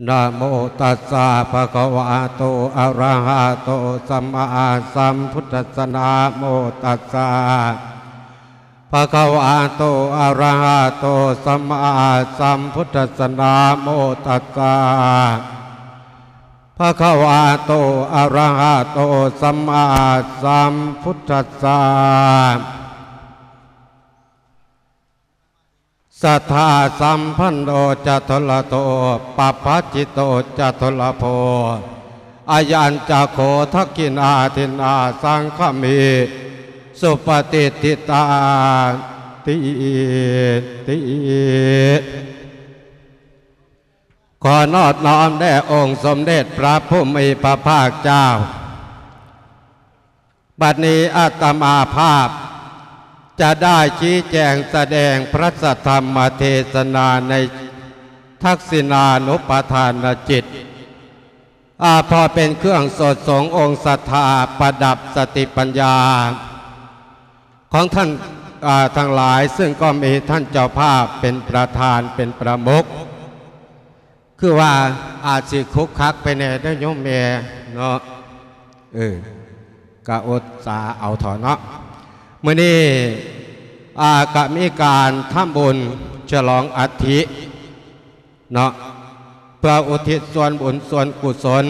ນະໂມຕັດສະ ພະຄະວະໂຕ ອະຣະຫະໂຕ ສຳມາສຳພຸດທັດສະ ນະໂມຕັດສະ ພະຄະວະໂຕ ອະຣະຫະໂຕ ສຳມາສຳພຸດທັດສະ ນະໂມຕັດສະ ພະຄະວະໂຕ ອະຣະຫະໂຕ ສຳມາສຳພຸດທັດສະ ສະທາສຳພັນໂນ ຈະທຸລະໂທ ປະພະຈິດໂຕ ຈະທຸລະໂພ ອາຍັນຈະໂຄ ທັກຂິນາທິນນາ ສັງຄະມິ ສຸປະຕິດທິຕາຕິຕິ ຂໍນອບນ້ອມແດ່ອົງສົມເດັດພະຜູ້ມີພະພາກເຈົ້າ. ບັດນີ້ອາດຕະມາພາບຈະໄດ້ຊີ້ແຈງສະແດງພະສັດທຳມະເທສະນາໃນທັກສິນານຸປະທານນະຈິດ ອາ ເພາະເປັນເຄື່ອງສົດສົງອົງສັດທາປະດັບສະຕິປັນຍາຂອງທ່ານ ອາ ທັງຫຼາຍ, ເຊິ່ງກໍມີທ່ານເຈົ້າພາບເປັນປະທານ ເປັນປະມຸກ. ຄືວ່າອາດຊິຂຸກຂັກໄປແດ່ເດີ້ໂຍມແມ່ເນາະ. ເອີ ກະອົດສາເອົາເຖາະເນາະ. ມື້ນີ້ ອາ ກະມີການທຳບຸນສະຫຼອງອັດຖິເນາະ ເພື່ອອຸທິດສ່ວນບຸນສ່ວນກຸສົນ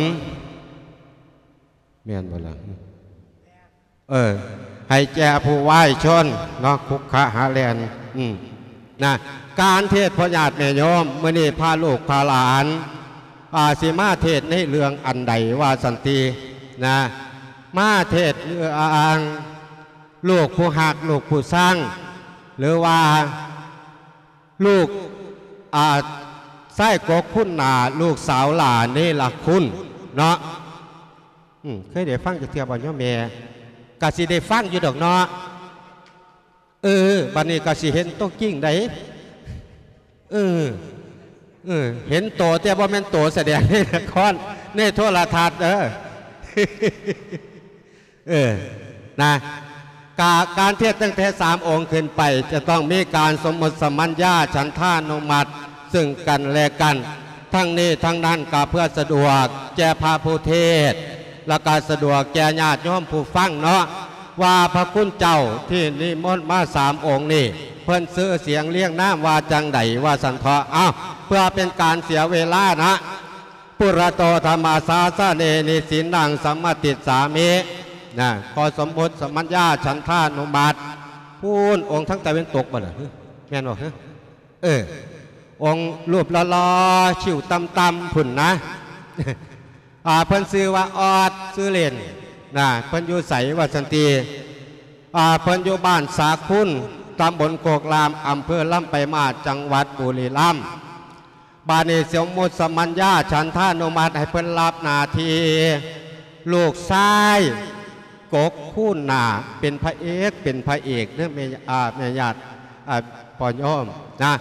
ແມ່ນບໍ່ລະ? ເອີ ໃຫ້ແກ່ຜູ້ວາຍຊົນເນາະ ຄຸກຄະຫາແລ່ນ ອືມ ນະ. ການເທດພໍ່ຍາດແມ່ໂຍມ ມື້ນີ້ພາລູກພາຫຼານ ອາ ຊິມາເທດໃນເລື່ອງອັນໃດວ່າຊັ້ນຕິ ນະ ມາເທດເລື່ອງລູກຜູ້ຮັກ ລູກຜູ້ຊັງ ຫຼືວ່າລູກ ອາ ຊາຍກົກຄຸນໜ້າ ລູກສາວຫຼ້າເນລະຄຸນເນາະ. ອືມ ເຄີຍໄດ້ຟັງຈັກເທື່ອບໍ່ໂຍມແມ່? ກະຊິໄດ້ຟັງຢູ່ດອກເນາະ. ເອີ ບັດນີ້ກະຊິເຫັນໂຕຈິງໃດ໋. ເອີ ເອີ ເຫັນໂຕ ແຕ່ບໍ່ແມ່ນໂຕສະແດງໃນລະຄອນ ໃນໂທລະທັດເດີ. ເອີ ນະ ກາ ການເທດຕັ້ງແຕ່ສາມອົງຂຶ້ນໄປ ຈະຕ້ອງມີການສົມມຸດສະມັນຍາ ສັນທານຸມັດ ເຊິ່ງກັນແລະກັນ. ທັງນີ້ທັງນັ້ນກໍເພື່ອສະດວກແກ່ພະຜູ້ເທດ ແລະກໍສະດວກແກ່ຍາດໂຍມຜູ້ຟັງເນາະ ວ່າພະຄຸນເຈົ້າທີ່ນິມົນມາສາມອົງນີ້ ເພິ່ນຊື່ສຽງລຽງນາມວ່າຈັ່ງໃດ ວ່າຊັ້ນເຖາະ. ເອົ້າ ເພື່ອເປັນການເສຍເວລານະ ປຸລະໂຕທຳມະສາສະເນ ນິສິນນັງສະມະຕິດສາມິ ນະ ຂໍສົມມຸດສະມັນຍາ ສັນທານຸມັດ. ພຸ້ນ ອົງທາງຕາເວັນຕົກບໍ່ລະ? ແມ່ນບໍ່? ເອີ ອົງຮູບຫຼໍ່ໆ ຄິ້ວຕ່ຳໆ ພຸ້ນນະ. ອາ ເພິ່ນຊື່ວ່າອອດ ຊື່ຫຼິ້ນນະ. ເພິ່ນຢູ່ໃສວ່າຊັ້ນຕິ? ອາ ເພິ່ນຢູ່ບ້ານສາຄຸນ ຕຳບົນໂຄກລາມ ອຳເພີລຳປາຍມາດ ຈັງຫວັດບຸລີລຳ. ບາດນີ້ສົມມຸດສະມັນຍາ ສັນທານຸມັດ ໃຫ້ເພິ່ນຮັບໜ້າທີ່ລູກຊາຍກົກຄູນໜ້າ ເປັນພະເອກ ເປັນພະເອກເດີ້ແມ່ ອາ ແມ່ຍາດ ອາ ພໍ່ໂຍມນະ.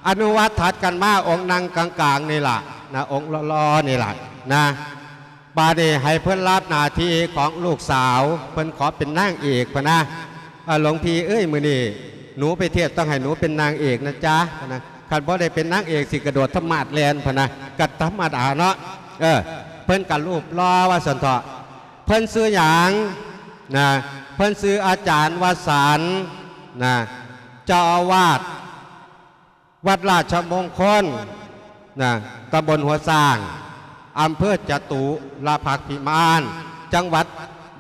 ອະນຸວັດຖັດກັນມາ ອົງນັ່ງກາງໆນີ້ລະນະ ອົງຫຼໍ່ໆນີ້ລະນະ. ບາດນີ້ໃຫ້ເພິ່ນຮັບໜ້າທີ່ຂອງລູກສາວ ເພິ່ນຂໍເປັນນາງເອກພຸ້ນນະ. ອາ ຫຼວງພີ່ເອີຍ ມື້ນີ້ໜູໄປທຽບ ຕ້ອງໃຫ້ໜູເປັນນາງເອກນະຈ໊ະ ນະ. ຄັນບໍ່ໄດ້ເປັນນາງເອກ ຊິກະໂດດທຳມາດແລ່ນພຸ້ນນະ ກະທຳມະດາເນາະ. ເອີ ເພິ່ນກະຮູບຫຼໍ່ວ່າຊັ້ນເຖາະ. ເພິ່ນຊື່ຫຍັງນະ? ເພິ່ນຊື່ອາຈານວະສັນນະ ເຈົ້າອາວາດ ວັດລາຊະມົງຄົນນະ ຕຳບົນຫົວຊ້າງ ອຳເພີຈະຕຸລະພັກພິມານ ຈັງຫວັດ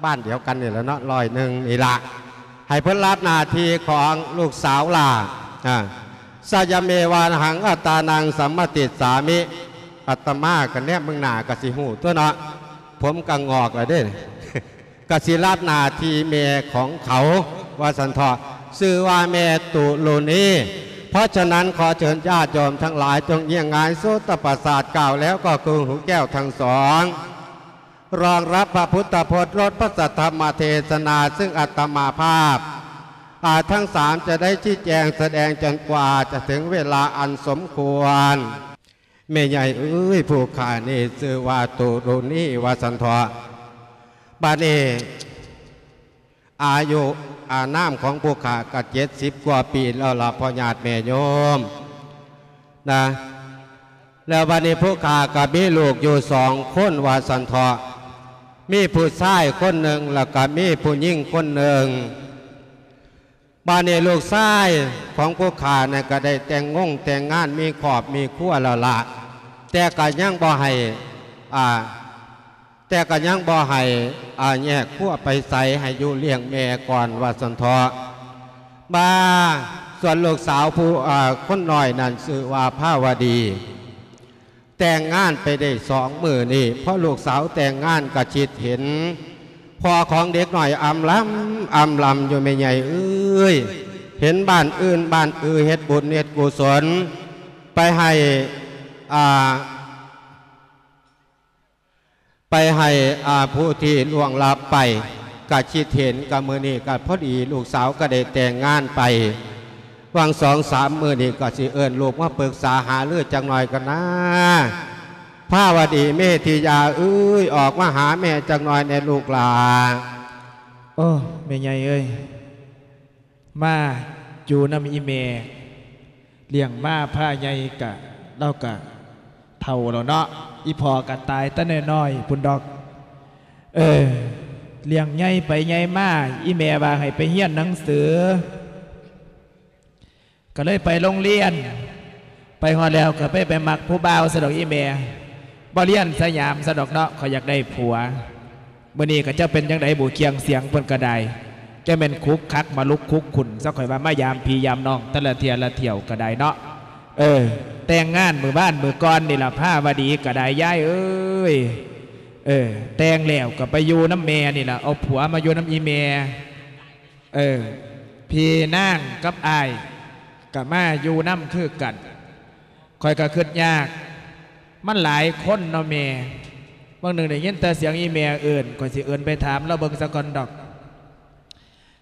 ບ້ານດຽວກັນນີ້ລະເນາະ ຮ້ອຍໜຶ່ງນີ້ລະ. ໃຫ້ເພິ່ນຮັບໜ້າທີ່ຂອງລູກສາວຫຼ້ານະ. ສະຍະເມວາຫັງອັດຕານັງສຳມະຕິດສາມິ ອາດຕະມາກະແນມເບິ່ງໜ້າກະຊິຮູ້ຕົວະເນາະ ຜົມກະງອກລະເດ້. ກະຊິຮັບໜ້າທີ່ແມ່ຂອງເຂົາ ວ່າຊັ້ນເຖາະ ຊື່ວ່າແມ່ຕຸລຸນີ. ເພາະສະນັ້ນ ຂໍເຊີນຍາດໂຍມທັງຫຼາຍ ຈົ່ງຍຽງຫງາຍໂສດຕະປະສາດ ກ່າວແລ້ວກໍຄືຫູແກ້ວທັງສອງ ຮອງຮັບພະພຸດທະພົດ ລົດພະສັດທຳມະເທສະນາ ເຊິ່ງອາດຕະມາພາບ ອາ ທັງສາມຈະໄດ້ຊີ້ແຈງສະແດງຈົນກວ່າຈະເຖິງເວລາອັນສົມຄວນ. ແມ່ໃຫຍ່ເອີຍ ຜູ້ຂ້ານີ້ຊື່ວ່າຕຸລຸນີ ວ່າຊັ້ນເຖາະ. ບາດນີ້ອາຍຸອານາມຂອງຜູ້ຂ້າກໍເຈັດສິບກວ່າປີແລ້ວລະ ພໍ່ຍາດແມ່ໂຍມນະ. ແລ້ວບາດນີ້ຜູ້ຂ້າກໍມີລູກຢູ່ສອງຄົນວ່າຊັ້ນເຖາະ ມີຜູ້ຊາຍຄົນໜຶ່ງ ແລ້ວກໍມີຜູ້ຍິງຄົນໜຶ່ງ. ບາດນີ້ລູກຊາຍຂອງຜູ້ຂ້ານັ້ນກໍໄດ້ແຕ່ງງງແຕ່ງງານ ມີຄອບມີຄົວແລ້ວລະ ແຕ່ກໍຍັງບໍ່ໃຫ້ ອ່າ ແຕ່ກໍຍັງບໍ່ໃຫ້ ອ່າ ແຍກຄົວໄປໃສ ໃຫ້ຢູ່ລ້ຽງແມ່ກ່ອນວ່າຊັ້ນເຖາະ. ບາ ສ່ວນລູກສາວຜູ້ ອ່າ ຄົນນ້ອຍນັ້ນຊື່ວ່າພາວະດີ ແຕ່ງງານໄປໄດ້ສອງມື້ນີ້ ພໍລູກສາວແຕ່ງງານກໍຄິດເຫັນພໍ່ຂອງເດັກນ້ອຍອຳລຳ ອຳລຳຢູ່ ແມ່ໃຫຍ່ເອີຍ ເຫັນບ້ານອື່ນບ້ານອື່ນເຮັດບຸນເຮັດກຸສົນ ໄປໃຫ້ ອ່າ ໄປໃຫ້ ອ່າ ຜູ້ທີ່ລ່ວງລັບໄປ ກະຄິດເຫັນ ກະມື້ນີ້ກະພໍດີລູກສາວກະໄດ້ແຕ່ງງານໄປ ຫວ່າງສອງສາມມື້ນີ້ກະຊິເອີ້ນລູກມາປຶກສາຫາລືຈັກໜ່ອຍກ່ອນນາ. ພາວະດີ ເມທິຍາເອີຍ ອອກມາຫາແມ່ຈັກໜ່ອຍແດ່ລູກຫຼ້າ. ໂອ້ ແມ່ໃຫຍ່ເອີຍ ມາຢູ່ນຳອີ່ແມ່ ລ້ຽງມາພາໃຫຍ່ກະ ລາວກະເຖົ້າແລ້ວເນາະ ອີ່ພໍ່ກະຕາຍແຕ່ນ້ອຍໆພຸ້ນດອກ. ເອີ ລ້ຽງໃຫຍ່ໄປໃຫຍ່ມາ ອີ່ແມ່ວ່າໃຫ້ໄປຮຽນໜັງສື ກະເລີຍໄປໂຮງຮຽນ ໄປຮອດແລ້ວກະໄປ ໄປມັກຜູ້ບ່າວຊະດອກອີ່ແມ່ ບໍ່ຮຽນສະຫຍາມຊະດອກເນາະ ຂ້ອຍຢາກໄດ້ຜົວ. ມື້ນີ້ກະຈັກເປັນຈັ່ງໃດບຸ ຄຽງສຽງເພິ່ນກະໄດ້ ຈະແມ່ນຂຸກຂັກມາລຸກຄຸກຂຸ້ນຊະ ຂ້ອຍວ່າມາຢາມພີ່ຢາມນ້ອງແຕ່ລະເທື່ອລະທ່ຽວກະໄດ້ເນາະ. ເອີ ແຕ່ງງານມື້ວານມື້ກ່ອນນີ້ລະ ພາວະດີກະໄດ້ ຍາຍເອີຍ. ເອີ ແຕ່ງແລ້ວກະໄປຢູ່ນຳແມ່ນີ້ລະ ເອົາຜົວມາຢູ່ນຳອີ່ແມ່. ເອີ ພີ່ນາງກັບອ້າຍກະມາຢູ່ນຳຄືກັນ. ຂ້ອຍກໍຄິດຍາກ ມັນຫຼາຍຄົນເນາະແມ່. ບາງໜຶ່ງໄດ້ຍິນແຕ່ສຽງອີ່ແມ່ເອີ້ນ ຂ້ອຍຊິເອີ້ນໄປຖາມລາວເບິ່ງສາກ່ອນດອກ.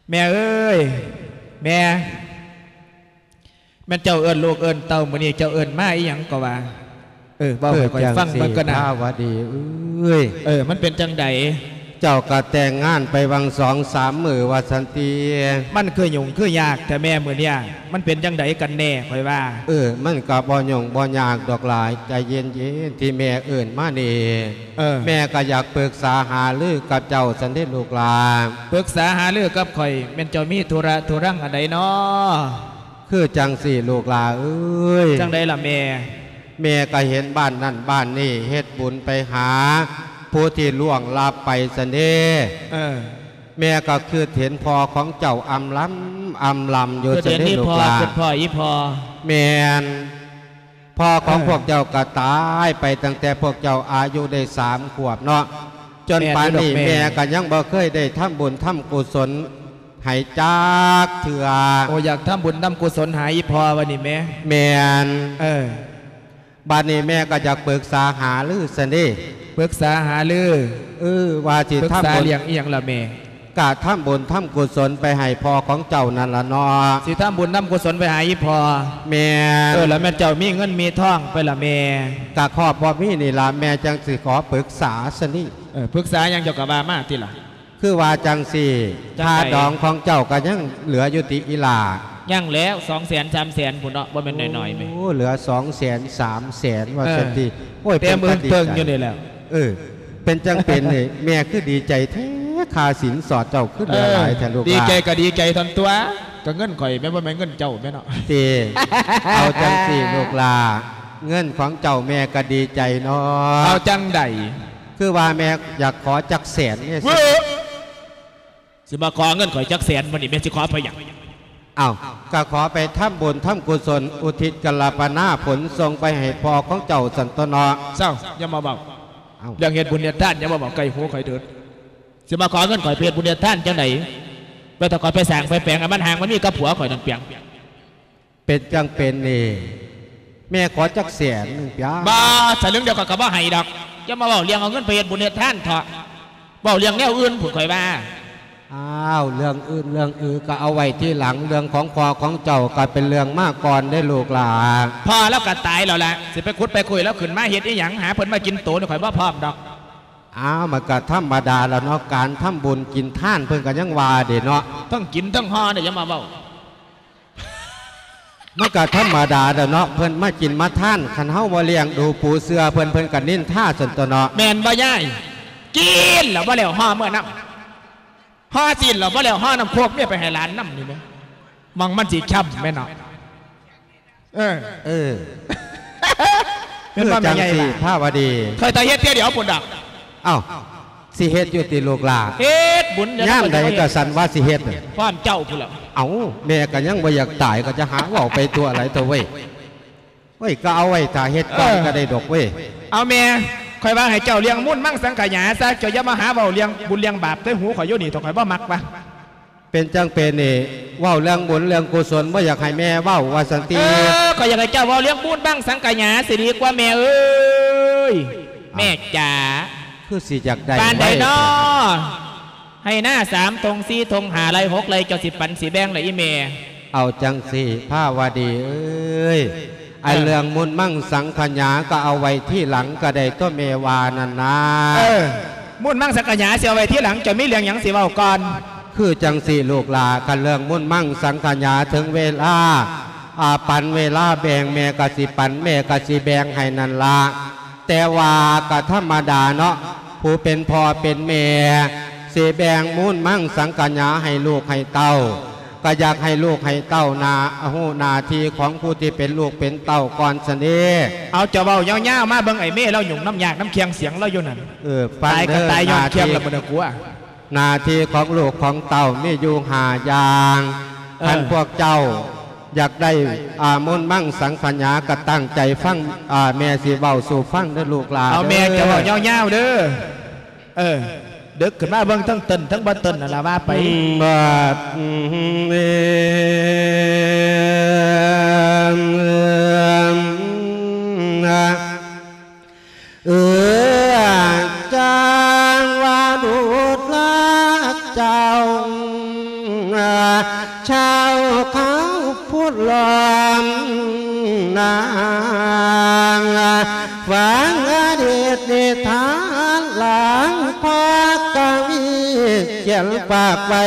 ແມ່ເອີຍ ແມ່ ແມ່ນເຈົ້າເອີ້ນລູກເອີ້ນເຕົ້າ ມື້ນີ້ເຈົ້າເອີ້ນມາອີ່ຫຍັງກໍວ່າ? ເອີ ເວົ້າໃຫ້ຂ້ອຍຟັງເບິ່ງກ່ອນນະ ພາວະດີເອີຍ. ເອີ ມັນເປັນຈັ່ງໃດ? ເຈົ້າກໍແຕ່ງງານໄປຫວ່າງສອງສາມມື້ວ່າຊັ້ນຕິ. ມັນຄືຫຍຸ້ງຄືຍາກແທ້ແມ່ມື້ນີ້ ມັນເປັນຈັ່ງໃດກັນແນ່ຂ້ອຍວ່າ? ເອີ ມັນກໍບໍ່ຫຍຸ້ງບໍ່ຍາກດອກຫຼາຍ ໃຈເຢັນໆ ທີ່ແມ່ເອີ້ນມານີ້. ເອີ ແມ່ກໍຢາກປຶກສາຫາລືກັບເຈົ້າຊັ້ນເດລູກຫຼ້າ. ປຶກສາຫາລືກັບຂ້ອຍ ແມ່ນເຈົ້າມີທຸລະທຸຣັງອັນໃດນໍ? ຄືຈັ່ງຊີ້ລູກຫຼ້າເອີຍ. ຈັ່ງໃດລະແມ່? ແມ່ກໍເຫັນບ້ານນັ້ນບ້ານນີ້ ເຮັດບຸນໄປຫາຜູ້ທີ່ລ່ວງລັບໄປຊັ້ນເດ. ເອີ ແມ່ກໍຄິດເຫັນພໍ່ຂອງເຈົ້າອຳລຳ ອຳລຳຢູ່ຊັ້ນເດລູກຫຼ້າ. ຄິດເຫັນອີ່ພໍ່ ຄິດພໍ້ອີ່ພໍ່. ແມ່ນ. ພໍ່ຂອງ ເອີ ພວກເຈົ້າກໍຕາຍໄປຕັ້ງແຕ່ພວກເຈົ້າອາຍຸໄດ້ສາມຂວບເນາະ ຈົນປານນີ້ ແມ່ນຢູ່ດອກແມ່ ແມ່ກໍຍັງບໍ່ເຄີຍໄດ້ທຳບຸນທຳກຸສົນໃຫ້ຈັກເທື່ອ. ໂອ້ ຢາກທຳບຸນທຳກຸສົນຫາອີ່ພໍ່ວ່ານີ້ແມ່? ແມ່ນ. ເອີ ບາດນີ້ແມ່ກໍຢາກປຶກສາຫາລືຊັ້ນເດ. ປຶກສາຫາລື? ເອີ ວ່າຊິ ປຶກສາ ທຳບຸນ ເລື່ອງອີ່ຫຍັງລະແມ່? ກະທຳບຸນທຳກຸສົນໄປໃຫ້ພໍ່ຂອງເຈົ້ານັ້ນລະເນາະ. ຊິທຳບຸນທຳກຸສົນໄປຫາອີ່ພໍ່? ແມ່ນ. ເອີ ລະແມ່ນເຈົ້າມີເງິນມີທອງໄປລະແມ່? ກະພໍພໍມີນີ້ລະ ແມ່ຈັ່ງຊິຂໍປຶກສາຊະນີ້. ເອີ ປຶກສາຫຍັງເຈົ້າກະວ່າມາຕິລະ. ຄືວ່າຈັ່ງຊີ້ ຈັ່ງໃດ? ຄ່າດອງຂອງເຈົ້າກະຍັງເຫຼືອຢູ່ຕິອີ່ຫຼ້າ? ຍັງແລ້ວ ສອງແສນ ສາມແສນພຸ້ນເນາະ ບໍ່ແມ່ນໜ້ອຍໆແມ່. ໂອ້ ເຫຼືອສອງແສນ ສາມແສນວ່າຊັ້ນຕິ. ເອີ ໂອ້ຍ ເຕັມເອີງເຕີງຢູ່ນີ້ແຫຼະ. ເອີ ເປັນຈັ່ງເປັນນີ້ ແມ່ຄືດີໃຈແທ້ ຄ່າສິນສອດເຈົ້າຄືເຫຼືອຫຼາຍແທ້ລູກຫຼ້າ. ເອີ ດີໃຈກໍດີໃຈທົ່ນຕົວະ ກໍເງິນຂ້ອຍແມ່ນ ບໍ່ແມ່ນເງິນເຈົ້າແມ່ນເນາະ. ຕິ ເອົາຈັ່ງຊີ້ລູກຫຼ້າ ເງິນຂອງເຈົ້າແມ່ກໍດີໃຈເນາະ. ເອົາຈັ່ງໃດ? ຄືວ່າແມ່ຢາກຂໍຈັກແສນນີ້. ເວີ້ ຊິມາຂໍເງິນຂ້ອຍຈັກແສນ ມື້ນີ້ແມ່ນຊິຂໍໄປຫຍັງ? ເອົ້າ ກໍຂໍໄປທຳບຸນທຳກຸສົນ ອຸທິດກາລະປະນາຜົນສົ່ງໄປໃຫ້ພໍ່ຂອງເຈົ້າຊັ້ນຕົວະເນາະ. ເຊົາ ຢ່າມາເວົ້າ. ເອົ້າ ເລື່ອງເຮັດບຸນເຮັດທານຢ່າມາເວົ້າໃກ້ຫູຂ້ອຍເດີ. ຊິມາຂໍເງິນຂ້ອຍໄປເຮັດບຸນເຮັດທານຈັ່ງໃດ? ແລ້ວຖ້າຂ້ອຍໄປສ້າງໄປແປງໃຫ້ມັນຮ່າງມັນມີກັບຜົວຂ້ອຍນັ້ນເປີຍງ. ເປັນຈັ່ງເປັນນີ້ ແມ່ຂໍຈັກແສນໜຶ່ງເປີຍງ. ບໍ່ ສະລຶງດຽວຂ້ອຍກໍບໍ່ໃຫ້ດອກ. ຢ່າມາເວົ້າເລື່ອງເອົາເງິນໄປເຮັດບຸນເຮັດທານເຖາະ. ເວົ້າເລື່ອງແນວອື່ນພຸ້ນຂ້ອຍວ່າ. ອ້າວ ເລື່ອງອື່ນເລື່ອງອື່ນກໍເອົາໄວ້ທີຫຼັງ ເລື່ອງຂອງພໍ່ຂອງເຈົ້າກໍເປັນເລື່ອງມາກ່ອນເດ້ລູກຫຼ້າ. ພໍ່ລາວກໍຕາຍແລ້ວລະ ຊິໄປຂຸດໄປຄຸຍລາວຂຶ້ນມາເຮັດອີ່ຫຍັງ? ຫາເພິ່ນມາກິນໂຕນີ້ຂ້ອຍບໍ່ພ້ອມດອກ. ອ້າວ ມັນກໍທຳມະດາລະເນາະ ການທຳບຸນກິນທານ ເພິ່ນກໍຍັງວ່າເດ້ເນາະ. ທັງກິນທັງຫໍ່ນີ້ ຢ່າມາເວົ້າ. ມັນກະທຳມະດາແຫຼະເນາະ ເພິ່ນມາກິນມາທານ ຄັນເຮົາບໍ່ລ້ຽງດູປູເຊື່ອເພິ່ນ ເພິ່ນກະນິນທາຊັ້ນຕົວະເນາະ. ແມ່ນບໍ່ຍາຍ? ກິນແລ້ວບໍ່ແລ້ວຫໍ່ເມືອນຳ ຫໍ່ຊີ້ນແລ້ວບໍ່ແລ້ວຫໍ່ນ້ຳໂຄກເມຍໄປໃຫ້ຫຼານນຳນີ້ແມະ ໝ່ອງມັນຊິຄ່ຳແມ່ນເນາະ. ເອີ ເອີ ແມ່ນບໍ່ແມ່ໃຫຍ່ ຄືຈັ່ງຊີ້ ພາວະດີ ຂ້ອຍຕາເຮັດເທື່ອດຽວພຸ້ນດອກ. ເອົ້າ ຊິເຮັດຢູ່ຕິລູກຫຼ້າ? ເຮັດບຸນ ຍາມໃດກໍສັນວ່າຊິເຮັດ ພ້ອມເຈົ້າພຸ້ນແຫຼະ. ເອົ້າ ແມ່ກໍຍັງບໍ່ຢາກຕາຍ ກໍຈະຫາເວົ້າໄປຕົວະໄຫຼຕົວະເວີຍ. ເວີຍ ກໍເອົາໄວ້ຖ້າເຮັດກ່ອນ ເອີ ກໍໄດ້ດອກເວີຍ. ເອົາແມ່ ຂ້ອຍວ່າໃຫ້ເຈົ້າລ້ຽງມູນມັງສັງຂະຫຍາຊະ ເຈົ້າຢ່າມາຫາເວົ້າເລື່ອງບຸນເລື່ອງບາບໃສ່ຫູຂ້ອຍຢູ່ນີ້ ໂຕຂ້ອຍບໍ່ມັກວ່າ. ເປັນຈັ່ງເປັນນີ້ ເວົ້າເລື່ອງບຸນເລື່ອງກຸສົນ ບໍ່ຢາກໃຫ້ແມ່ເວົ້າວ່າຊັ້ນຕິ. ເອີ ຂ້ອຍຢາກໃຫ້ເຈົ້າເວົ້າເລື່ອງບຸນບັງສັງກະຫຍາຊິດີກວ່າແມ່ເອີຍ. ແມ່ຈ໋າ ຄືຊິຢາກໄດ້ປານໃດເນາະ? ໄຮ່ນາສາມທົ່ງ ສີ່ທົ່ງ ຫ້າໄຮ່ ຫົກໄຮ່ ເຈົ້າຊິປັນຊິແບ່ງລະອີ່ແມ່? ເອົາຈັ່ງຊີ້ ພາວະດີເອີຍ ອັນເລື່ອງມຸນມັງສັງຂະຫຍາກໍເອົາໄວ້ທີຫຼັງກໍໄດ້ຕົວະ ແມ່ວ່ານັ້ນນາ. ເອີ ມຸນມັງສັງຂະຫຍາຊິເອົາໄວ້ທີຫຼັງ ເຈົ້າມີເລື່ອງຫຍັງຊິເວົ້າກ່ອນ? ຄືຈັ່ງຊີ້ລູກຫຼ້າ ຄັນເລື່ອງມຸນມັງສັງຂະຫຍາ ເຖິງເວລາ ອາ ປັນເວລາແບ່ງ ແມ່ກໍຊິປັນ ແມ່ກໍຊິແບ່ງໃຫ້ນັ້ນລະ. ແຕ່ວ່າກໍທຳມະດາເນາະ ຜູ້ເປັນພໍ່ເປັນແມ່ ຊິແບ່ງມູນມັງສັງຂະຫຍາໃຫ້ລູກໃຫ້ເຕົ້າ ກໍຢາກໃຫ້ລູກໃຫ້ເຕົ້ານາ ຮູ້ໜ້າທີ່ຂອງຜູ້ທີ່ເປັນລູກເປັນເຕົ້າກ່ອນຊັ້ນເດ. ເອົາ ເຈົ້າເວົ້າຍາວໆມາເບິ່ງ ໄອ້ເມລາວຫຍຸ້ງນຳຍາກນຳຄຽງສຽງລາວຢູ່ນັ້ນ. ເອີ ຟັງເດີ ຕາຍກໍຕາຍຍ້ອນຄຽງລະບໍ່ໄດ້ກົວ. ໜ້າທີ່ຂອງລູກຂອງເຕົ້າມີຢູ່ຫ້າຢ່າງ. ເອີ ຄັນພວກເຈົ້າຢາກໄດ້ ອາ ມຸນມັງສັງຂະຫຍາ ກໍຕັ້ງໃຈຟັງ ອາ ແມ່ຊິເວົ້າສູ່ຟັງເດີລູກຫຼ້າ. ເອົາແມ່ ເຈົ້າເວົ້າຍາວໆເດີ. ເອີ ດຶກຂຶ້ນມາເບິ່ງ ທັງເຕັ້ນທັງບໍ່ເຕັ້ນນັ້ນລະວ່າໄປ. ບາດ ເອີ ຈັ່ງວ່າດູລາເຈົ້າ ຊາວເຂົາພຸດລ້ອມນາງ ຟັງອະດີດນິທານ ຫຼັງພາກະວີຂຽນຝາກໄວ້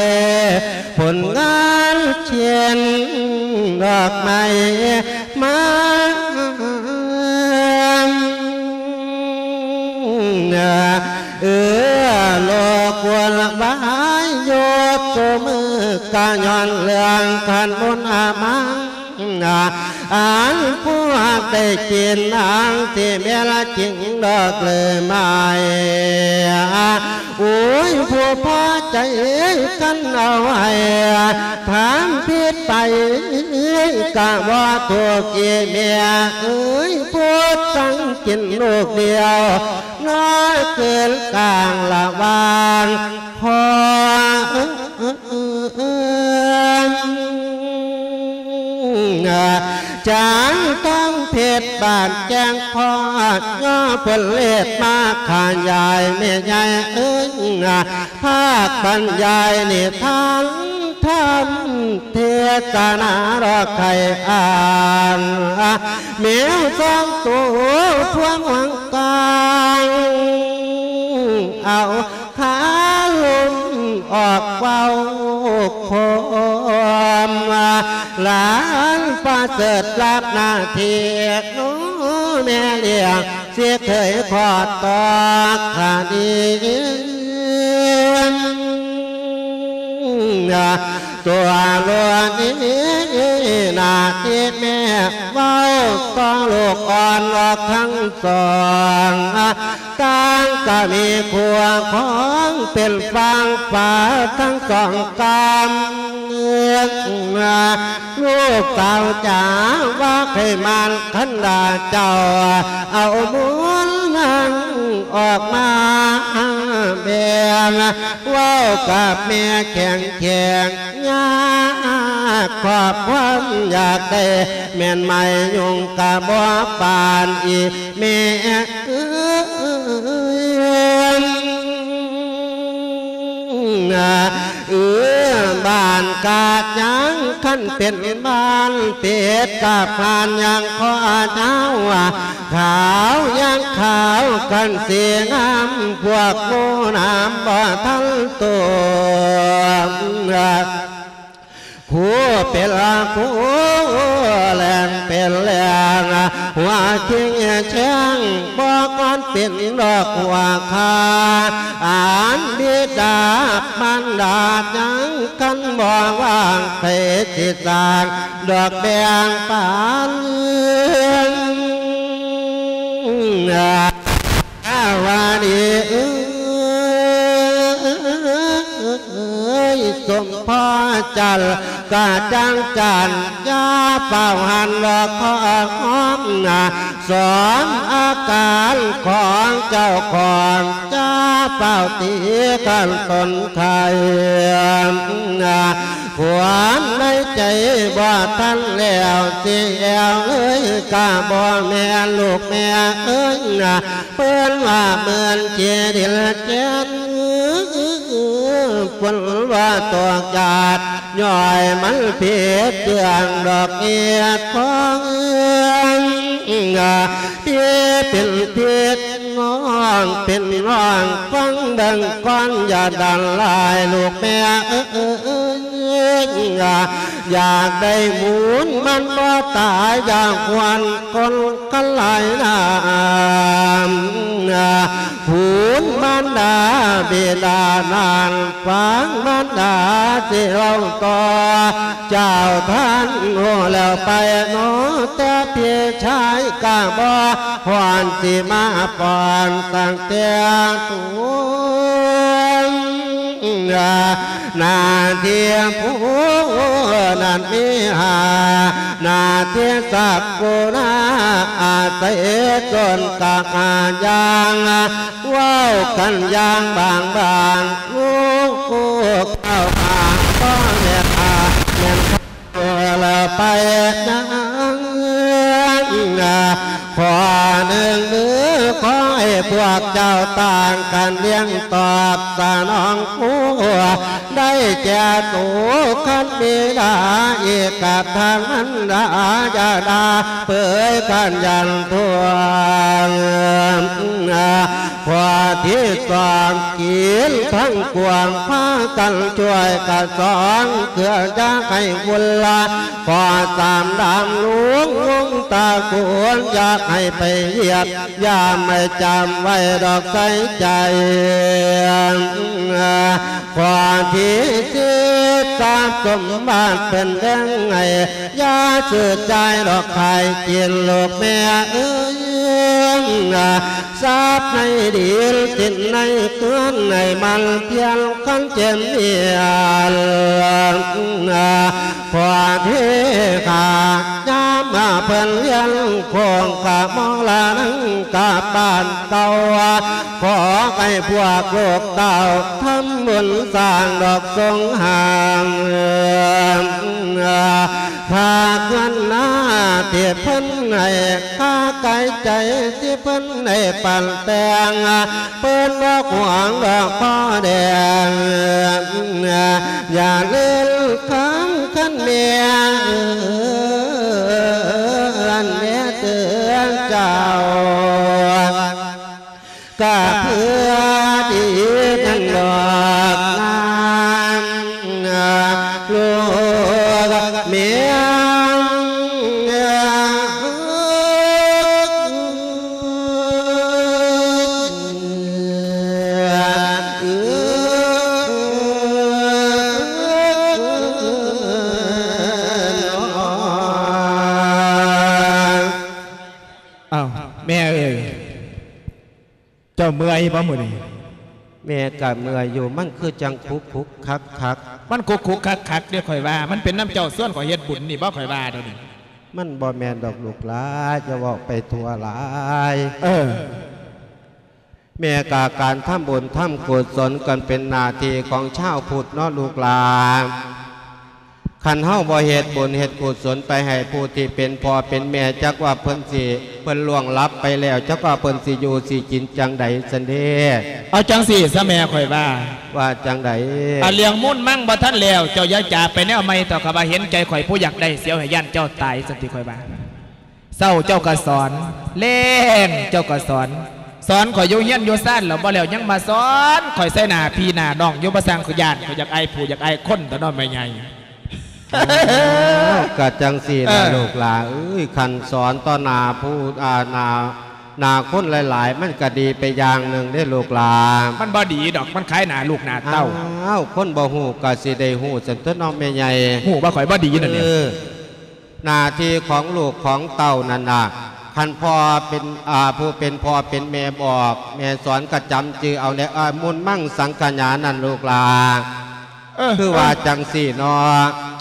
ຜົນງານຂຽນດອກໄມ້ ມາ ເອີ ໂລກວຸ່ນວາຍຢູ່ຊຸມື້ ກະຍ້ອນເລື່ອງຂັນບຸນອາມັງ ອັນພວກໄດ້ກິນນາງ ຊິແມ່ນລະຈິງດອກເລີຍໄມ້. ໂອ້ຍ ຜູ້ພໍໃຈກັນເອົາໃຫ້ ຖາມຜິດໄປກະບໍ່ຖືກອີ່ແມ່ເອີຍ ຜູ້ສັງກິນລູກດຽວ ນ້ອຍເກີນກາງລະຫວ່າງພໍ່ ຈາງຕ້ອງເພັດບາດແກງພໍ ຍໍເພິ່ນເລດມາຂະຫຍາຍແມ່ໃຫຍ່ເອີຍ ພາກບັນຍາຍນິທານທຳເທດສະໜາດອກໄຂ່ອ່າງ ແມວສອງໂຕພວງຫວັງກາງ ເອົາ ຂາລົມອອກເວົ້າຄວາມ ຫຼານປະເສີດຮັບໜ້າທີ່ ໜູແມ່ລ້ຽງ ຊິເຄີຍຂໍຕອກຄະດີ ຕົວໂລດນີ້ ໜ້າທີ່ແມ່ເວົ້າ ຕ້ອງລູກອ່ອນອອກທັງສອງ ຕ່າງກໍມີຄົວຂອງເປັນຝັ່ງຝາທັງສອງກຳ ລູກສາວຈ໋າ ວ່າໃຫ້ມານຄັນດາເຈົ້າ ເອົາບຸນນັ້ນອອກມາແບ່ງ ເວົ້າກັບແມ່ແຂງແຂງ ຍາກຄວາມຢາກໄດ້ແມ່ນໄມ້ຍຸງກະບໍ່ປານອີ່ແມ່ເອີຍ ເອີ ບ້ານກາດຍັງຄັນເປັນບ້ານເປັດກະຜ່ານຍັງຂໍເຈົ້າ ຂາວຍັງຂາວຄັນສີງາມ ພວກໝູນ້ຳບໍ່ທັນໂຕ ໂຄ ຜູ້ເປັນຜູ້ແລງເປັນແລງ ຫົວຈິງແຈ້ງບໍ່ຄວນເປັນດອກຫົວຄາ ອັນບິດາມານດາຍັງກັນບໍ່ວ່າງ ໃຜຊິສ້າງດອກແບ່ງປັນ ອາ ວາດີເອີຍ ສົມພໍຈັນກະຈັງຈັນ ຢ່າຟ້າວຫັນດອກຂໍຫອມນາ ສອມອາການຂອງເຈົ້າຂອງ ຢ່າຟ້າວຕີກັນຕົນໄຄ ຄວາມໃນໃຈບໍ່ທັນແລ້ວ ຊິແອວເອີຍກະບໍ່ແມ່ນ ລູກແມ່ເອີຍນາ ເພິ່ນວ່າເໝືອນຂີ້ດິນແກ່ນ ຝົນວ່າຕົກຢາດ ຍ້ອຍມັນຜິດເລື່ອງດອກເຫດຂອງ ທີ່ເປັນຜິດ ນ້ອງເປັນນ້ອງ ຟັງເບິ່ງກ່ອນ ຢ່າດັນຫຼາຍ ລູກແມ່ເອີຍ ຢາກໄດ້ບຸນມັນບໍ່ຕາຍ ຢາກຫວນຄົນຄັນຫຼາຍນາ ຄຸນມານດາບິດານັ້ນ ຟັງມານດາຊິເລົ່າຕໍ່ ເຈົ້າທ່ານຮູ້ແລ້ວໄປເນາະ ແຕ່ພີ່ຊາຍກະບໍ່ ຄວນຊິມາປ້ອນຕັ້ງແຕ່ຕົ້ນ ໜ້າທີ່ຜູ້ນັ້ນມີຫາ ໜ້າທີ່ສັກກຸນາ ອາໄສຕົນກະຫາຢ່າງ ເວົ້າກັນຢ່າງບາງບາງ ລູກເຈົ້າຫາກໍແມ່ນຫາແມ່ນ ລະໄປນາ ຂໍໜຶ່ງມື ຂໍໃຫ້ພວກເຈົ້າຕ່າງກັນລ້ຽງຕອບສະໜອງຜູ້ ໄດ້ແກ່ໂຕຄັນບິດາ ເອກະທັງມັນດາ ຢ່າດ່າເປີຍຂັນຢັນທວງ ຂໍ້ທີສອງ ກິນທັງກວາງ ພາກັນຊ່ວຍກະສອງ ເພື່ອຢ່າໃຫ້ວຸນລະ ຂໍ້ສາມ ດຳລຸງວົງຕະກູນ ຢາກໃຫ້ໄປຢ້ຽມຢາມ ໃຫ້ຈຳໄວ້ດອກໃສ່ໃຈ ຂໍ້ທີສີ່ ຊັບສົມບັດເພິ່ນແບ່ງໃຫ້ ຢ່າຊື້ຈ່າຍດອກຂາຍກິນ ລູກແມ່ເອີຍ ຊັບໃນດິນສິນໃນເຮືອນ ໃຫ້ໝັ່ນພຽນຄັນເຈັນເໜຽນ ພໍ່ເທຂ້າ ຍາມມາເພິ່ນຮຽນ ໂຄງກະມໍລະນັງກັບບ້ານເກົ່າ ຂໍໃຫ້ພວກລູກເຕົ້າ ທຳບຸນສ້າງດອກສົງຫາງ ພາກເງິນນາທີ່ເພິ່ນໃຫ້ ຄ່າກາຍໃຈທີ່ເພິ່ນໄດ້ປັນແຕ່ງ ເພິ່ນບໍ່ຫວງດອກພໍ່ແດງ ຢ່າເລີນຄຳຄັນແມ່ເອີນ ແມ່ເຕືອນເຈົ້າ ກະເພື່ອດີນັ້ນດອກນາງ ລູກເມຍ ອ້າວ ແມ່ເອີຍ ເຈົ້າເມື່ອຍບໍ່ມື້ນີ້? ແມ່ກະເມື່ອຍຢູ່ ມັນຄືຈັ່ງຄຸກຄຸກຄັກຄັກ ມັນຄຸກຄຸກຄັກຄັກເດ້ ຂ້ອຍວ່າ ມັນເປັນນຳເຈົ້າຊວນຂ້ອຍເຮັດບຸນນີ້ບໍ່ ຂ້ອຍວ່າດຽວນີ້ ມັນບໍ່ແມ່ນດອກລູກຫຼາ ຢ່າເວົ້າໄປທົ່ວຫຼາຍ ເອີ ແມ່ກະການທຳບຸນທຳກຸສົນ ກະເປັນໜ້າທີ່ຂອງຊາວພຸດເນາະລູກຫຼາ ຄັນເຮົາບໍ່ເຮັດບຸນເຮັດກຸສົນໄປໃຫ້ຜູ້ທີ່ເປັນພໍ່ເປັນແມ່ ຈັກວ່າເພິ່ນຊິ ເພິ່ນລ່ວງລັບໄປແລ້ວ ຈັກວ່າເພິ່ນຊິຢູ່ຊິກິນຈັ່ງໃດຊັ້ນເດ. ເອົາຈັ່ງຊີ້ຊະແມ່ ຂ້ອຍວ່າ. ວ່າຈັ່ງໃດ? ອາ ເລື່ອງມູນມັງບໍ່ທັນແລ້ວ ເຈົ້າຢ່າຈາໄປແນວໃໝ່ເຖາະ ຂ້າວ່າເຫັນໃຈຂ້ອຍຜູ້ຢາກໄດ້ ສຽວໃຫ້ຢ້ານເຈົ້າຕາຍຊັ້ນຕິ ຂ້ອຍວ່າ. ເຊົ້າເຈົ້າກໍສອນ ແລງເຈົ້າກໍສອນ ສອນຂ້ອຍຢູ່ເຮືອນຢູ່ຊານແລ້ວບໍ່ແລ້ວ ຍັງມາສອນຂ້ອຍໃສ່ໜ້າພີ່ໜ້ານ້ອງຢູ່ ບໍ່ຊ່າງຂ້ອຍຢ້ານ ຂ້ອຍຢາກອາຍຜູ້ຢາກອາຍຄົນຕົວະເນາະແມ່ໃຫຍ່. ເອີ ກະຈັ່ງຊີ້ລະ ເອີ ລູກຫຼ້າເອີຍ ຄັນສອນຕໍ່ໜ້າຜູ້ ອາ ໜ້າ ໜ້າຄົນຫຼາຍໆ ມັນກະດີໄປຢ່າງໜຶ່ງເດ້ລູກຫຼ້າ. ມັນບໍ່ດີດອກ ມັນຂາຍໜ້າລູກໜ້າເຕົ້າ. ອ້າວ ຄົນບໍ່ຮູ້ກະຊິໄດ້ຮູ້ຊັ້ນຕົວະເນາະແມ່ໃຫຍ່. ຮູ້ວ່າຂ້ອຍບໍ່ດີນັ້ນແຫຼະ. ເອີ ໜ້າທີ່ຂອງລູກຂອງເຕົ້ານັ້ນນະ ຄັນພໍ່ເປັນ ອາ ຜູ້ເປັນພໍ່ເປັນແມ່ບອກ ແມ່ສອນກະຈຳຈື່ເອົາແດ່ ອາ ມຸນມັງສັງຂະຍານັ້ນລູກຫຼ້າ. ເອີ ຄືວ່າ ເອີ ຈັ່ງຊີ້ເນາ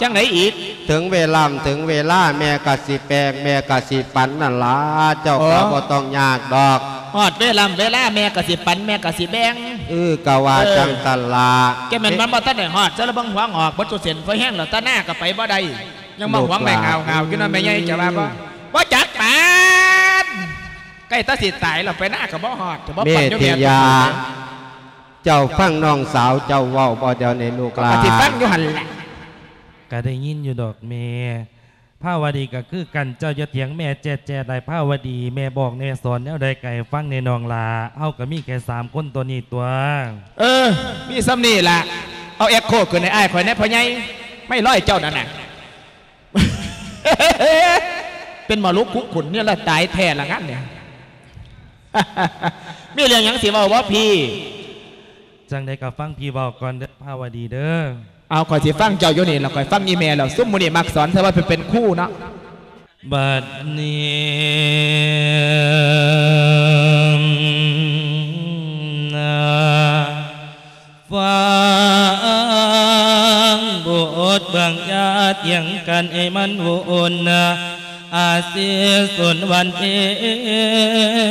ະ. ຈັ່ງໃດອີກ? ເຖິງເວລາ ເຖິງເວລາແມ່ກະຊິແບ່ງ ແມ່ກະຊິປັນນັ້ນລະ ເຈົ້າກະ ເອີ ບໍ່ຕ້ອງຍາກດອກ. ຮອດເວລາ ເວລາແມ່ກະຊິປັນ ແມ່ກະຊິແບ່ງ. ເອີ ກະວ່າ ເອີ ຈັ່ງຊັ້ນລະ. ແກແມ່ນມັນບໍ່ທັນໄດ້ຮອດ ຊະລະເບິ່ງຫົວງອກເບິດສູ່ເສັ້ນ ພໍແຮງແລ້ວ ຕາໜ້າກະໄປບໍ່ໄດ້ ຍັງມາຫວງໄມ້ຫງາວໆຢູ່ເນາະແມ່ໃຫຍ່ ເຈົ້າວ່າບໍ່? ບໍ່ຈັກປານ ໃກ້ແຕ່ຊິຕາຍແລ້ວ ໄປນາກະບໍ່ຮອດ ຈະບໍ່ປັນຢູ່ແມ່. ເມທິຍາ ເຈົ້າຟັງນ້ອງສາວເຈົ້າເວົ້າບໍ່ດຽວນີ້ລູກຫຼ້າ? ກະຊິຟັງຢູ່ຫັ້ນແຫຼະ. ກະໄດ້ຍິນຢູ່ດອກແມ່. ພາວະດີກະຄືກັນ ເຈົ້າຢ່າຖຽງແມ່ແຈດໆ ໄດ໋ພາວະດີ ແມ່ບອກແມ່ສອນແນວໃດກະໃຫ້ຟັງແດ່ນ້ອງຫຼ້າ ເຮົາກະມີແຄ່ສາມຄົນຕົວນີ້ຕົວະ. ເອີ ມີສ່ຳນີ້ລະ. ເອົາແອັກໂຄຂຶ້ນໃຫ້ອ້າຍຂ້ອຍແດ່ພໍ່ໃຫຍ່ ໄມ້ລອຍເຈົ້ານັ້ນນະ. ເປັນໝໍລຸກຄຸກຂຸນນີ້ລະ ຕາຍແທ້ລະງານນີ້. ມີເລື່ອງຫຍັງຊິເວົ້າບໍ່ພີ່? ຈັ່ງໃດກະຟັງພີ່ເວົ້າກ່ອນເດີພາວະດີເດີ. ເອົາ ຂ້ອຍຊິຟັງເຈົ້າຢູ່ນີ້ລະ ຂ້ອຍຟັງອີ່ແມ່ແລ້ວ ຊຸມໝູ່ນີ້ມັກສອນ ເທື່ອວ່າເປັນ ເປັນຄູເນາະ. ບັດນີ້ນະ ຟັງບົດບາງຢ່າຖຽງກັນໃຫ້ມັນວຸ່ນນະ ອາຊີສົນວັນເອ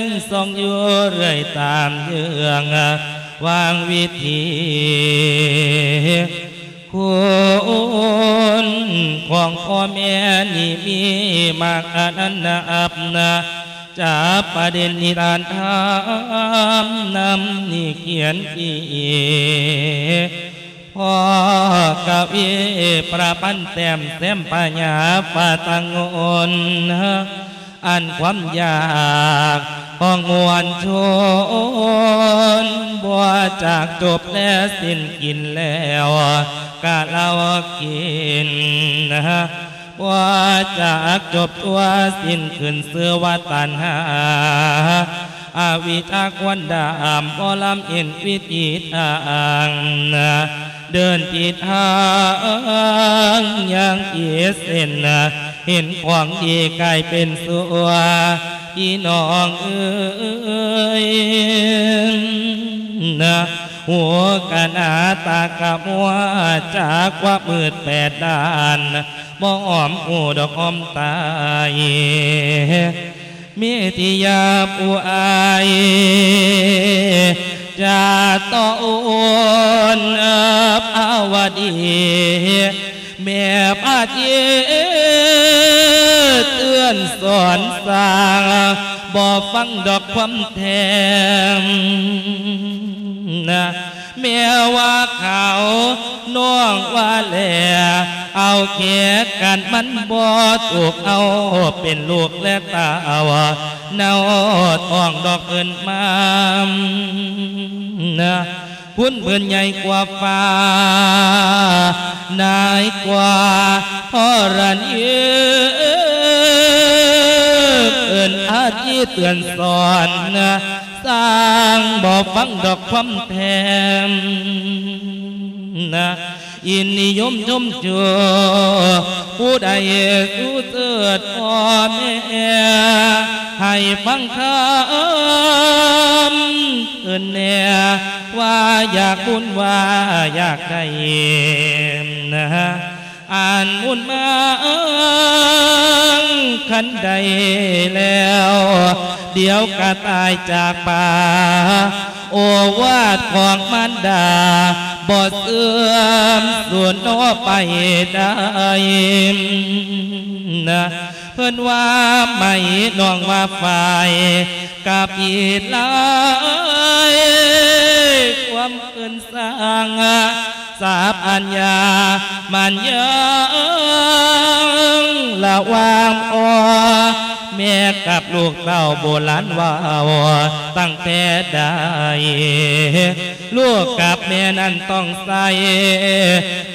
ງ ສ່ອງຢູ່ເລື້ອຍຕາມເຍືອງ ວາງວິທີ ຄຸນຂອງພໍ່ແມ່ນີ້ມີມາກອັນນັນນັບນະ ຈາກປະເດັນນິທານທຳນຳນີ້ຂຽນທີ່ ພໍກະວີປະພັນແຕ້ມແຊມພະຍາຟ້າຕັ້ງງົນ ອັນຄວາມຢາກຂອງມວນຊົນ ບໍ່ຈາກຈົບແລສິ້ນກິນແລ້ວກະເຫຼົ້າກິນ ບໍ່ຈາກຈົບຕົວສິ້ນຂຶ້ນຊື່ວ່າຕັນຫາ ອະວິດຊາຄວັນດຳ ບໍ່ລຳເຫັນວິທີທາງ ເດີນຜິດທາງຢ່າງຜິດເສັ້ນ ເຫັນຂອງດີກາຍເປັນຊົ່ວ ພີ່ນ້ອງເອີຍ ຫູກະໜາຕາກະມົວ ຈາກຄວາມມືດແປດດ້ານ ບໍ່ຫອມຫູດອກຫອມຕາຍ ເມທິຍາຜູ້ອາຍ ຈາຕະໂອນພາວະດີ ແມ່ພາທີ່ເຕືອນສອນສ້າງ ບໍ່ຟັງດອກຄວາມແທ້ງ ແມ່ວ່າຂາວ ນ້ອງວ່າແຫຼ ເອົາແຂກກັນມັນບໍ່ຖືກ ເອົາເປັນລູກແລະເຕົ້າ ເນົ່າທ້ອງດອກເພິ່ນມາ ຄຸນເພິ່ນໃຫຍ່ກວ່າຟ້າ ນາຍກວ່າທໍລະນີ ເອີ້ນອາທີເຕືອນສອນ ຊ່າງບໍ່ຟັງດອກຄວາມແທ້ງ ນະ ອີ່ນິຍົມຊົມຊູ ຜູ້ໃດສູ້ເຊີດພໍ່ແມ່ ໃຫ້ຟັງຄຳເອີ້ນແນ່ ວ່າຢາກບຸນວ່າຢາກໄດ້ ນະ ອັນບຸນມາອັງຄັນໃດແລ້ວ ດຽວກະຕາຍຈາກປາ ໂອວາດຂອງມານດາ ບໍ່ເສື່ອມສູນເນາະໄປໃດ ນະ ເພິ່ນວ່າໄໝ ນ້ອງວ່າຝ້າຍ ກະຜິດຫຼາຍ ຄວາມເອີ້ນ ສ້າງສາບອັນຍາ ມັນຍັງລະຫວ່າງພໍ່ ແມ່ກັບລູກເຕົ້າໂບລານເວົ້າຕັ້ງແຕ່ໃດ ລູກກັບແມ່ນັ້ນຕ້ອງໃສ່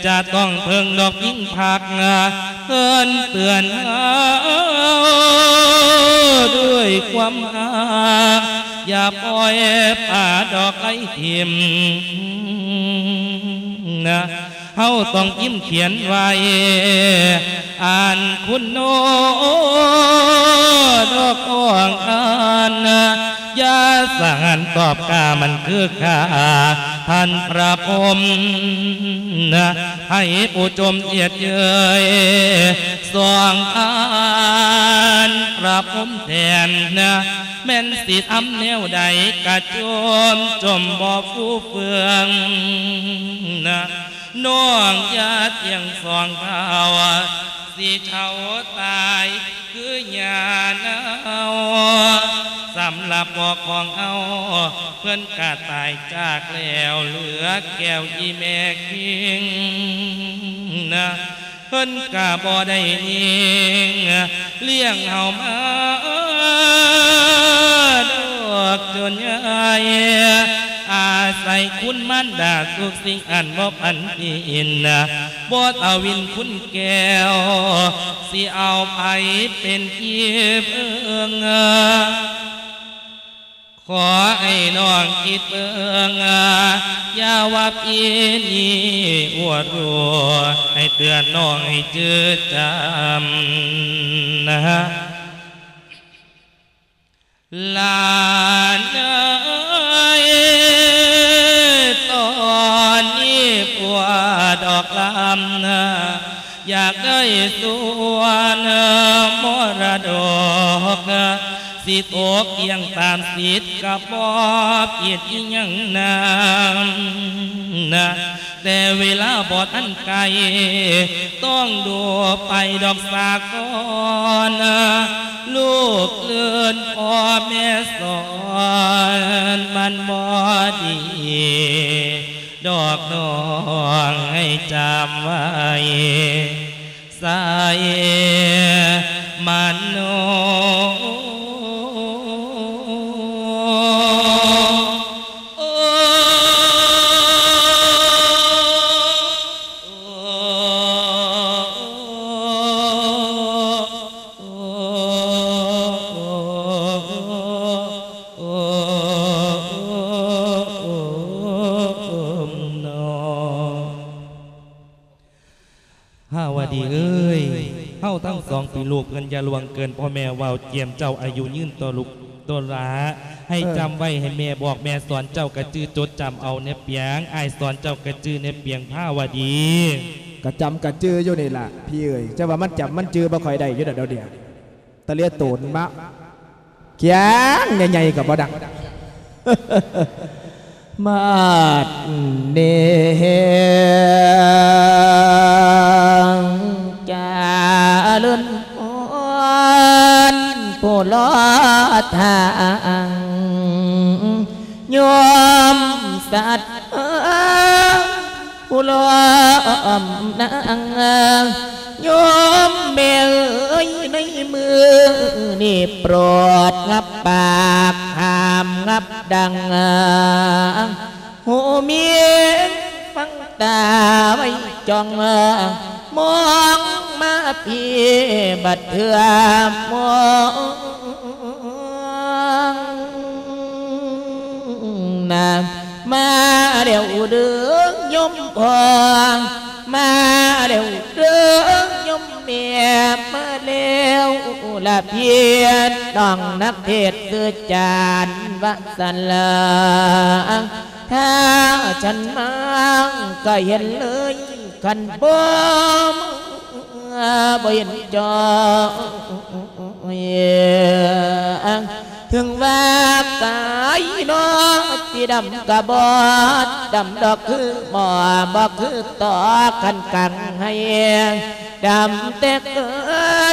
ຈະຕ້ອງເພິ່ງດອກພິງພັກ ເພິ່ນເຕືອນເຮົາດ້ວຍຄວາມຮັກ ຢ່າປ່ອຍປາດອກໄຫຼຖິ້ມນະ ເຮົາຕ້ອງພິມຂຽນໄວ້ ອ່ານຄຸນໂນດອກອອງອ່ານ ຢ່າສະຫານຕອບກາມັນຄືຂ້າທ່ານພະພົມນະ ໃຫ້ຜູ້ຈົ່ມເອີດເອີຍ ສອງອ່ານພະພົມແທນນະ ແມ່ນຊິທຳແນວໃດກະຈົ່ມຈົ່ມບໍ່ຟູເຟືອງນະ ນ້ອງຢ່າທ່ຽງສອງເທົ້າ ຊິເຖົ້າຕາຍຄືຍ່າເນົ່າ ສຳລັບພໍ່ຂອງເຮົາ ເພິ່ນກະຕາຍຈາກແລ້ວ ເຫຼືອແກ້ວອີ່ແມ່ຄິງນະ ເພິ່ນກະບໍ່ໄດ້ຍິງ ລ້ຽງເຮົາມາດອກຈົນໃຫຍ່ ອາໄສຄຸນມານດາທຸກສິ່ງອັນບໍ່ປັນກິນ ບໍ່ເອົາວິນຄຸນແກ້ວ ຊິເອົາໃຜເປັນທີ່ເພິ່ງ ຂໍໃຫ້ນ້ອງຄິດເບິ່ງ ຢ່າວ່າພີ່ນີ້ອວດຮູ້ ໃຫ້ເຕືອນນ້ອງໃຫ້ຈື່ຈຳນະ ຫຼານເອີຍ ຕອນນີ້ຜົວດອກລຳນະ ຢາກໄດ້ສ່ວນມໍລະດົກ ຊິຕົກທ່ຽງຕາມສິດກະບໍ່ຜິດອີ່ຫຍັງນຳນະ ແຕ່ເວລາບໍ່ທັນໃກ້ ຕ້ອງດູໄປດອກສາກ່ອນ ລູກເອີ້ນພໍ່ແມ່ສອນ ມັນບໍ່ດີ ດອກນ້ອງໃຫ້ຈຳໄວ້ ໃສ່ມະໂນ. ພາວະດີເອີຍ ເຮົາທັງສອງເປັນລູກເພິ່ນ ຢ່າລ່ວງເກີນພໍ່ແມ່ເວົ້າ ກຽມເຈົ້າອາຍຸຍືນຕໍ່ລູກຕໍ່ຫຼາ ໃຫ້ຈຳໄວ້ ໃຫ້ແມ່ບອກແມ່ສອນ ເຈົ້າກະຈື່ຈົດຈຳເອົາແນ່ປຽງ ອ້າຍສອນເຈົ້າກະຈື່ແນ່ປຽງ ພາວະດີ. ກະຈຳກະຈື່ຢູ່ນີ້ລະພີ່ເອີຍ ແຕ່ວ່າມັນຈຳມັນຈື່ບໍ່ຄ່ອຍໄດ້ຢູ່ດອກດຽວນີ້ ຕະເລໂຕນມະ ຂຽງໃຫຍ່ໆກໍບໍ່ດັງ ມາດເນງຈາເລີນອອນ ຜູ້ລໍທາງ ໂຍມສັດເອີຍ ຜູ້ລ້ອມນາງ ໂຍມແມ່ເອີຍ ໃນມື້ນີ້ໂປດງັບປາກ ຫ້າມງັບດັງ ຫູມີນຟັງຕາໄວ້ຈ້ອງ ມອງມາພີ້ບັດເທື່ອມອງ ນາງ ມາແລ້ວເດີໂຍມພໍ່ ມາແລ້ວເດີໂຍມແມ່ ມາແລ້ວລະພີ່ນ້ອງນັກເທດຊື່ຈານວະສັນລາ ຖ້າສັນມາກໍເຫັນເລີຍ ຄັນບໍ່ມາບໍ່ເຫັນຈ້ອງ ເຖິງວ່າກາຍນ້ອງຊິດຳກະບໍ່ດຳດອກຄືໝໍ ບໍ່ຄືຕອກຄັນກັງໃຫ້ ດຳແຕ່ເກີ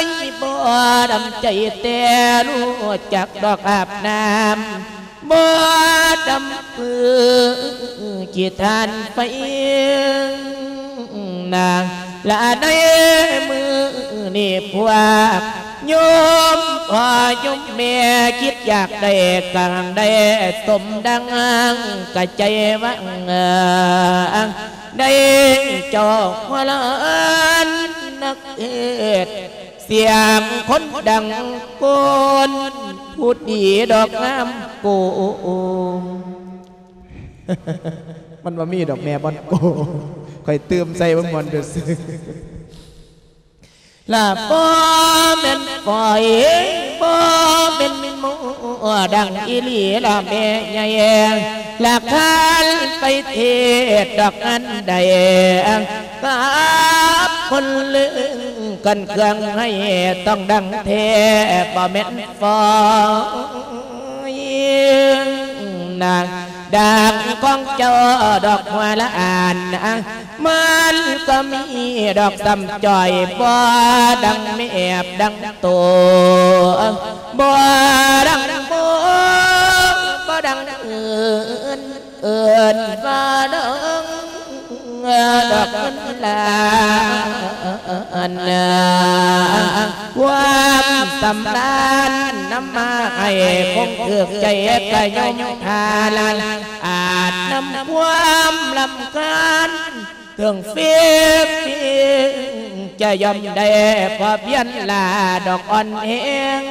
ຍບໍ່ດຳໃຈແຕ່ ຮູ້ຈັກດອກອາບນ້ຳ ບໍ່ດຳຄືຂີ້ຖ່ານໄຟ ນາງ ລະໃນມື້ນີ້ພວກ ໂຍມພໍ່ໂຍມແມ່ຄິດຢາກໄດ້ກາງໄດ້ສົມດັ່ງກະໃຈຫວັງ ໄດ້ເຈົ້າຫົວລ້ານນັກເທດ ສຽງຄົນດັງໂກນ ຜູ້ດີດອກງາມໂກງ. ມັນບໍ່ມີດອກແມ່ບ່ອນໂກງ ຂ້ອຍຕື່ມໃສ່ເບິ່ງມ່ວນຊື່ໆ. ລະບໍ່ແມ່ນຂ້ອຍ ບໍ່ແມ່ນໝໍ ດັງອີ່ຫຼີລະແມ່ໃຫຍ່ ລະຄັນໄປເທດດອກອັນໃດ ກັບຄົນລຶ້ງກັນເຄື່ອງໃຫ້ຕ້ອງດັງແທ້ ບໍ່ແມ່ນ ຟອຍນາງ ດັ່ງຂອງເຈົ້າດອກຫົວລະອານນາງ ມັນກໍມີດອກສ່ຳຈ່ອຍ ບໍ່ດັງແມບດັງໂຕ ບໍ່ດັງໂມ ບໍ່ດັງອື່ນ ເອີ້ນວ່າດອງ ດອກເງິນລ້ານ ຄວາມສຳລານນຳມາໃຫ້ຄົງຖືກໃຈກະຍມທາລານ ອາດນຳຄວາມລຳຄານເຖິງຟີບ ຈະຍອມໄດ້ພໍພຽນລາດອກອ່ອນແຮງ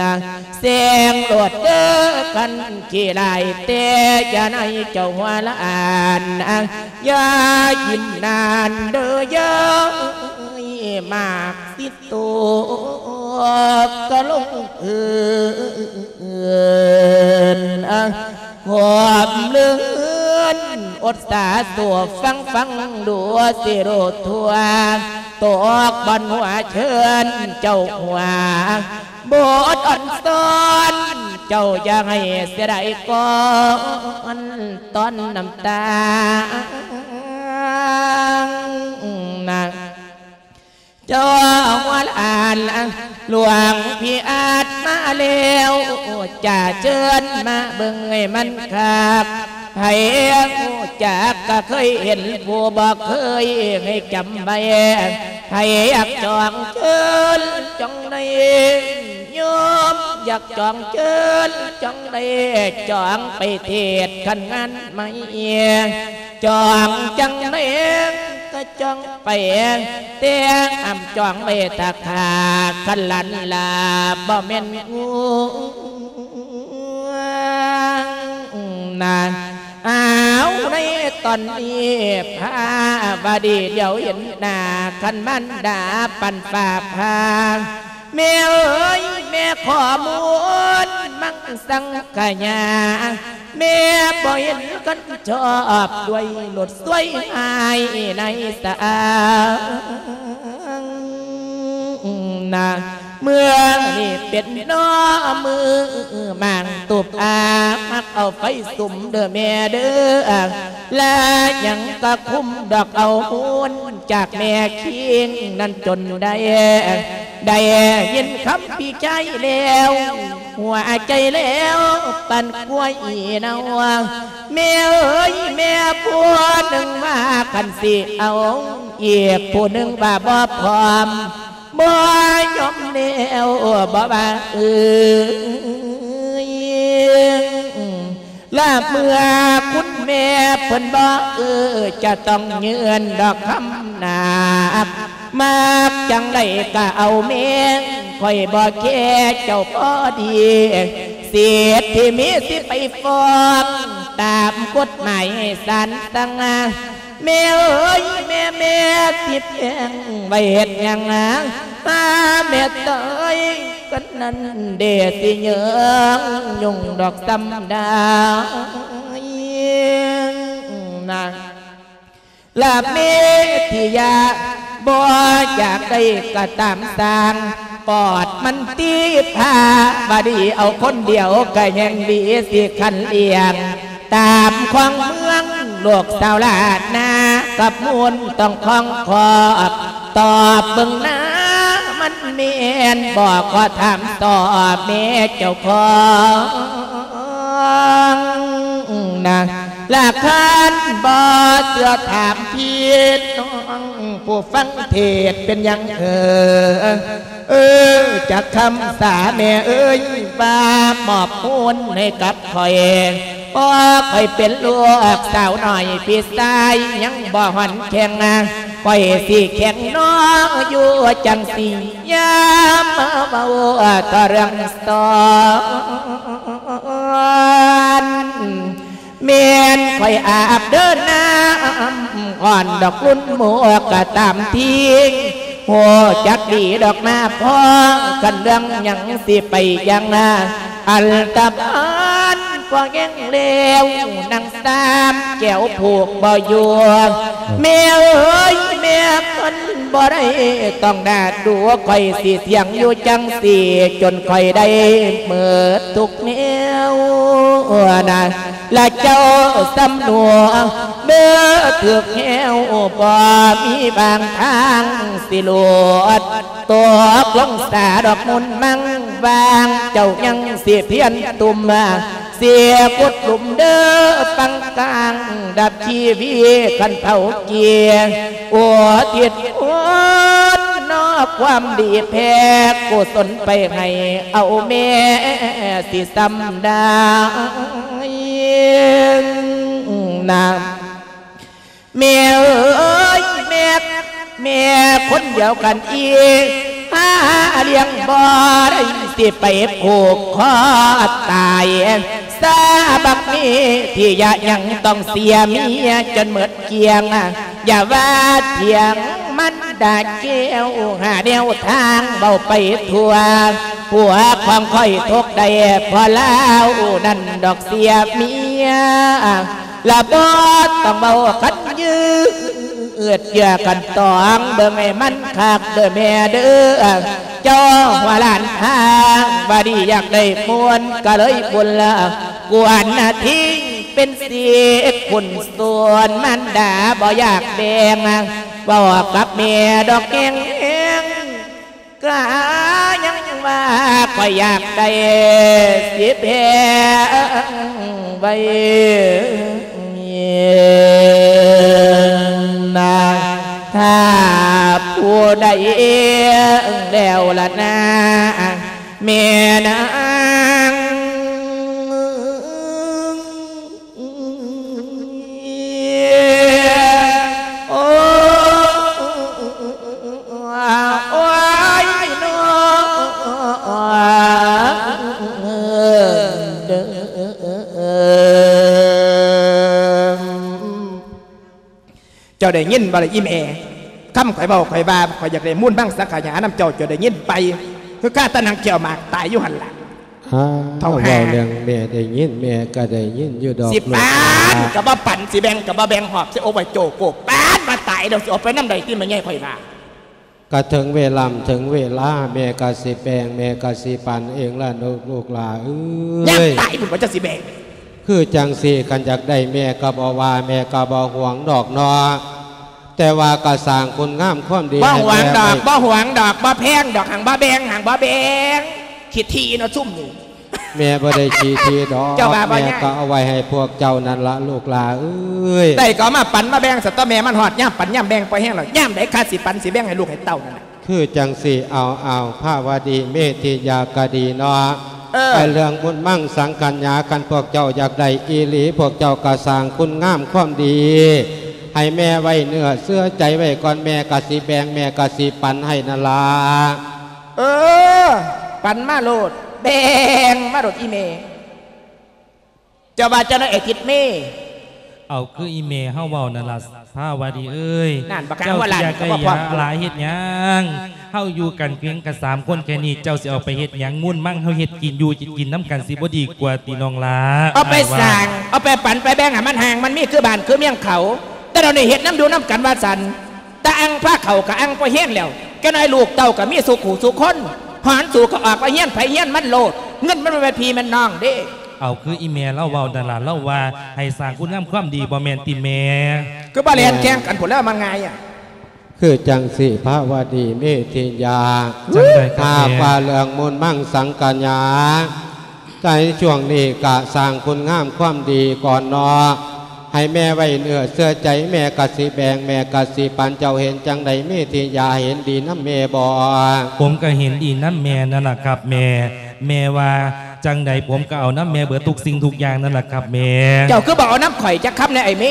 ນາງ ແຊງໂລດເດີຄັນຂີ້ຫຼາຍ ແຕ່ຢ່າໃນເຈົ້າຫົວລະອານນາງ ຢ່າກິນນານເດີເຢີຍ ໝາກຊິຕົກກະລົງພື້ນ ຄວາມເລື່ອນອົດສາໂສ ຟັງ ຟັງດູຊິຮູ້ທົ່ວ ຕົກບ່ອນຫົວເຊີນເຈົ້າຫົວ ບົດອ່ອນຊ້ອນເຈົ້າຢ່າໃຫ້ເສຍດາຍກ່ອນ ຕອນນ້ຳຕານາງ ເຈົ້າຫົວລະອານ ຫຼວງພີ່ອາດມາແລ້ວ ຈະເຊີນມາເບິ່ງໃຫ້ມັນຄັກ ໃຜຮູ້ຈັກກໍເຄີຍເຫັນ ຜູ້ບໍ່ເຄີຍໃຫ້ຈຳໄວ້ ໃຜຢາກຈອງເຊີນຈອງໄດ້ ໂຍມຢາກຈອງເຈີນຈອງໄດ້ ຈອງໄປເທດຄັນງານໃໝ່ ຈອງຈັ່ງໃດກໍຈອງໄປ ແຕ່ຫ້າມຈອງໄວ້ຖ້າຂ້າຄັນລັນລາ ບໍ່ແມ່ນງວງນາ ອ້າວ ໃນຕອນນີ້ພາວະດີຫຼຽວເຫັນໜ້າ ຄັນມານດາປັນຟ້າຜ່າ ແມ່ເອີຍ ແມ່ຂໍມູນມັງສັງຂະຍາ ແມ່ບໍ່ເຫັນຄັນຊອບດ້ວຍໂລດສວຍຫາຍໃນສາງນາ ເມື່ອນີ້ເປັນນໍມືໝາງຕຸບອາ ມັກເອົາໄຟສຸມເດີແມ່ເດີ ລະຍັງກະຄຸມດອກເອົາມູນຈາກແມ່ຄີງນັ້ນຈົນໄດ້ ໄດ້ຍິນຄຳພີ່ຊາຍແລ້ວ ຫົວໃຈແລ້ວປານຄວາຍເນົ່າ ແມ່ເອີຍ ແມ່ຜູ້ໜຶ່ງວ່າຄັນຊິເອົາ ອີກຜູ້ໜຶ່ງວ່າບໍ່ພ້ອມ ບໍ່ຍອມແລ້ວ ບໍ່ວ່າເອີຍ ລະເມື່ອຄຸນແມ່ເພິ່ນບໍ່ເອີ ຈະຕ້ອງຍື່ນດອກຄຳໜັກ ມັກຈັ່ງໃດກະເອົາແມ່ ຂ້ອຍບໍ່ແຄເຈົ້າພໍດີ ສິດທີ່ມີຊິໄປຟ້ອງ ຕາມກົດໝາຍໃຫ້ສານສັ່ງ ແມ່ເອີຍ ແມ່ ແມ່ຊິແພງໄວ້ເຮັດຫຍັງ ຫາແມ່ຕາຍກັນນັ້ນເດ ຊິເຍີງຍຸ່ງດອກສ່ຳໃດນາ ລະເມທິຍາ ບໍ່ຢາກໄດ້ກະຕາມສ້າງ ປອດມັນຕິພາວະດີ ເອົາຄົນດຽວກະແຮ່ງດີ ຊິຄັນລ້ຽງ ຕາມຂອງເມືອງໂລກສາວລ້ານນາ ກັບມູນຕ້ອງຂອງຄອບ ຕອບເບິ່ງນາ ມັນແມ່ນບໍ່ ຂໍຖາມຕໍ່ແມ່ເຈົ້າຂອງນາ ລະຄັນບໍ່ເຊື່ອຖາມພີ່ນ້ອງຜູ້ຟັງເທດ ເປັນຫຍັງເອີ ເອີ ຈັກຄຳສາແມ່ເອີຍ ວ່າມອບຄູນໃຫ້ກັບຂ້ອຍ ເພາະຂ້ອຍເປັນລູກສາວນ້ອຍ ພີ່ຊາຍຍັງບໍ່ຮ່ອນແຂງ ຂ້ອຍຊິແຂງນ້ອງຢູ່ຈັ່ງຊີ້ ຢ່າມາເວົ້າຕໍ່ເລື່ອງສອນ. ແມ່ນຂ້ອຍອາບເດີນນ້ຳ ອ່ອນດອກລຸນໝວກກໍຕາມທີ ຮູ້ຈັກດີດອກມາພໍ ຄັນເລື່ອງຫຍັງຊິໄປຢ່າງ ອັນຕະບານພໍແຮງແລ້ວ ນັ່ງສາມແກ້ວຜູກບໍ່ຢູ່ ແມ່ເອີຍ ແມ່ຄົນບໍ່ໄດ້ ຕ້ອງໜ້າດູ ຂ້ອຍຊິທ່ຽງຢູ່ຈັ່ງຊີ້ ຈົນຂ້ອຍໄດ້ໝົດທຸກແນວນະ ລະເຈົ້າສຳນວນ ເບີຖືກແຮວ ບໍ່ມີບາງທາງຊິຫຼວດ ຕົກລົງສາດອກມຸນມັງ ວ່າງເຈົ້າຍັງຊິພຽນຕຸ່ມ ເສຍກົດຫຼຸມເດີ ປັງກາງດັບຊີວິດ ຄັນເຜົາເກຍ ອຸທິດໂອນນອກຄວາມດີ ແຜ່ກຸສົນໄປໃຫ້ ເອົາແມ່ຊິສ່ຳໄດ້ນາ. ແມ່ເອີຍ ແມ່ ແມ່ຄົນດຽວກັນອີກ ຫາລ້ຽງບໍ່ໄດ້ ຊິໄປຜູກຄໍຕາຍ ສາບັກມີທີ່ຍະຍັງຕ້ອງເສຍເມຍຈົນໝົດກ້ຽງ ຢ່າວ່າຖຽງມັນດາແກ້ວ ຫາແນວທາງເວົ້າໄປທົ່ວ ຜົວຂອງຂ້ອຍຕົກໄດ້ ເພາະລາວນັ້ນດອກເສຍເມຍ ລະບໍ່ຕ້ອງເວົ້າຄັນຍືດເຢື້ອກັນຕອງ ເບິ່ງໃຫ້ມັນຄັກເດີແມ່ເດີ ເຈົ້າວ່າຫຼານພາວ່າດີຢາກໄດ້ມ່ວນ ກະເລີຍບຸນລະກວນນະ ຖິ້ມເປັນສິດຄຸນສ່ວນ ມານດາບໍ່ຢາກແບ່ງ ເວົ້າກັບແມ່ດອກແຮງ ກະຍັງວ່າຂ້ອຍຢາກໄດ້ ຊິແບ່ງໄວ້ນາ ຖ້າຜູ້ໃດແລ້ວລະນາ ແມ່ນາງ ໂອ້ຍ ໂອ້ຍ ໂອ້ຍ ໂອ້ຍ ເຈົ້າໄດ້ຍິນບໍ່ລະອີ່ແມ່? ຄຳຂ້ອຍເວົ້າ ຂ້ອຍວ່າ ຂ້ອຍຢາກໄດ້ມູນມັງສັງຂະຫຍານຳເຈົ້າ ເຈົ້າໄດ້ຍິນໄປ? ຄືຂ້າຕານັ່ງແຂ້ວໝາກຕາຍຢູ່ຫັ້ນລະ. ອ້າວ ເຖົ້າຫ່າ ເວົ້າເລື່ອງແມ່ໄດ້ຍິນ ແມ່ກໍໄດ້ຍິນຢູ່ດອກ ຊິປານກໍບໍ່ປານ ຊິແບ່ງກໍບໍ່ແບ່ງ ຫອບໃສ່ອົກໄວ້ໂຈໂກ ປານວ່າຕາຍແລ້ວ ຊິເອົາໄປນຳໃດຕິ ແມ່ໃຫຍ່ຂ້ອຍວ່າ. ກະເຖິງເວລາ ເຖິງເວລາ ແມ່ກໍຊິແບ່ງ ແມ່ກໍຊິປັນເອງລະລູກ ລູກຫຼ້າເອີຍ. ຍາມຕາຍພຸ້ນວ່າຈະຊິແບ່ງ. ຄືຈັ່ງຊີ້ ຄັນຢາກໄດ້ແມ່ກໍບໍ່ວ່າ ແມ່ກໍບໍ່ຫວງດອກເນາະ. ແຕ່ວ່າກໍສ້າງຄຸນງາມຄວາມດີ ບໍ່ຫວງດອກ ໃຫ້ແມ່ໄວ້ ບໍ່ຫວງດອກ ບໍ່ແພງດອກ ຫັ້ນບໍ່ແບ່ງ ຫັ້ນບໍ່ແບ່ງ ຂີ້ຖີ່ເນາະຊຸມນີ້. ແມ່ບໍ່ໄດ້ຂີ້ຖີ່ດອກ ເຈົ້າວ່າບໍ່ຍາກ ແມ່ກໍເອົາໄວ້ໃຫ້ພວກເຈົ້ານັ້ນລະລູກຫຼ້າເອີຍ. ໄດ້ກໍເອົາມາປັນມາແບ່ງຊະຕົວະແມ່ ມັນຮອດຍາມປັນຍາມແບ່ງພໍແຮງແລ້ວ ຍາມໃດຂ້າຊິປັນຊິແບ່ງໃຫ້ລູກໃຫ້ເຕົ້ານັ້ນນະ. ຄືຈັ່ງຊີ້ ເອົາ ເອົາ ພາວະດີ ເມທິຍາກະດີເນາະ. ເອີ ໄອ້ເລື່ອງບຸນມັງສັງຂະຍາ ຄັນພວກເຈົ້າຢາກໄດ້ອີ່ຫຼີ ພວກເຈົ້າກໍສ້າງຄຸນງາມຄວາມດີ ໃຫ້ແມ່ໄວ້ເນື້ອເຊື່ອໃຈໄວ້ກ່ອນ ແມ່ກໍຊິແບ່ງ ແມ່ກໍຊິປັນໃຫ້ນັ້ນລະ. ເອີ ປັນມາໂລດ ແບ່ງມາໂລດອີ່ແມ່. ເຈົ້າວ່າຈັ່ງໃດ ໄອ້ທິດເມ? ເອົາຄືອີ່ແມ່ເຮົາເວົ້ານັ້ນລະ ພາວະດີເອີຍ. ນັ້ນ ບັກຫາຫົວລ້ານກໍບໍ່ພ້ອມ ເຈົ້າຊິຢາກໄດ້ຢາຫຼາຍເຮັດຫຍັງ? ເຮົາຢູ່ກັນພຽງແຕ່ສາມຄົນແຄ່ນີ້ ເຈົ້າຊິເອົາໄປເຮັດຫຍັງ? ມູນມັງເຮົາເຮັດກິນຢູ່ກິນນຳກັນ ຊິບໍ່ດີກວ່າຕິນ້ອງຫຼ້າ? ເອົາໄປສ້າງ ເອົາໄປປັນໄປແບ່ງໃຫ້ມັນຮ່າງມັນມີຄືບ້ານຄືເມືອງເຂົາ ແຕ່ດຽວນີ້ເຮັດນຳຢູ່ນຳກັນວ່າຊັ້ນ. ຕາອັ່ງພາເຂົ້າກະອັ່ງພໍແຮງແລ້ວ ຈັກໜ້ອຍລູກເຕົ້າກະມີສູ່ຄູ່ສູ່ຄົນ ຫອນສູກະອອກວ່າຮຽນໃຜຮຽນມັນໂລດ ເງິນມັນບໍ່ແມ່ນພີ່ແມ່ນນ້ອງເດ້. ເອົາຄືອີ່ແມ່ລາວເວົ້ານັ້ນລະ ລາວວ່າໃຫ້ສ້າງຄຸນງາມຄວາມດີ ບໍ່ແມ່ນຕິແມ່? ຄືບໍ່ແລ່ນແຂ່ງກັນພຸ້ນແລ້ວມັນງ່າຍອະ. ຄືຈັ່ງຊີ້ພາວະດີເມທິຍາ ຈັ່ງໃດກໍແມ່ ຫາກວ່າເລື່ອງມູນມັງສັງຂະຍາ ໃນຊ່ວງນີ້ກະສ້າງຄຸນງາມຄວາມດີກ່ອນເນາະ. ໃຫ້ແມ່ໄວ້ເນື້ອເຊື່ອໃຈ ແມ່ກະຊິແບ່ງ ແມ່ກະຊິປັນ ເຈົ້າເຫັນຈັ່ງໃດ ມີທິຍາເຫັນດີນຳແມ່ບໍ່? ຜົມກະເຫັນດີນຳແມ່ນັ້ນລະຄັບແມ່. ແມ່ວ່າຈັ່ງໃດ ຜົມກະເອົານຳແມ່ເບິດທຸກສິ່ງທຸກຢ່າງນັ້ນລະຄັບແມ່. ເຈົ້າຄືບໍ່ເອົານຳຂ້ອຍຈັກຄຳແດ່ອ້າຍເມ?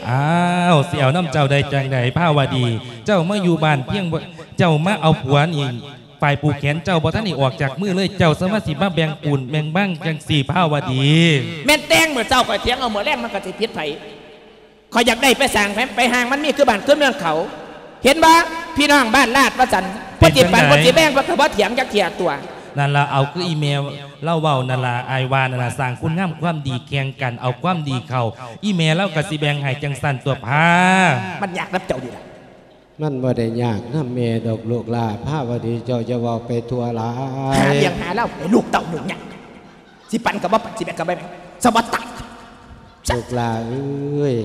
ອ້າວ ຊິເອົານຳເຈົ້າໄດ້ຈັ່ງໃດ ພາວະດີ? ເຈົ້າມາຢູ່ບ້ານພຽງ ເຈົ້າມາເອົາຜົວນີ້ ຝ່າຍຜູກແຂນເຈົ້າບໍ່ທັນໄດ້ອອກຈາກມືເລີຍ ເຈົ້າສາມາດຊິມາແບ່ງປູນແບ່ງບັງຈັ່ງຊີ້ພາວະດີ. ແມ່ນແຕ່ງມື້ເຊົ້າຂ້ອຍຖຽງເອົາ ມື້ແລງມັນກະຊິຜິດໃຜ? ຂ້ອຍຢາກໄດ້ໄປສ້າງໄປ ໄປຮ່າງມັນມີຄືບ້ານຄືເມືອງເຂົາ. ເຫັນບໍ່ ພີ່ນ້ອງບ້ານລາດວ່າຊັ້ນ ເພິ່ນຊິປັນ ເພິ່ນຊິແບ່ງ ເພິ່ນກະບໍ່ຖຽງຈັກເທື່ອຕົວະ. ນັ້ນລະ ເອົາຄືອີ່ແມ່ລາວເວົ້ານັ້ນລະ ອ້າຍວ່ານັ້ນລະ ສ້າງຄຸນງາມຄວາມດີແຂ່ງກັນ ເອົາຄວາມດີເຂົ້າ ອີ່ແມ່ລາວກະຊິແບ່ງໃຫ້ຈັ່ງຊັ້ນຕົວະພາ. ມັນຍາກນຳເຈົ້ານີ້ລະ. ມັນບໍ່ໄດ້ຍາກນຳແມ່ດອກລູກຫຼ້າ ພາວະດີ ເຈົ້າຢ່າເວົ້າໄປທົ່ວຫຼາຍ. ຫາເລື່ອງຫາລາວໃຫ້ລູກເຕົ້າຫຍຸ້ງຍາກ ຊິປັນກະບໍ່ປັນ ຊິແບ່ງກະບໍ່ແບ່ງ ສະບັດຕາຍ. ລູກຫຼ້າເອີຍ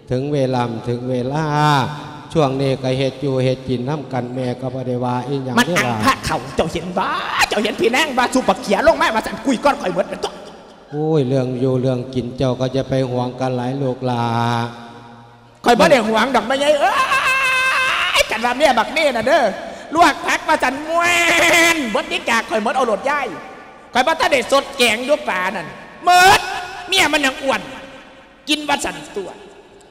ເຖິງເວລາ ເຖິງເວລາ ຊ່ວງນີ້ກະເຮັດຢູ່ເຮັດກິນນຳກັນ ແມ່ກະບໍ່ໄດ້ວ່າອີ່ຫຍັງ. ມັນອັງພະເຂົ້າ ເຈົ້າເຫັນບໍ່? ເຈົ້າເຫັນພີ່ນາງວ່າສູບບັກເຂືອລົງມາວ່າຊັ້ນ ກຸຍກ່ອນຂ້ອຍເໝິດແມ່ນຕົວະ. ໂອ້ຍ ເລື່ອງຢູ່ເລື່ອງກິນເຈົ້າກະຢ່າໄປຫວງກັນຫຼາຍລູກຫຼ້າ. ຂ້ອຍບໍ່ໄດ້ຫວງດອກແມ່ໃຫຍ່ເອີຍ ຄັນວ່າເມຍບັກເມນະເດີ ລວກຜັກວ່າຊັ້ນ ແມ່ນ ເບິດນີ້ກາກຂ້ອຍເໝິດເອົາໂລດຍາຍ. ຂ້ອຍບໍ່ທັນໄດ້ສົດແກງຢູ່ປານັ້ນ ເໝິດ ເມຍມັນຍັງອ້ວນ ກິນວ່າຊັ້ນຕົວະ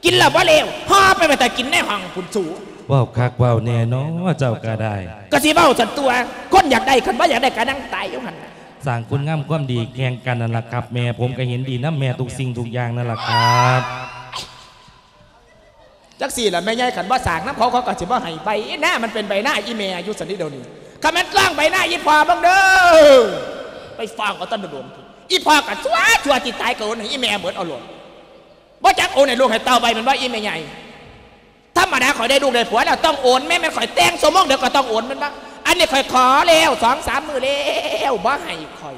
ກິນແລ້ວບໍ່ເລວ ຫໍ່ໄປໄວ້ຖ້າກິນໃນຫ້ອງພຸ້ນສູ. ເວົ້າຄັກເວົ້າແນ່ເນາະ ເຈົ້າກະໄດ້. ກະຊິເວົ້າຊັ້ນຕົວະ ຄົນຢາກໄດ້ ຄັນບໍ່ຢາກໄດ້ກະນັ່ງຕາຍຢູ່ຫັ້ນລະ. ສ້າງຄຸນງາມຄວາມດີແຂ່ງກັນນັ້ນລະຄັບແມ່ ຜົມກະເຫັນດີນຳແມ່ທຸກສິ່ງທຸກຢ່າງນັ້ນລະຄັບ. ຈັກຊີ້ລະແມ່ໃຫຍ່ ຄັນບໍ່ສ້າງນຳເຂົາ ເຂົາກະຊິບໍ່ໃຫ້ໃບນາ ມັນເປັນໃບນາອີ່ແມ່ຢູ່ຊັ້ນນີ້ດຽວນີ້. ຄັນແມ່ນຕ້ອງໃບນາອີ່ພໍ່ເບິ່ງເດີ ໄປຟ້ອງເອົາຕຳຫຼວດ. ອີ່ພໍ່ກະຊົ່ວ ຊົ່ວຊິຕາຍກະໂອນໃຫ້ອີ່ແມ່ເໝິດເອົາໂລດ. ບໍ່ຈັກໂອນໃຫ້ລູກໃຫ້ເຕົ້າໃບແມ່ນບໍ່ອີ່ແມ່ໃຫຍ່? ທຳມະດາຂ້ອຍໄດ້ລູກໄດ້ຜົວແລ້ວຕ້ອງໂອນແມ່ ແມ່ນຂ້ອຍແຕ່ງຊົ່ວໂມງດຽວກະຕ້ອງໂອນແມ່ນບໍ່? ອັນນີ້ຂ້ອຍຂໍແລ້ວສອງສາມມື້ແລ້ວ ບໍ່ໃຫ້ຂ້ອຍ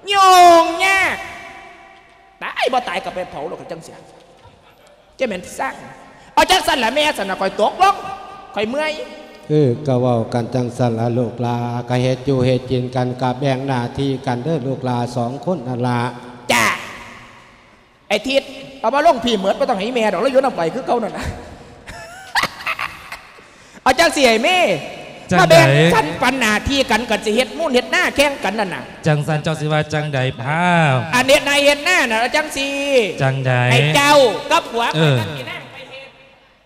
ຫຍຸ້ງຍາກ. ຕາຍບໍ່ຕາຍກະໄປເຜົາໂລດ ກະຈັ່ງຊີ້ ຈະແມ່ນຊັງ. ເອົາຈັ່ງຊັ້ນລະແມ່ ຊັ້ນນະ ຂ້ອຍຕົກລົງ ຂ້ອຍເມື່ອຍ. ເອີ ກະເວົ້າກັນຈັ່ງຊັ້ນລະລູກຫຼ້າ ກະເຮັດຢູ່ເຮັດກິນກັນ ກະແບ່ງໜ້າທີ່ກັນເດີລູກຫຼ້າສອງຄົນນັ້ນລະ. ຈ້າ ໄອ້ທິດ ເອົາມາລົງພີ້ເໝິດ ບໍ່ຕ້ອງໃຫ້ແມ່ດອກ ລາວຢູ່ນຳຂ້ອຍຄືເກົ່ານັ້ນລະ. ເອົາຈັ່ງຊີ້ໄອ້ເມ ຈັ່ງໃດ? ມາແບ່ງກັນປັນໜ້າທີ່ກັນ ກະຊິເຮັດມູນເຮັດນາແຂ່ງກັນນັ້ນນະ. ຈັ່ງຊັ້ນເຈົ້າຊິວ່າຈັ່ງໃດພາວ? ອັນເຮັດໄຮ່ເຮັດນານະ ເອົາຈັ່ງຊີ້ ຈັ່ງໃດ? ໃຫ້ເຈົ້າກັບຜົວ ເອີ ຂ້ອຍກັບອີ່ນາງໄປເຮັດ.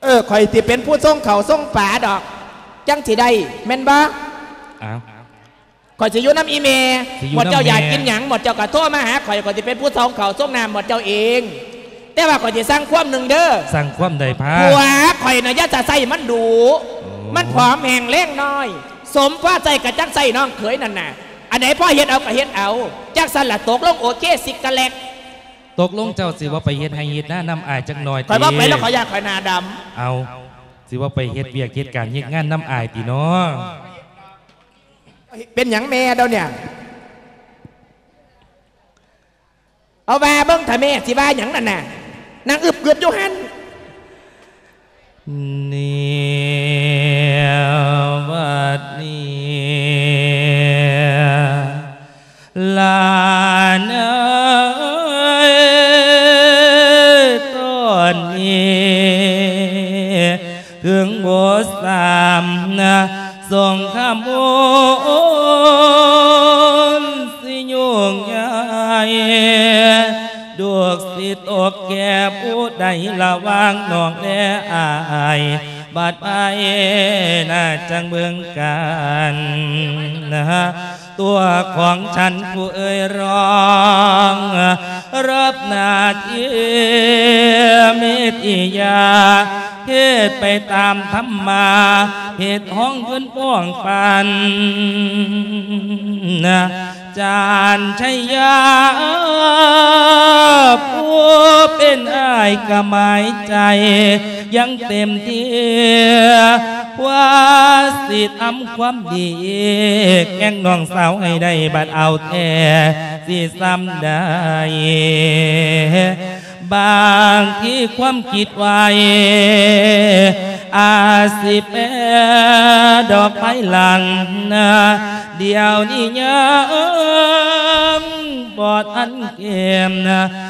ເອີ ຂ້ອຍຊິເປັນຜູ້ສົ່ງເຂົ້າສົ່ງປາດອກ ຈັ່ງຊິໄດ້ ແມ່ນບໍ່? ອ້າວ ຂ້ອຍຊິຢູ່ນຳອີ່ແມ່ ຊິຢູ່ນຳແມ່ ໝົດເຈົ້າຢາກກິນຫຍັງ ໝົດເຈົ້າກະໂທມາຫາຂ້ອຍ ຂ້ອຍຊິເປັນຜູ້ສົ່ງເຂົ້າສົ່ງນ້ຳໝົດເຈົ້າເອງ. ແຕ່ວ່າຂ້ອຍຊິສັ່ງຄວາມໜຶ່ງເດີ. ສັ່ງຄວາມໃດພາ? ຜົວຂ້ອຍນະຢ່າສະໃຊ້ມັນດຸ ໂອ້ ມັນຜອມແຫ້ງແຮງນ້ອຍ ສົມພໍໃຊ້ກະຈັກໃຊ້ນ້ອງເຂີຍນັ້ນນະ. ອັນໃດພໍເຮັດເອົາກະເຮັດເອົາ. ຈັ່ງຊັ້ນລະ ຕົກລົງໂອເຄ ຊິກະແລັກ. ຕົກລົງເຈົ້າຊິບໍ່ໄປເຮັດໄຮ່ເຮັດນານຳອ້າຍຈັກໜ້ອຍຕິ? ຂ້ອຍບໍ່ໄປແລ້ວ ຂ້ອຍຢ້ານຂ້ອຍໜ້າດຳ. ເອົ້າ ຊິບໍ່ໄປເຮັດວຽກເຮັດການເຮັດງານນຳອ້າຍຕິເນາະ? ເປັນຫຍັງແມ່ດຽວນີ້? ເອົາວ່າເບິ່ງຖ້າແມ່ຊິວ່າຫຍັງນັ້ນນະ ນັ່ງອຶບກຶບຢູ່ຫັ້ນ. ແນວບັດນີ້ ຫຼານເອີຍ ຕອນນີ້ເຖິງບໍ່ສາມນະ ສົງຄາມໂອນຊິຫຍຸ້ງໃຫຍ່ ລູກຊິຕົກແກ່ຜູ້ໃດລະຫວ່າງນ້ອງແລອ້າຍ ບາດໃຜນະຈັ່ງເບິ່ງກັນນະ ຕົວຂອງສັນຜູ້ເອີຍ ຮ້ອງຮັບໜ້າທີ່ເມດອີຢາ ເຮັດໄປຕາມທຳມາ ເຮັດຫ້ອງເພິ່ນປ້ອງປັນນະ ຈານໄຊຍາ ຜູ້ເປັນອ້າຍກະໝາຍໃຈ ຍັງເຕັມທີ່ ວ່າຊິທຳຄວາມດີແກ່ງນ້ອງສາວໃຫ້ໄດ້ ບັດເອົາແທ້ຊິສ່ຳໃດ. ບາງທີຄວາມຄິດໄວ້ ອາດຊິແປດອກພາຍຫຼັງນະ ດຽວນີ້ຍັງບໍ່ທັນເກມນະ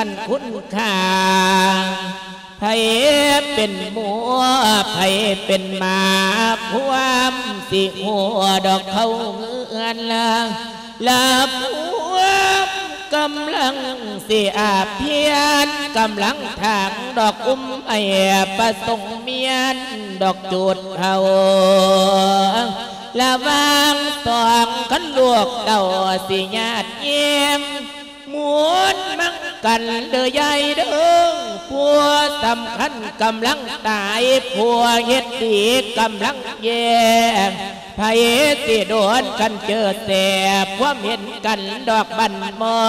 ອັນຄຸນຄ່າ ໃຜເປັນໝູ ໃຜເປັນໝາ ຄວາມຊິຮູ້ດອກເຂົ້າເຮືອນລະ ລະພວມກຳລັງຊິອາພຽນ ກຳລັງທາງດອກອຸ້ມໄອປະສົງມຽນດອກຈູດເຜົາ ລະຫວ່າງສອງຄັນລູກເຕົ້າຊິຍາດເຢັນ ໝູນມັງກັນເດີຍາຍເດີ ຜູ້ສຳຄັນກຳລັງຕາຍ ຜູ້ເຮັດດີກຳລັງແຍ່ ໃຜຊິໂດນຄັນເຈີແສບ ຄວາມເຫັນກັນດອກບັນໝໍ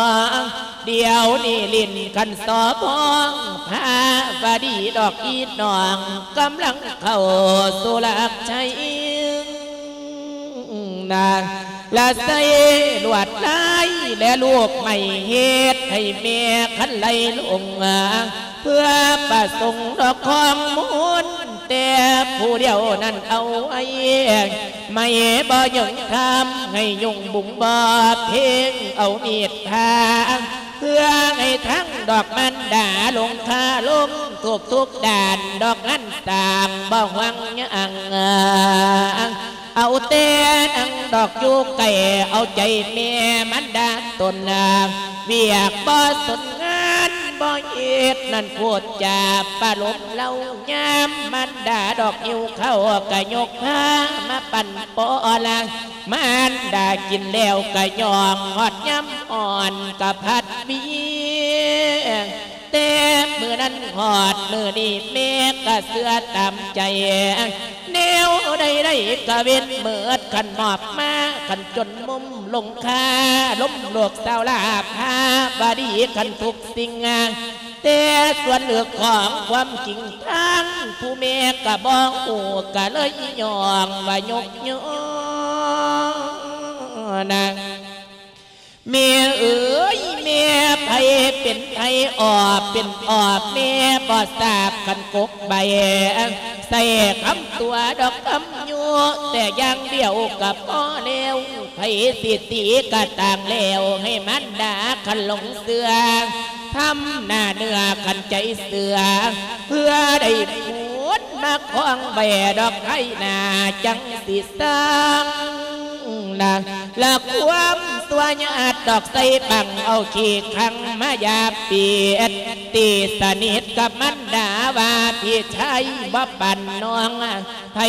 ດຽວນີ້ຫຼິ້ນຄັນສອບອງ ພາວະດີດອກອີນ້ອງ ກຳລັງເຂົ້າສູ່ຫຼັກໄຊ ນາງລະໃສ່ລວດລາຍ ແລະລູກໄມ້ເຮັດໃຫ້ແມ່ຄັນໄຫຼຫຼົງ ເພື່ອປະສົງດອກຂອງມົນ ແຕ່ຜູ້ດຽວນັ້ນເອົາໄວ້ ໄມ້ບໍ່ຍອມທຳໃຫ້ຍຸງບຸງບໍ່ເພັງ ເອົາມີດຜ່າ ເພື່ອໃຫ້ທັງດອກມານດາລົງຄາລົງທຸກໆດ້ານ ດອກງານສ້າງບໍ່ຫວັງຫຍັງ ເອົາແຕ່ນັ່ງດອກຢູ່ໃກ້ ເອົາໃຈແມ່ມານດາຕົນ ວຽກບໍ່ສົນງານບໍ່ເຮັດນັ້ນ ໂພດຈາປະໂລມເລົ່າ ຍາມມານດາດອກຫິວເຂົ້າ ກະຍົກພາມາປັ້ນປ້ອນ ມານດາກິນແລ້ວກະຍ່ອງ ຮອດຍາມອ່ອນກະພັດວຽງ ແຕ່ມື້ນັ້ນຮອດມື້ນີ້ ແມ່ກະເຊື່ອຕາມໃຈ ແນວໃດໆກະເວັນເໝິດ ຄັນມອບມາ ຄັນຈົນມຸມລົງຄາ ລົມໂລກສາວລາພາວະດີ ຄັນທຸກສິ່ງ ແຕ່ສ່ວນເລື່ອງຂອງຄວາມຈິງທາງ ຜູ້ແມ່ກະບໍ່ຮູ້ ກະເລີຍຍ້ອງວ່າຍົກຍ້ອນນາງ ແມ່ເອີຍ ແມ່ໃຜເປັນໃຜ ອອບເປັນອອບ ແມ່ບໍ່ຊາບຄັນກົກໃບ ໃສ່ຄຳຕົວະດອກຄຳຍຸ ແຕ່ຢ່າງດຽວກະພໍແລ້ວ ໃຜຊິຕີກະຕ່າງແລ້ວ ໃຫ້ມານດາຄັນຫຼົງເຊື່ອ ທຳໜ້າເນື້ອຄັນໃຈເຊື່ອ ເພື່ອໄດ້ຜົນມາຄອງໄວ້ດອກໄທໜ້າ ຈັ່ງຊິສ້າງນາ ລະຄວາມຊົ່ວຍາດດອກໃສ່ບັງ ເອົາຂີ້ຂັງມາຢາບປິດ ຕີສະໜິດກັບມານດາວ່າ ພີ່ຊາຍບໍ່ປານນ້ອງ ໃຜ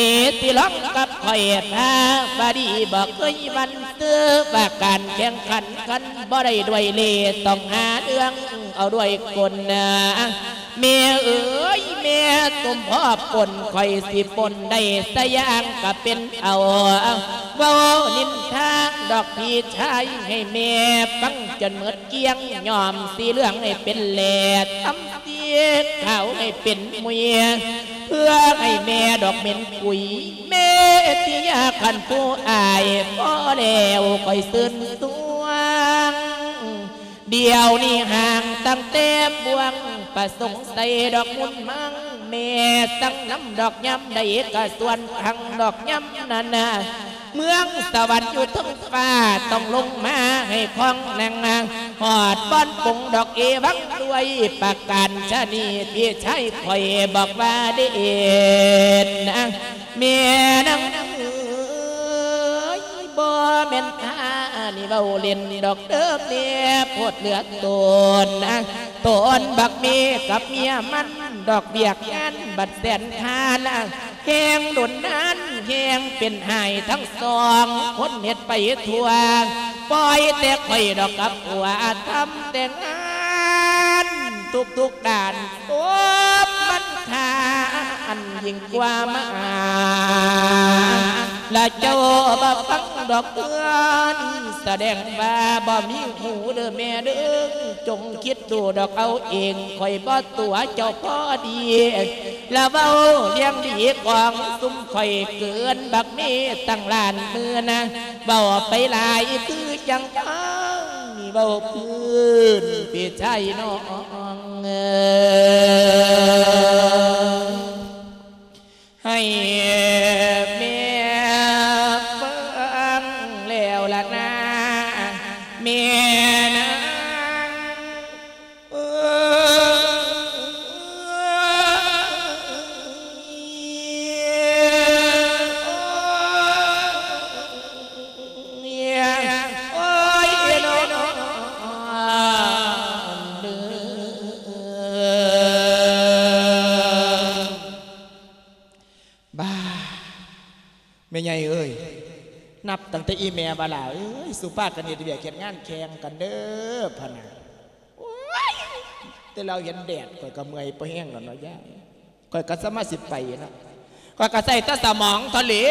ຊິລອງກັບຂ້ອຍພາວະດີ ບໍ່ເຄີຍຫວັ່ນເຊື່ອວ່າການແຂ່ງຂັນ ຄັນບໍ່ໄດ້ດ້ວຍເລ່ ຕ້ອງຫາເລື່ອງເອົາດ້ວຍກົນນາ ແມ່ເອີຍ ແມ່ສົມພໍປົນ ຂ້ອຍຊິປົນໄດ້ສະຢ່າງກະເປັນເອົາ ເວົ້ານິນທາດອກພີ່ຊາຍໃຫ້ແມ່ຟັງຈົນໝົດກ້ຽງ ຍ້ອມສີເຫຼືອງໃຫ້ເປັນແຫຼດ ທຳສີຂາວໃຫ້ເປັນມຸຍ ເພື່ອໃຫ້ແມ່ດອກເໝັນກຸຍ ແມ່ທີ່ຢາກຄັນຜູ້ອາຍ ພໍແລ້ວຂ້ອຍຊື່ນຊວງ ດຽວນີ້ຫ່າງຕັ້ງແຕ່ບ່ວງ ປະສົງໃສ່ດອກມຸນມັງ ແມ່ສັ່ງນຳດອກຍາມໃດກະສ່ວນທາງດອກຍາມນັ້ນນາ ເມືອງສະຫວັນຢູ່ເທິງຟ້າ ຕ້ອງລົງມາໃຫ້ຄອງນັ່ງ ຮອດບ່ອນປົງດອກເອວັງ ດ້ວຍປະການຊະນີ ພີ່ຊາຍຂ້ອຍບອກວ່າເດດນາ ແມ່ນາງເອີຍ ບໍ່ແມ່ນຂ້ານີ້ເວົ້າເລ່ນດອກເດີແມ່ ໂພດເຫຼືອໂຕນນາ ໂຕນບັກເມກັບເມຍມັນ ດອກວຽກງານບັດແສນຄານນາ ແຮງດົນນານແຮງເປັນຫາຍທັງສອງ ຄົນເຮັດໄປທົ່ວ ປ່ອຍແຕ່ຂ້ອຍດອກກັບຜົວ ທຳແຕ່ງານທຸກໆດ້ານ ໂອມມັນຄາອັນຍິ່ງກວ່າມາ ລະເຈົ້າບໍ່ຟັງດອກເອີນ ສະແດງວ່າບໍ່ມີຫູເດີແມ່ເດີ ຈົ່ງຄິດ ດູດອກເອົາເອງ ຂ້ອຍບໍ່ຕົວະເຈົ້າພໍດີ ລະເວົ້າລຽງດີຂອງຊຸມຂ້ອຍເກີນ ບັກເມຕັ້ງລ້ານໝື່ນນາ ເວົ້າໄປຫຼາຍຄືຈັ່ງຟັງ ເວົ້າພື້ນພີ່ຊາຍນ້ອງເອີຍ ໃຫ້ແມ່ຟັງແລ້ວລະນາ ແມ່ນາງເອີຍ. ແມ່ໃຫຍ່ເອີຍ, ນັບຕັ້ງແຕ່ອີ່ແມ່ວ່າ ຫຼ້າເອີຍ ສຸພາກັນເຮັດວຽກເຮັດງານແຂ່ງກັນເດີ ພະນະ. ໂອ້ຍ ແຕ່ລາວເຫັນແດດ ຂ້ອຍກໍເມື່ອຍພໍແຮງແລ້ວເນາະຍາຍ. ຂ້ອຍກໍສາມາດຊິໄປເນາະ, ຂ້ອຍກໍໃຊ້ແຕ່ສະໝອງເທົ່າແລ້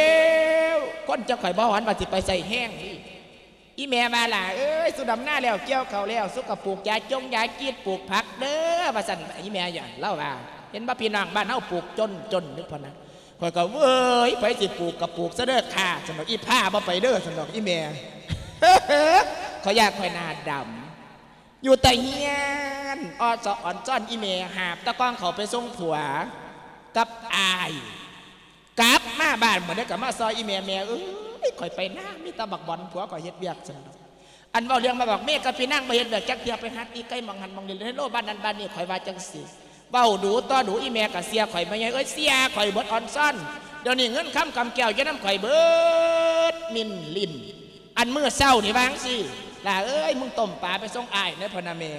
ວ, ຄົນຈັ່ງຂ້ອຍບໍ່ຫວັງວ່າຊິໄປໃຊ້ແຮງນີ້. ອີ່ແມ່ວ່າ ຫຼ້າເອີຍ ສຸດຳນາແລ້ວ ກ່ຽວເຂົ້າແລ້ວ ສຸກະປູກຢາຈົງຢາຈີດ ປູກຜັກເດີ ວ່າຊັ້ນ. ອີ່ແມ່ ລາວວ່າ ເຫັນບໍ່ ພີ່ນ້ອງບ້ານເຮົາປູກຈົນໆ ຢູ່ພຸ້ນນະ. ຂ້ອຍກໍ ເວີຍ ໃຜຊິປູກກໍປູກຊະເດີຄ່າ ຊັ້ນດອກ, ອີ່ພ້າບໍ່ໄປເດີ ຊັ້ນດອກ ອີ່ແມ່. ຂ້ອຍຢ້ານຂ້ອຍໜ້າດຳ ຢູ່ແຕ່ເຮືອນ ອອຊອອນຊອນອີ່ແມ່ ຫາບແຕ່ກອງເຂົ້າໄປສົ່ງຜົວກັບອ້າຍ. ກັບມາບ້ານມື້ໃດກໍມາຊອຍອີ່ແມ່, ແມ່ເອີຍ ຂ້ອຍໄປນາ ມີແຕ່ບັກບອນ ຜົວຂ້ອຍເຮັດວຽກ ຊັ້ນດອກ. ອັນເວົ້າເລື່ອງມາບອກເມຍກັບພີ່ນາງ ບໍ່ເຮັດວຽກຈັກເທື່ອ, ໄປຫາຕີໄກ່ໝ່ອງຫັ້ນໝ່ອງນີ້ ເລີນໂລບ້ານນັ້ນບ້ານນີ້, ຂ້ອຍວ່າຈັ່ງຊີ້. ເວົ້າດູຕໍ່ດູ ອີ່ແມ່ກໍເຊື່ອຂ້ອຍ ແມ່ໃຫຍ່ເອີຍ ເຊື່ອຂ້ອຍເບິດອອນຊອນ. ດຽວນີ້ເງິນຄຳກຳແກ້ວຢູ່ນຳຂ້ອຍເບິດມິ້ນລິ້ນ. ອັນມື້ເຊົ້ານີ້ວ່າຈັ່ງຊີ້ ຫຼ້າເອີຍ ມຶງຕົ້ມປາໄປສົ່ງອ້າຍແດ່ ພະນະແມ່.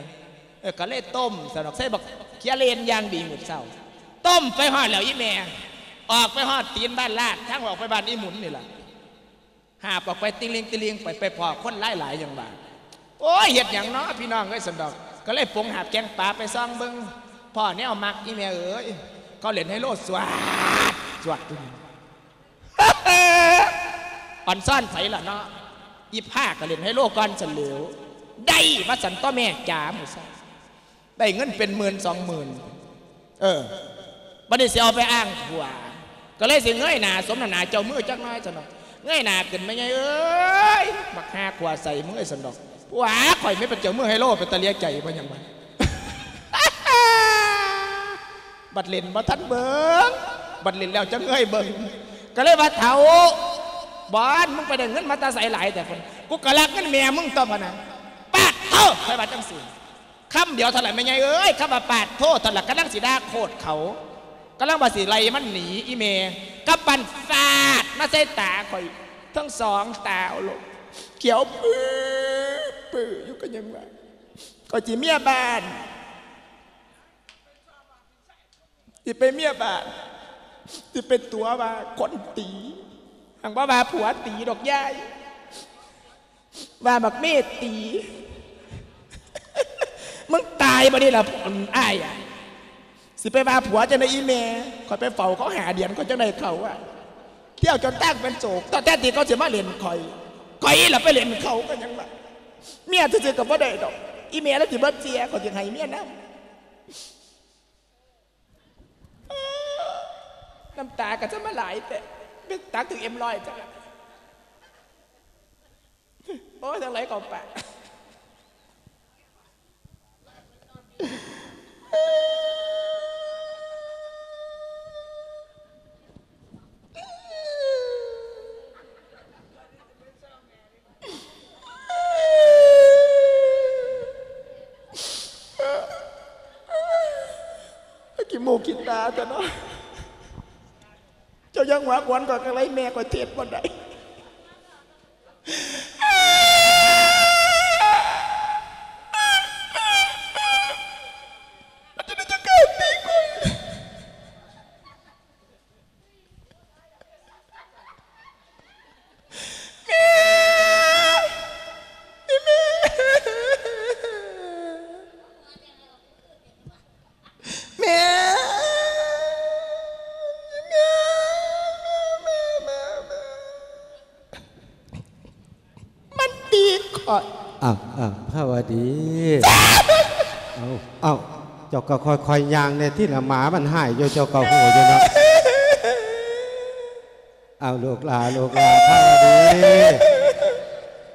ເອີ ກໍເລີຍຕົ້ມ ຊັ້ນດອກ, ໃສ່ບັກເຂືອເລນຢ່າງດີມື້ເຊົ້າ. ຕົ້ມໄປຮອດແລ້ວອີ່ແມ່ ອອກໄປຮອດຕີນບ້ານລາດ ທາງອອກໄປບ້ານອີ່ໝຸນນີ້ລະ. ຫາບອອກໄປຕິລິງຕິລິງໄປ, ໄປພໍ້ຄົນຫຼາຍໆ ຫຍັງວ່າ ໂອ້ຍ ເຮັດຫຍັງເນາະ ພີ່ນ້ອງເອີຍ ຊັ້ນດອກ. ກໍເລີຍປົງຫາບແກງປາໄປສ່ອງເບິ່ງ, ພໍ້ແນວມັກ ອີ່ແມ່ເອີຍ ເຂົາເລ່ນໄຮໂລ ສວດ ສວດຢູ່. ອອນຊອນໃສລະເນາະ, ອີ່ພ້າກໍເລ່ນໄຮໂລກ່ອນຊັ້ນແຫຼ້ວ. ໄດ້ວ່າຊັ້ນຕົວະແມ່ຈ໋າ ມື້ເຊົ້າ ໄດ້ເງິນເປັນໝື່ນສອງໝື່ນ. ເອີ ບັດນີ້ຊິເອົາໄປອ້າງຜົວ ກໍເລີຍຊິເງີຍໜ້າສົມນ້ຳໜ້າເຈົ້າມືຈັກໜ້ອຍ ຊັ້ນດອກ. ເງີຍໜ້າຂຶ້ນ ແມ່ໃຫຍ່ເອີຍ ບັກຫ່າຂົວໃສ່ມຶງເອີຍ ຊັ້ນດອກ, ຜົວຂ້ອຍແມ່ນເປັນເຈົ້າມືໄຮໂລ ເປັນຕາເລຍໃຈບໍ່ຫຍັງວະ. ບັດເຫຼັ້ນບໍ່ທັນເບິ່ງ, ບັດເຫຼັ້ນແລ້ວຈັ່ງເງີຍເບິ່ງ. ກໍເລີຍວ່າ ເຖົ້າບອນ ມຶງໄປໄດ້ເງິນມາແຕ່ໃສຫຼາຍແທ້? ພຸ້ນ ກູກໍລັກເງິນແມ່ມຶງຕົວະ ພະນະ. ປາດໂທ້ ຂ້ອຍວ່າຈັ່ງຊີ້. ຄຳດຽວເທົ່ານັ້ນ ແມ່ໃຫຍ່ເອີຍ, ຄຳວ່າປາດໂທ້ເທົ່ານັ້ນ ກຳລັງຊິດ່າໂຄດເຂົາ, ກຳລັງວ່າຊິໄລ່ມັນໜີ. ອີ່ແມ່ກັບບ້ານ ຟາດມາໃສ່ຕາຂ້ອຍທັງສອງຕາໂລດ, ຂຽວປືປຶຢູ່. ກໍຍັງວ່າ ຂ້ອຍຊິເມຍບ້ານ, ຊິໄປເມຍບ້ານ, ຊິໄປຕົວະວ່າຄົນຕີ, ຫາກບໍ່ວ່າຜົວຕີດອກຍາຍ. ວ່າບັກເມຕີ ມຶງຕາຍບໍ່ນີ້ລະອ້າຍ. ຊິໄປວ່າຜົວຈັ່ງໃດອີ່ແມ່, ຂ້ອຍໄປເຝົ້າເຂົາຫ້າເດືອນ ຂ້ອຍຈັ່ງໄດ້ເຂົາ. ທ່ຽວຈົນຕ່າງເປັນໂສກ, ແທນທີ່ເຂົາຊິມາຫຼິ້ນຂ້ອຍ, ຂ້ອຍລະໄປຫຼິ້ນເຂົາ. ກໍຍັງວ່າ ເມຍຊື່ໆກໍບໍ່ໄດ້ດອກ, ອີ່ແມ່ລະຊິບໍ່ເຊື່ອ, ຂ້ອຍຊິໃຫ້ເມຍນຳ. ນ້ຳຕາກໍຈະມາຫຼາຍແທ້, ໄປຕັກຖືກເອັມຮ້ອຍຈັກລະ. ໂອ້ຍ ທາງໃດກໍປະ. ຂີ້ມູກຂີ້ຕາແທ້ເນາະ. ເຈົ້າຢ່າຫົວຂວັນຂ້ອຍຄັກຫຼາຍ, ແມ່ຂ້ອຍເທດບໍ່ໄດ້. ມັນຈະໄດ້ຈັດການຕີຂ້ອຍ. ແມ່! ອີ່ແມ່! ແມ່! ອີ່ແມ່! ແມ່! ແມ່! ແມ່! ແມ່! ມັນຕີຂ້ອຍ. ອ້າວ ອ້າວ ພາວະດີ. ເອົ້າ ເອົ້າ ເຈົ້າກໍຄ່ອຍໆຍ່າງແດ່ຕິລະ, ໝາມັນຮ້າຍຢູ່ ເຈົ້າກໍຮູ້ຢູ່ເນາະ. ເອົາ ລູກຫຼ້າ ລູກຫຼ້າ ພາວະດີ,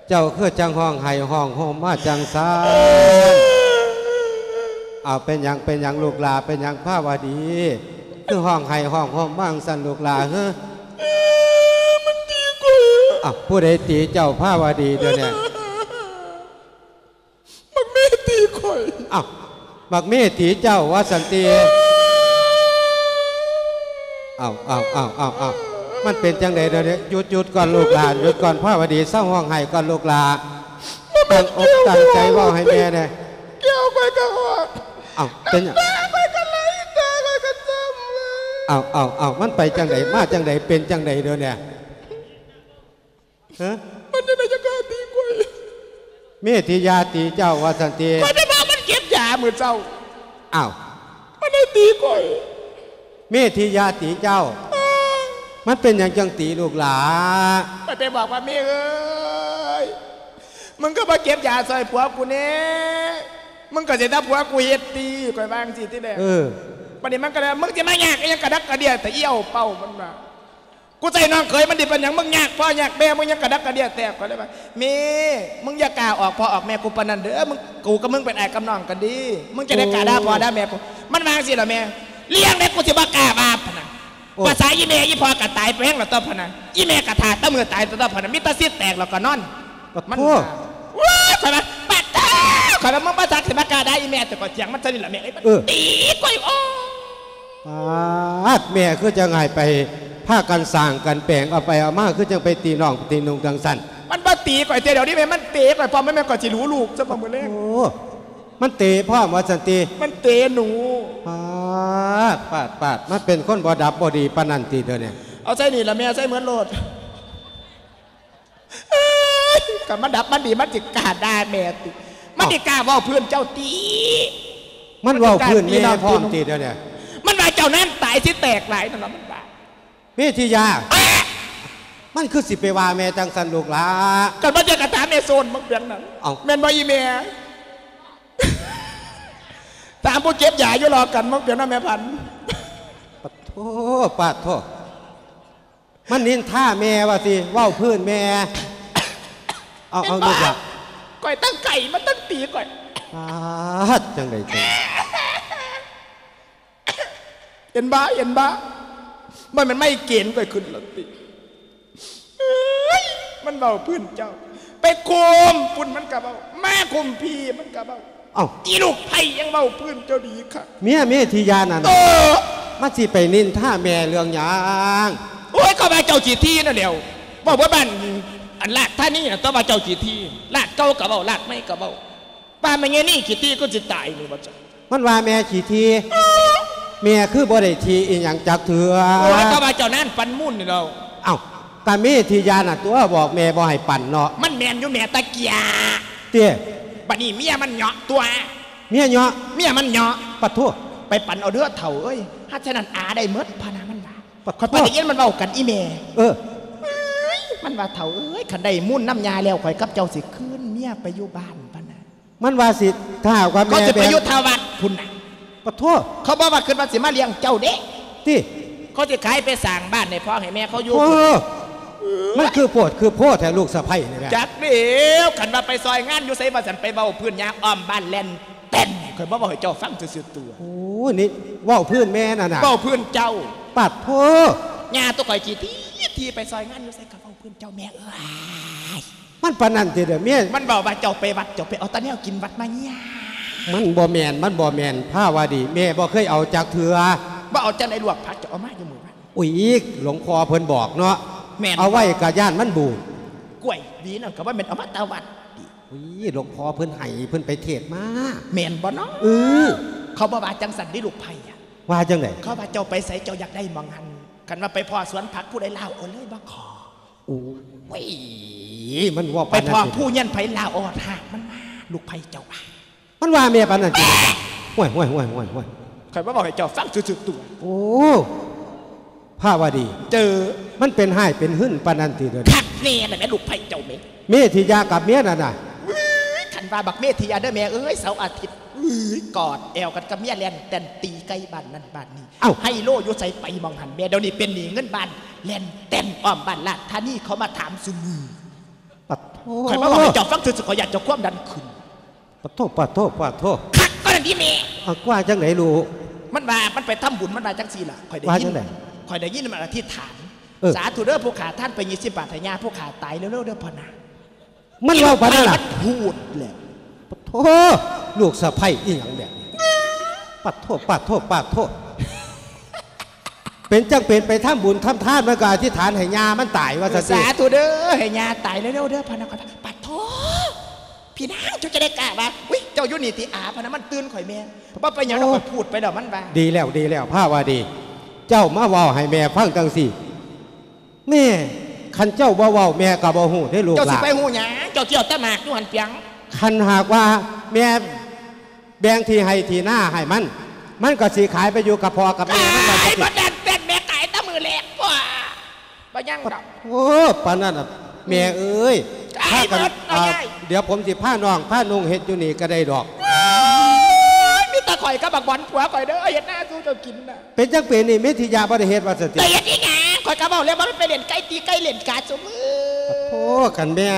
ເຈົ້າຄືຈັ່ງຮ້ອງໄຫ້ຮ້ອງໂຮມມາຈັ່ງຊັ້ນ? ເອົາ ເປັນຫຍັງ ເປັນຫຍັງລູກຫຼ້າ, ເປັນຫຍັງພາວະດີ ຄືຮ້ອງໄຫ້ຮ້ອງໂຮມມາຈັ່ງຊັ້ນລູກຫຼ້າ? ເອີ ມັນຕີຂ້ອຍ. ເອົ້າ ຜູ້ໃດຕີເຈົ້າພາວະດີດຽວນີ້? ບັກເມຕີຂ້ອຍ. ອ້າວ ບັກເມຕີເຈົ້າວ່າຊັ້ນຕິ? ອ້າວ ອ້າວ ອ້າວ ອ້າວ ມັນເປັນຈັ່ງໃດດຽວນີ້? ຢຸດ ຢຸດກ່ອນລູກຫຼ້າ, ຢຸດກ່ອນພາວະດີ, ເຊົາຮ້ອງໄຫ້ກ່ອນລູກຫຼ້າ. ຕັ້ງອົກຕັ້ງໃຈເວົ້າໃຫ້ແມ່ແດ່. ແກ້ວຂ້ອຍກໍອອກ. ເອົ້າ ເປັນຫຍັງ? ນ້ຳຕາຂ້ອຍກໍໄຫຼ, ຕາຂ້ອຍກໍຈຳເລີຍ. ເອົ້າ ເອົ້າ ເອົ້າ ມັນໄປຈັ່ງໃດ ມາຈັ່ງໃດ ເປັນຈັ່ງໃດດຽວນີ້? ຮະ? ມັນຈັ່ງໃດຈັ່ງກ້າຕີຂ້ອຍ? ເມທິຍາຕີເຈົ້າວ່າຊັ້ນຕິ? ຂ້ອຍໄປບອກມັນເກັບຢາມື້ເຊົ້າ. ອ້າວ. ມັນໄດ້ຕີຂ້ອຍ. ເມທິຍາຕີເຈົ້າ? ເອີ. ມັນເປັນຫຍັງຈັ່ງຕີລູກຫຼ້າ? ຂ້ອຍໄປບອກວ່າ ແມ່ເອີຍ ມຶງກໍມາເກັບຢາຊ່ອຍຜົວກູແດ່ ມຶງກໍຊິຖ້າຜົວກູເຮັດຕີ ຂ້ອຍວ່າຈັ່ງຊີ້ຕິແຫຼະ. ເອີ. ບັດນີ້ມັນກໍເລີຍວ່າ ມຶງຊິມາຍາກອີ່ຫຍັງກະດັກກະເດຍແຕ່ອີ່ເອົາເປົ້າ ມັນວ່າ ກູໃສ່ນ້ອງເຂີຍມັນດີປານຫຍັງ ມຶງຍາກພໍ່ຍາກແມ່ມຶງຍັງກະດັກກະເດຍແຕກ. ຂ້ອຍເລີຍວ່າ ແມ່ ມຶງຢ່າກ້າອອກພໍ່ອອກແມ່ກູປານນັ້ນເດີ ມຶງ ກູກັບມຶງເປັນອ້າຍກັບນ້ອງກັນເດ້ ມຶງຈັ່ງໄດ້ກ້າດ່າພໍ່ດ່າແມ່ກູ. ມັນວ່າຈັ່ງຊີ້ລະແມ່ ເລື່ອງໃດກູຊິບໍ່ກ້າວ່າພະນະ. ໂອ້ ພາສາອີ່ແມ່ອີ່ພໍ່ກໍຕາຍໄປແຮງແລ້ວຕົວະພະນະ ອີ່ແມ່ກໍຖ້າແຕ່ມື້ຕາຍຕົວະພະນະ ມີແຕ່ຊິດແຕກແລ້ວກໍນອນ. ປະໂທ ມັນວ່າ ໂອ້ຍ ຂ້ອຍວ່າ ປະໂທ ຂ້ອຍວ່າ ມຶງບໍ່ຈັກຊິມາກ້າດ່າອີ່ແມ່ ແຕ່ກໍຖຽງມັນຊະນີ້ລະແມ່ເອີຍ ມັນ ເອີ ຕີຂ້ອຍ ໂອ້ ປາດ ແມ່ຄືຈັ່ງໃຫ້ໄປພາກັນສ້າງກັນແປງ ເອົາໄປເອົາມາຄືຈັ່ງໄປຕີນ້ອງຕີນຸ່ງຈັ່ງຊັ້ນ. ມັນບໍ່ຕີຂ້ອຍເທື່ອດຽວນີ້ແມ່ ມັນເຕະຂ້ອຍພ້ອມ ແມ່ນຂ້ອຍຊິຮູ້ລູກຊະບໍ່ມື້ແລງ. ໂອ້ ມັນເຕະພ້ອມວ່າຊັ້ນຕິ? ມັນເຕະໜູ. ປາດ ປາດ ປາດ ມັນເປັນຄົນບໍ່ດັບບໍ່ດີປານນັ້ນຕິດຽວນີ້? ເອົາໃສ່ນີ້ລະແມ່ ໃສ່ໝົດໂລດ. ເອີຍ ຄັນມັນດັບມັນດີ ມັນຊິກ້າດ່າແມ່ຕິ? ມັນຊິກ້າເວົ້າພື້ນເຈົ້າຕິ? ມັນເວົ້າພື້ນແມ່ພ້ອມຕິດຽວນີ້? ມັນວ່າເຈົ້ານັ້ນຕາຍຊິແຕກຫຼາຍນັ້ນລະ ມັນວ່າ. ເມທິຍາ ມັນຄືຊິໄປວ່າແມ່ຈັ່ງຊັ້ນລູກຫຼ້າ? ຄັນວ່າຈະກະຖາມແມ່ໂຊນມັກເປັນນັ້ນ. ເອົ້າ ແມ່ນບໍ່ອີ່ແມ່? ຖາມຜູ້ເກັບຢາຢູ່ລອກກັນມັກເປັນນະແມ່ພັນ. ປາດໂທ ປາດໂທ. ມັນນິນທາແມ່ວ່າຊິ ເວົ້າພື້ນແມ່. ເອົາ ເອົາ ເຫັນບໍ່? ລູກຫຼ້າ ຂ້ອຍຕັ້ງໄກ່ ມັນຕັ້ງຕີຂ້ອຍ. ປາດ ຈັ່ງໃດຈັ່ງ ເຫັນບໍ່ ເຫັນບໍ່? ມັນແມ່ນໄມເກຣນຂ້ອຍຂຶ້ນແລ້ວຕິ. ເອີຍ ມັນເວົ້າພື້ນເຈົ້າ ໄປຄຸມພຸ້ນມັນກະເວົ້າ ມາຄຸມພີ້ມັນກະເວົ້າ. ເອົ້າ ອີລູກໃຜຍັງເວົ້າພື້ນເຈົ້າດີຄັກ. ເມຍເມທິຍານັ້ນ ເອີ ມັນຊິໄປນິນທາແມ່ເລື່ອງຫຍັງ? ໂອ້ຍ ກໍວ່າເຈົ້າຂີ້ຖີ່ນັ້ນແຫຼ້ວ ເວົ້າເບິດບ້ານ ອັນລາດທານີນະ ແຕ່ວ່າເຈົ້າຂີ້ຖີ່ ລາດເກົ່າກໍເວົ້າ ລາດໃໝ່ກໍເວົ້າ ວ່າແມ່ຍານີຂີ້ຖີ່ຄືຊິຕາຍນີ້ວ່າຊັ້ນ. ມັນວ່າແມ່ຂີ້ຖີ່ ເອີ ແມ່ຄືບໍ່ໄດ້ຖີ່ອີ່ຫຍັງຈັກເທື່ອ. ໂອ້ຍ ກໍວ່າເຈົ້ານັ້ນປັນມູນນີ້ແຫຼ້ວ. ເອົ້າ ກະເມທິຍານະຕົວະ ບອກແມ່ບໍ່ໃຫ້ປັນເນາະ. ມັນແມ່ນຢູ່ແມ່ຕະເກຍ ເຕ້. ບັດນີ້ເມຍມັນເຍາະຕົວະ ເມຍເຍາະ ເມຍມັນເຍາະ. ປະໂທ ໄປປັນເອົາເດີເຖົ້າເອີຍ ຫາກສະນັ້ນອາໄດ້ໝົດພະນະ ມັນວ່າ. ປະໂທ ຂ້ອຍໄປໄດ້ຍິນມັນເວົ້າກັນອີ່ແມ່. ເອີ ເອີຍ ມັນວ່າ ເຖົ້າເອີຍ ຄັນໄດ້ມູນນຳຍ່າແລ້ວ ຂ້ອຍກັບເຈົ້າຊິຄືນເມຍໄປຢູ່ບ້ານພະນະ. ມັນວ່າຊິ ຖ້າຫາກວ່າແມ່ ເຂົາຊິໄປຢູ່ທາງວັດພຸ້ນນະ. ປະໂທ ເຂົາບໍ່ວ່າຄິດວ່າຊິມາລ້ຽງເຈົ້າເດ້ ຕິ ເຂົາຊິຂາຍໄປສ້າງບ້ານໃຫ້ພໍ່ໃຫ້ແມ່ເຂົາຢູ່. ໂອ້ ມັນຄືໂພດຄືໂພແທ້ລູກສະໃພ້ນີ້ນະ. ຈັກແລ້ວ ຄັນວ່າໄປຊ່ອຍງານຢູ່ໃສວ່າຊັ້ນ ໄປເວົ້າພື້ນຍ່າອ້ອມບ້ານແລ່ນແຕ່ນ ຂ້ອຍບໍ່ເວົ້າໃຫ້ເຈົ້າຟັງຊື່ໆຕົວະ. ໂອ້ ນີ້ເວົ້າພື້ນແມ່ນັ້ນນະ ເວົ້າພື້ນເຈົ້າ. ປາດໂທ ຍ່າຕົວະ ຂ້ອຍຂີ້ຖີ່ ຖີ່ໄປຊ່ອຍງານຢູ່ໃສກໍເວົ້າພື້ນເຈົ້າແມ່ເອີຍ. ມັນປານນັ້ນຕິເດີເມຍ? ມັນເວົ້າວ່າເຈົ້າໄປວັດ ເຈົ້າໄປເອົາແຕ່ແນວກິນວັດມາຍ່າ. ມັນບໍ່ແມ່ນ ມັນບໍ່ແມ່ນພາວາດີ ແມ່ບໍ່ເຄີຍເອົາຈັກເທື່ອ. ບໍ່ເອົາຈັ່ງໃດ ລວກຜັກເຈົ້າເອົາມາຢູ່ມື້ວານ. ອຸຍ ຫຼວງພໍ່ເພິ່ນບອກເນາະ. ແມ່ນ ເອົາໄວ້ກະຢ້ານມັນບູດ. ກ້ວຍຫວີນັ້ນກໍບໍ່ແມ່ນເອົາມາແຕ່ວັດຕິ. ອຸຍ ຫຼວງພໍ່ເພິ່ນໃຫ້ ເພິ່ນໄປເທດມາ. ແມ່ນບໍ່ເນາະ? ເອີ ເຂົາບໍ່ວ່າຈັ່ງຊັ້ນເດ້ລູກໃພ້. ວ່າຈັ່ງໃດ? ເຂົາວ່າເຈົ້າໄປໃສເຈົ້າຢາກໄດ້ໝ່ອງຫັ້ນ ຄັນວ່າໄປພໍ້ສວນຜັກຜູ້ໃດລາວເອົາເລີຍບໍ່ຂໍ. ໂອ້ຍ ມັນເວົ້າປານນັ້ນ ໄປພໍ້ຜູ້ເຮືອນໃຜລາວເອົາຮາກມັນມາ ລູກໃຜເຈົ້າວ່າ. ມັນວ່າແມ່ປານນັ້ນຕິ? ຫ້ວຍໆໆໆໆ ຂ້ອຍມາເວົ້າໃຫ້ເຈົ້າຟັງຊື່ໆຕົວະ. ໂອ້ ພາວາດີ ເຈີ ມັນເປັນຮ້າຍເປັນຫຶນປານນັ້ນຕິເດີ? ຄັກແນ່ລະແມ່ ລູກໃຜເຈົ້າແມ່. ເມທິຍາກັບເມຍນັ້ນນະ. ເອີຍ ຄັນວ່າບັກເມທິຍາເດີແມ່ເອີຍ ເສົາອາທິດ ເອີຍ ກອດແອວກັນກັບເມຍ ແລ່ນແຕ່ນຕີໄກ່ບ້ານນັ້ນບ້ານນີ້. ເອົ້າ ໄຮໂລຢູ່ໃສໄປໝ່ອງຫັ້ນແມ່ ດຽວນີ້ເປັນໜີ້ເງິນບ້ານ ແລ່ນແຕ່ນອ້ອມບ້ານລາດທານີ ເຂົາມາຖາມຊຸມື້. ປະໂທ ຂ້ອຍມາເວົ້າໃຫ້ເຈົ້າຟັງຊື່ໆ ຂ້ອຍຢ້ານເຈົ້າຄວາມດັນຂຶ້ນ. ປະໂທ ປະໂທ ປະໂທ ຄັກປານນັ້ນຕິແມ່. ເອົາ ວ່າຈັ່ງໃດລູກ? ມັນວ່າມັນໄປທຳບຸນ ມັນວ່າຈັ່ງຊີ້ລະ ຂ້ອຍໄດ້ຍິນ. ວ່າຈັ່ງໃດ? ຂ້ອຍໄດ້ຍິນມັນອະທິຖານ. ເອີ ສາທຸເດີ ຜູ້ຂ້າທານໄປ ຊາທຸເດີ ຊາທຸເດີ ຜູ້ຂ້າຕາຍເລັວໆເດີພໍ່ນາ. ມັນເວົ້າປານນັ້ນລະ? ມັນພູດແຫຼະ. ປະໂທ ລູກສະໃພ້ອີ່ຫຍັງແບບນີ້? ປະໂທ ປະໂທ ປະໂທ ເປັນຈັ່ງເປັນໄປທຳບຸນທຳທານ ມັນກໍອະທິຖານໃຫ້ຍ່າມັນຕາຍວ່າຊັ້ນຕິ. ສາທຸເດີ ໃຫ້ຍ່າຕາຍເລັວໆເດີພໍ່ນາ. ປະໂທ ພີ່ນາງ ເຈົ້າຈະໄດ້ກ້າວ່າ ອຸ້ຍ ເຈົ້າຢູ່ນີ້ຕິອາພະນະ ມັນຕື່ນຂ້ອຍແມ່. ບໍ່ເປັນຫຍັງດອກ ຂ້ອຍພູດໄປແລ້ວ ມັນວ່າ. ດີແລ້ວ ດີແລ້ວ ພາວາດີ ເຈົ້າມາເວົ້າໃຫ້ແມ່ຟັງຈັ່ງຊີ້. ແມ່ ຄັນເຈົ້າບໍ່ເວົ້າ ແມ່ກໍບໍ່ຮູ້ເດ້ລູກຫຼານ. ເຈົ້າຊິໄປຮູ້ຫຍັງ? ເຈົ້າຊິເອົາແຕ່ໝາກຢູ່ຫັ້ນປຽງ. ຄັນຫາກວ່າແມ່ແບ່ງທີ່ໄຮ່ທີ່ນາໃຫ້ມັນ ມັນກໍຊິຂາຍໄປຢູ່ກັບພໍ່ກັບແມ່ມັນວ່າ ຂາຍ ຊັ້ນຕິ. ບໍ່ແຕ່ນແມ່ຂາຍແຕ່ມື້ແລກ ບໍ່ ບໍ່ຍັງດອກ. ໂອ້ ປານນັ້ນນະແມ່ເອີຍ. ຂາຍ ພາກັນ ໝົດເອົາ ເອົາ ຍາຍ. ດຽວຜົມຊິພານ້ອງພານຸ່ງເຮັດຢູ່ນີ້ກໍໄດ້ດອກ. ໂອ້ຍ ມີແຕ່ຂ້ອຍກັບບັກບອນຜົວຂ້ອຍເດີ ເຮັດນາສູ່ເຈົ້າກິນນະ. ເປັນຈັ່ງເປັນນີ້ ເມທິຍະບໍ່ໄດ້ເຮັດວ່າຊັ້ນຕິ? ໄດ້ເຮັດອີຫຍັງ? ຂ້ອຍກໍເວົ້າແລ້ວວ່າມັນໄປຫຼິ້ນໄກ່ຕີໄກ່ຫຼິ້ນກາຊຸມື້. ໂອ້ ຄັນແມ່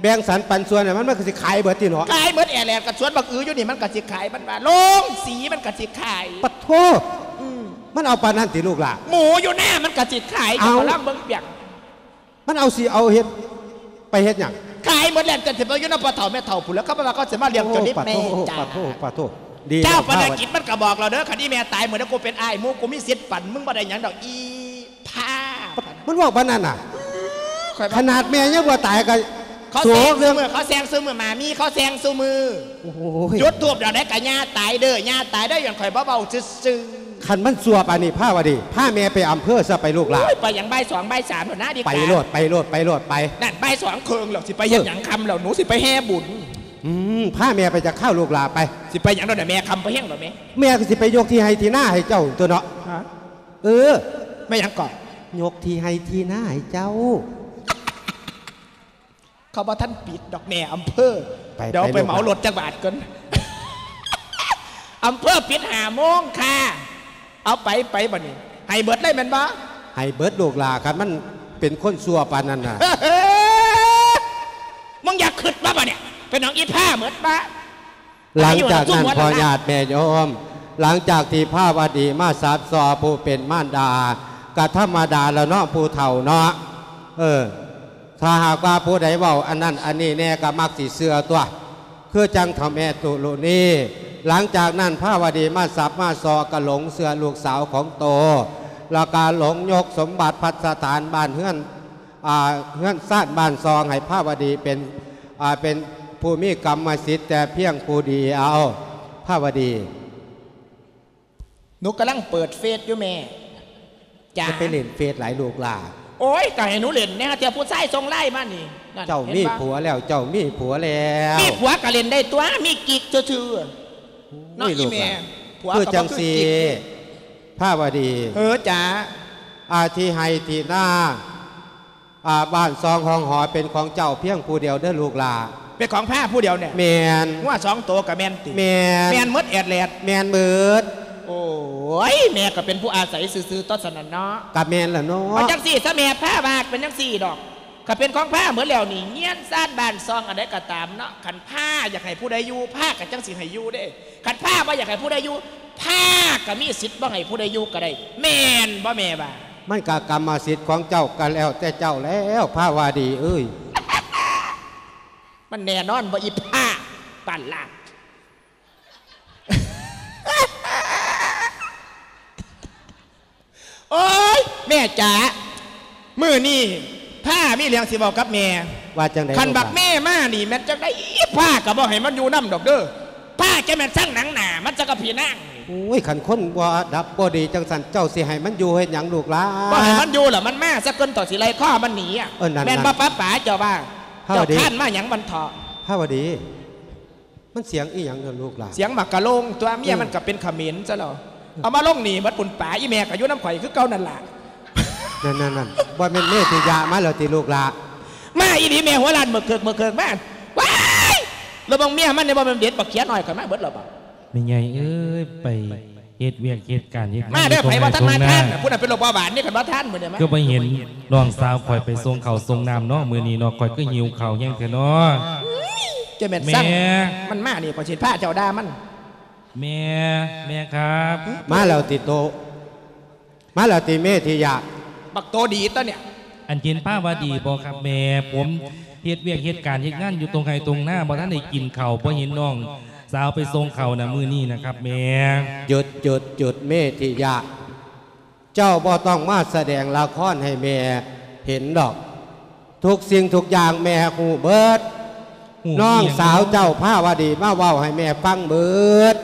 ແບ່ງສັນປັນສ່ວນໃຫ້ມັນ ມັນກໍຊິຂາຍເບິດຕິເນາະ. ຂາຍເບິດແອແລດ ກັບສວນບັກອືຢູ່ນີ້ມັນກໍຊິຂາຍ. ມັນວ່າໂລງສີມັນກໍຊິຂາຍ. ປະໂທ ອືມ ມັນເອົາປານນັ້ນຕິລູກຫຼານ? ໝູຢູ່ນາມັນກໍຊິຂາຍ. ເອົາ ເຈົ້າກໍລອງເບິ່ງປຽງ. ມັນເອົາ ຊິເອົາເຮັດ ໄປເຮັດຫຍັງ? ຂາຍໝົດແລ້ວ ຈັ່ງຊິໄປຢູ່ນຳພໍ່ເຖົ້າແມ່ເຖົ້າພຸ້ນແຫຼ້ວ. ເຂົາວ່າເຂົາຊິມາລ້ຽງເຈົ້ານີ້ແມ່. ໂອ້ ປະໂທ ປະໂທ ປະໂທ. ເຈົ້າປະນາກິດມັນກໍບອກແລ້ວເດີ ຄັນອີແມ່ຕາຍມື້ໃດ ກູເປັນອ້າຍໝູ ກູມີສິດປັນ ມຶງບໍ່ໄດ້ຫຍັງດອກ ອີພາ. ມັນເວົ້າປານນັ້ນນະ? ຂ້ອຍວ່າ ຂະໜາດແມ່ຍັງບໍ່ຕາຍກໍ ເຂົາແຊງຊຸມື້ ເຂົາແຊງຊຸມື້ ໝາມີເຂົາແຊງຊຸມື້. ໂອ້ຍ ຈຸດທູບດອກໃດກໍຍ່າຕາຍເດີ ຍ່າຕາຍເດີ ຍ້ອນຂ້ອຍບໍ່ເວົ້າຊື່ໆ. ຄັນມັນຊົ່ວປານນີ້ພາວະດີ ພາແມ່ໄປອຳເພີຊະໄປລູກຫຼານ. ໂອ້ຍ ໄປຫຍັງ ບ່າຍສອງ ບ່າຍສາມແລ້ວນະ ດີກວ່າ ໄປໂລດ ໄປໂລດ ໄປໂລດ ໄປ. ນັ້ນ ບ່າຍສອງເຄິ່ງແລ້ວ ຊິໄປເຮັດຫຍັງຄ່ຳແລ້ວ ເອີ ໜູຊິໄປແຫ່ບຸນ. ອືມ ພາແມ່ໄປຈັກຄາວລູກຫຼານໄປ. ຊິໄປຫຍັງດອກນະແມ່ ຄ່ຳບໍ່ແຮງດອກແມ່. ແມ່ກໍຊິໄປຍົກທີ່ໄຮ່ທີ່ນາໃຫ້ເຈົ້າຕົວະເນາະ. ຮະ? ເອີ ແມ່ຫຍັງເກາະ? ຍົກທີ່ໄຮ່ທີ່ນາໃຫ້ເຈົ້າ. ເຂົາບໍ່ທັນປິດດອກແມ່ອຳເພີ ໄປ ດຽວໄປເໝົາລົດຈັກບາດກ່ອນ. ອຳເພີປິດຫ້າໂມງຄ່າ. ເອົາໄປ ໄປບັດນີ້ ໃຫ້ເບິດເລີຍແມ່ນບໍ່? ໃຫ້ເບິດລູກຫຼານ ຄັນມັນເປັນຄົນຊົ່ວປານນັ້ນນະ. ມຶງຢາກຄຶດບໍ່ບັດນີ້ ເປັນຫຍັງອີພາເໝິດບໍ່? ຫຼັງຈາກນັ້ນພໍ່ຍາດແມ່ໂຍມ ຫຼັງຈາກທີ່ພາວະດີມາສາບສໍ່ຜູ້ເປັນມານດາ ກະທຳມະດາລະເນາະ ຜູ້ເຖົ້າເນາະ. ເອີ ຖ້າຫາກວ່າຜູ້ໃດເວົ້າອັນນັ້ນອັນນີ້ແດ່ ກໍມັກຊິເຊື່ອຕົວະ ຄືຈັ່ງເຖົ້າແມ່ຕຸລຸນີ. ຫຼັງຈາກນັ້ນພາວະດີມາສາບມາສໍ່ ກໍຫຼົງເຊື່ອລູກສາວຂອງໂຕ ແລ້ວກໍຫຼົງຍົກສົມບັດພັດສະຖານບ້ານເຮືອນ ອ່າ ເຮືອນຊານບ້ານຊ່ອງໃຫ້ພາວະດີເປັນ ອ່າ ເປັນຜູ້ມີກຳມະສິດແຕ່ພຽງຜູ້ດຽວ. ພາວະດີ ໜູກຳລັງເປີດເຟສຢູ່ແມ່. ຈ້າ ຢ່າໄປຫຼິ້ນເຟສຫຼາຍລູກຫຼານ. ໂອ້ຍ ກໍໃຫ້ໜູຫຼິ້ນແດ່ ເທື່ອຜູ້ຊາຍສົ່ງໄລນ໌ມານີ້. ນັ້ນ ເຈົ້າມີຜົວແລ້ວ ເຈົ້າມີຜົວແລ້ວ. ມີຜົວກໍຫຼິ້ນໄດ້ຕົວະ ມີກິກຊື່ໆ. ໂອ້ຍ ເນາະ ອີ່ແມ່ ຜົວກໍບໍ່ຄືກິກ. ຄືຈັ່ງຊີ້ ພາວະດີ ເອີ ຈ້າ ອາ ທີ່ໄຮ່ທີ່ນາ ອາ ບ້ານຊ່ອງຫ້ອງຫໍເປັນຂອງເຈົ້າພຽງຜູ້ດຽວເດີລູກຫຼານ. ເປັນຂອງພາຜູ້ດຽວແນ່? ແມ່ນ. ງົວສອງໂຕກໍແມ່ນຕິ? ແມ່ນ. ແມ່ນໝົດແອດແລດ? ແມ່ນໝົດ. ໂອ້ຍ ແມ່ກໍເປັນຜູ້ອາໄສຊື່ໆ ຕົວະຊັ້ນນະເນາະ. ກໍແມ່ນລະເນາະ. ເອົາຈັ່ງຊີ້ຊະແມ່ ພາວາດເປັນຈັ່ງຊີ້ດອກ. ຄັນເປັນຂອງພາໝົດແລ້ວນີ້ ເຮືອນຊານບ້ານຊ່ອງອັນໃດກໍຕາມເນາະ ຄັນພາຢາກໃຫ້ຜູ້ໃດຢູ່ ພາກໍຈັ່ງຊິໃຫ້ຢູ່ເດ້. ຄັນພາບໍ່ຢາກໃຫ້ຜູ້ໃດຢູ່ ພາກໍມີສິດບໍ່ໃຫ້ຜູ້ໃດຢູ່ກໍໄດ້ ແມ່ນບໍ່ແມ່ວ່າ? ມັນກໍກຳມະສິດຂອງເຈົ້າ ກໍແລ້ວແຕ່ເຈົ້າແລ້ວ ພາວະດີເອີຍ. ມັນແນ່ນອນບໍ່ ອີພາປານລາດ. ໂອ້ຍ ແມ່ຈ໋າ ມື້ນີ້ພາມີເລື່ອງຊິເວົ້າກັບແມ່. ວ່າຈັ່ງໃດ? ຄັນບັກເມມານີ້ແມ່ນຈັ່ງໃດ ພາກໍບໍ່ໃຫ້ມັນຢູ່ນຳດອກເດີ. ພາຈະແມ່ນຊັງໜັງໜ້າມັນຊະກັບພີ່ນາງ. ໂອ້ຍ ຄັນຄົນບໍ່ດັບບໍ່ດີຈັ່ງຊັ້ນ ເຈົ້າຊິໃຫ້ມັນຢູ່ເຮັດຫຍັງລູກຫຼານ? ບໍ່ໃຫ້ມັນຢູ່ລະ ມັນມາຊະກ່ອນ ເຈົ້າຊິໄລ່ຄໍມັນໜີ. ເອີ ນັ້ນໆ ແມ່ນບໍ່ປ້າປາເຈົ້າວ່າ? ພາວະດີ ເຈົ້າຄ້ານມາຫຍັງມັນເຖາະ? ພາວະດີ ມັນສຽງອີ່ຫຍັງເນາະລູກຫຼານ? ສຽງໝາກກະໂລງຕົວະ ເມຍມັນກໍເປັນຂະເໝນຊະແລ້ວ. ເອີ ເອົາມາລົງໜີ່ໝົດປຸ້ນປາ ອີ່ແມ່ກໍຢູ່ນຳຂ້ອຍຄືເກົ່ານັ້ນລະ. ນັ້ນໆໆ ບໍ່ແມ່ນເມທິຍະມາແລ້ວຕິລູກຫຼານ? ມາອີ່ຫຼີແມ່ ຫົວລ້ານເໝິກເຄິກເໝິກເຄິກມາ. ວ້າຍ ລະເບິ່ງເມຍມັນນີ້ ບໍ່ແມ່ນເດັດບັກເຂຍນ້ອຍຂ້ອຍມາເບິດແລ້ວບໍ? ແມ່ໃຫຍ່ເອີຍ ໄປເຮັດວຽກເຮັດການເຮັດງານ ມາເດີ ໃນທົ່ງໄຮ່ທົ່ງນາ. ຜູ້ນັ້ນເປັນໂລກເບົາຫວານນີ້ ຄັນວ່າທ່ານມື້ນີ້ມາ. ຄືບໍ່ເຫັນນ້ອງສາວຂ້ອຍໄປສົ່ງເຂົ້າສົ່ງນ້ຳເນາະ ມື້ນີ້ເນາະ ຂ້ອຍຄືຫິວເຂົ້າແຮງແທ້ເນາະ. ເຈົ້າແມ່ນ ແມ່ ມັນມານີ້ ຂ້ອຍຊິພາເຈົ້າດ່າມັນ. ແມ່ ແມ່ຄັບ. ມາແລ້ວຕິໂຕ? ມາແລ້ວຕິເມທິຍະ? ບັກໂຕດີຕົວະນີ້. ອັນເຫັນພາວະດີບໍ່ຄັບແມ່? ຜົມເຮັດວຽກເຮັດການເຮັດງານຢູ່ທົ່ງໄຮ່ທົ່ງນາ ບໍ່ທັນໄດ້ກິນເຂົ້າ ບໍ່ເຫັນນ້ອງສາວໄປສົ່ງເຂົ້ານະມື້ນີ້ນະຄັບແມ່. ຢຸດ ຢຸດ ຢຸດ ເມທິຍະ. ເຈົ້າບໍ່ຕ້ອງມາສະແດງລະຄອນໃຫ້ແມ່ເຫັນດອກ. ທຸກສິ່ງທຸກຢ່າງແມ່ຮູ້ເບິດ. ຮູ້ ນ້ອງສາວເຈົ້າພາວະດີມາເວົ້າໃຫ້ແມ່ຟັງເບິດ.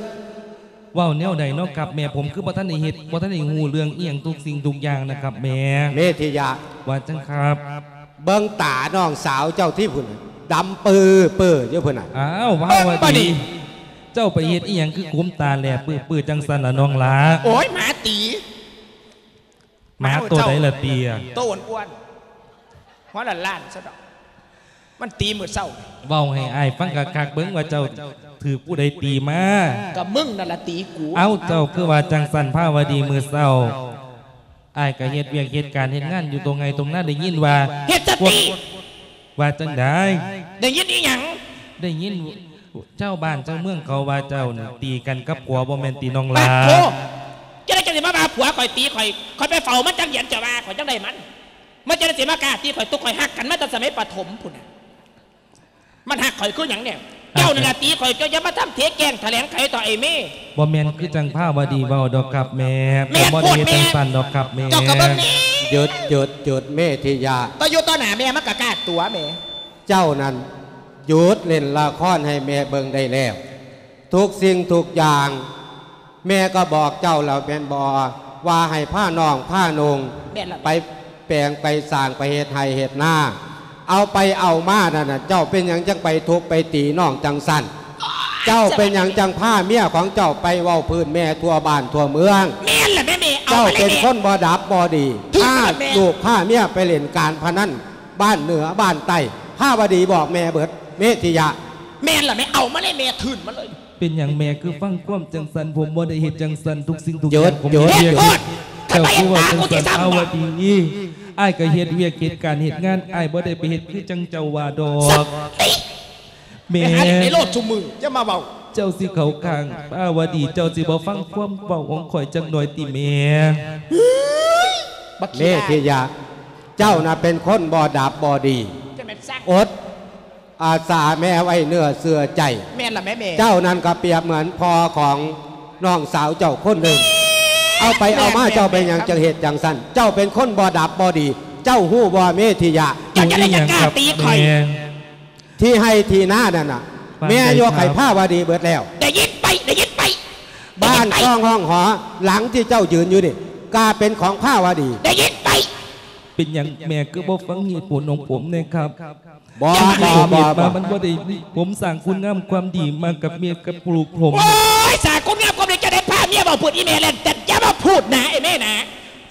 ເວົ້າແນວໃດເນາະຄັບແມ່? ຜົມຄືບໍ່ທັນໄດ້ເຮັດ ບໍ່ທັນໄດ້ຮູ້ເລື່ອງອີ່ຫຍັງທຸກສິ່ງທຸກຢ່າງນະຄັບແມ່. ເມທິຍະ. ວ່າຈັ່ງຄັບ. ເບິ່ງຕານ້ອງສາວເຈົ້າທີ່ພຸ້ນ ດຳປືໆຢູ່ພຸ້ນນະ. ອ້າວ ພາວະດີ ເບິ່ງບໍ່ນີ້ ເຈົ້າໄປເຮັດອີ່ຫຍັງຄືຂຸມຕາແຫຼບປືໆຈັ່ງຊັ້ນລະນ້ອງຫຼ້າ? ໂອ້ຍ ໝາຕີ. ໝາໂຕໃດລະຕິ? ໂຕອ້ວນໆ ຫົວລ້ານໆຊະດອກ ມັນຕີມື້ເຊົ້າ. ເວົ້າໃຫ້ອ້າຍຟັງຄັກໆເບິ່ງວ່າເຈົ້າຖືກຜູ້ໃດຕີມາ? ກໍມຶງນັ້ນລະຕີກູ. ເອົ້າ ເຈົ້າຄືວ່າຈັ່ງຊັ້ນພາວະດີ? ມື້ເຊົ້າ ອ້າຍກໍເຮັດວຽກເຮັດການເຮັດງານຢູ່ຕົງໄຮ່ຕົງນາ ໄດ້ຍິນວ່າ ເຮັດສະຕິ ວ່າຈັ່ງໃດ? ໄດ້ຍິນອີ່ຫຍັງ? ໄດ້ຍິນຊາວບ້ານຊາວເມືອງເຂົາວ່າເຈົ້ານີ້ຕີກັນກັບຜົວ ບໍ່ແມ່ນຕິນ້ອງຫຼ້າ? ປາດໂທ ຈັ່ງໃດຈັ່ງຊິມາວ່າຜົວຂ້ອຍຕີຂ້ອຍ? ຂ້ອຍໄປເຝົ້າມັນຈັກເດືອນ ເຈົ້າວ່າຂ້ອຍຈັ່ງໃດມັນ? ມັນຈັ່ງໃດຊິມາກ້າຕີຂ້ອຍ? ຕຸກຂ້ອຍຮັກກັນມາແຕ່ສະໄໝປະຖົມພຸ້ນນະ. ມັນຮັກຂ້ອຍຄືຫຍັງແນວ? ເຈົ້ານັ້ນລະຕີຂ້ອຍ ເຈົ້າຢ່າມາທຳເທແກ້ງຖະແຫຼງໄຂຕໍ່ໄອ້ເມ. ບໍ່ແມ່ນຄືຈັ່ງພາວະດີເວົ້າດອກຄັບແມ່. ແມ່ນໂພດແມ່. ຜົມບໍ່ໄດ້ເຮັດຈັ່ງຊັ້ນດອກຄັບແມ່. ເຈົ້າກໍເບິ່ງນີ້. ຢຸດ ຢຸດ ຢຸດ ເມທິຍະ. ຕໍ່ຢູ່ຕໍ່ໜ້າແມ່ມັນກໍກ້າຕົວະແມ່. ເຈົ້ານັ້ນຢຸດຫຼິ້ນລະຄອນໃຫ້ແມ່ເບິ່ງໄດ້ແລ້ວ. ທຸກສິ່ງທຸກຢ່າງ ແມ່ກໍບອກເຈົ້າແລ້ວແມ່ນບໍ່ ວ່າໃຫ້ພານ້ອງພານຸ່ງ ແມ່ນລະ ໄປແປງໄປສ້າງໄປເຮັດໄຮ່ເຮັດນາ. ເອົາໄປເອົາມານັ້ນນະ ເຈົ້າເປັນຫຍັງຈັ່ງໄປທຸບໄປຕີນ້ອງຈັ່ງຊັ້ນ? ເຈົ້າເປັນຫຍັງຈັ່ງພາເມຍຂອງເຈົ້າໄປເວົ້າພື້ນແມ່ທົ່ວບ້ານທົ່ວເມືອງ? ແມ່ນລະແມ່ ແມ່ ເອົາມາເລີຍແມ່. ເຈົ້າເປັນຄົນບໍ່ດັບບໍ່ດີ ຖືກລະແມ່ ພາລູກພາເມຍໄປຫຼິ້ນການພະນັນ ບ້ານເໜືອບ້ານໃຕ້. ພາວະດີບອກແມ່ເບິດ ເມທິຍະ. ແມ່ນລະແມ່ ເອົາມາເລີຍແມ່ ທຶນມາເລີຍ. ເປັນຫຍັງແມ່ຄືຟັງຄວາມຈັ່ງຊັ້ນ? ຜົມບໍ່ໄດ້ເຮັດຈັ່ງຊັ້ນ ທຸກສິ່ງທຸກຢ່າງ ຢຸດ ຢຸດ ເຮັດໂພດ. ເຈົ້າຄືວ່າຈັ່ງຊັ້ນພາວະດີ? ອ້າຍກໍເຮັດວຽກເຮັດການເຮັດງານ ອ້າຍບໍ່ໄດ້ໄປເຮັດຄືຈັ່ງເຈົ້າວ່າດອກ. ສະຕິ ແມ່ ໄປຫາຫຼິ້ນໃນໂລດຊຸມື້ ຢ່າມາເວົ້າ. ເຈົ້າຊິເຂົ້າຂ້າງພາວະດີ ເຈົ້າຊິບໍ່ຟັງຄວາມເວົ້າຂອງຂ້ອຍຈັກໜ້ອຍຕິແມ່? ບັກ ເມທິຍະ ເຈົ້ານະເປັນຄົນບໍ່ດັບບໍ່ດີ ຈະແມ່ນຊັກ ອົດ ອາສາແມ່ໄວ້ເນື້ອເຊື່ອໃຈ. ແມ່ນລະແມ່ ແມ່. ເຈົ້ານັ້ນກໍປຽບເໝືອນພໍ່ຂອງນ້ອງສາວເຈົ້າຄົນໜຶ່ງ. ເອົາໄປເອົາມາ ແມ່ນ ເຈົ້າເປັນຫຍັງ ແມ່ນ ຈັ່ງເຮັດຈັ່ງຊັ້ນ? ເຈົ້າເປັນຄົນບໍ່ດັບບໍ່ດີ. ເຈົ້າຮູ້ບໍ່ ເມທິຍະ? ເຈົ້າຈະໄດ້ຈັດການຕີຂ້ອຍ. ທີ່ໄຮ່ທີ່ນານັ້ນນະ ແມ່ຍົກໃຫ້ພາວະດີເບິດແລ້ວ. ໄດ້ຍິນໄປ ໄດ້ຍິນໄປ. ບ້ານຊ່ອງຫ້ອງຫໍ ຫຼັງທີ່ເຈົ້າຢືນຢູ່ນີ້ ກໍເປັນຂອງພາວະດີ. ໄດ້ຍິນໄປ. ເປັນຫຍັງແມ່ຄືບໍ່ຟັງເຫດຜົນຂອງຜົມແດ່ຄັບ? ບໍ່ ບໍ່ ບໍ່ ບໍ່ ມັນບໍ່ໄດ້ ຜົມສ້າງຄຸນງາມຄວາມດີມາກັບເມຍກັບລູກຜົມ. ໂອ້ຍ ສ້າງຄຸນງາມຄວາມດີຈັ່ງໃດ? ພາເມຍເວົ້າພຸດ ອີແມ່ແລ່ນແຕ່ນ ຢ່າມາພູດນະ ໄອ້ແມ່ນະ.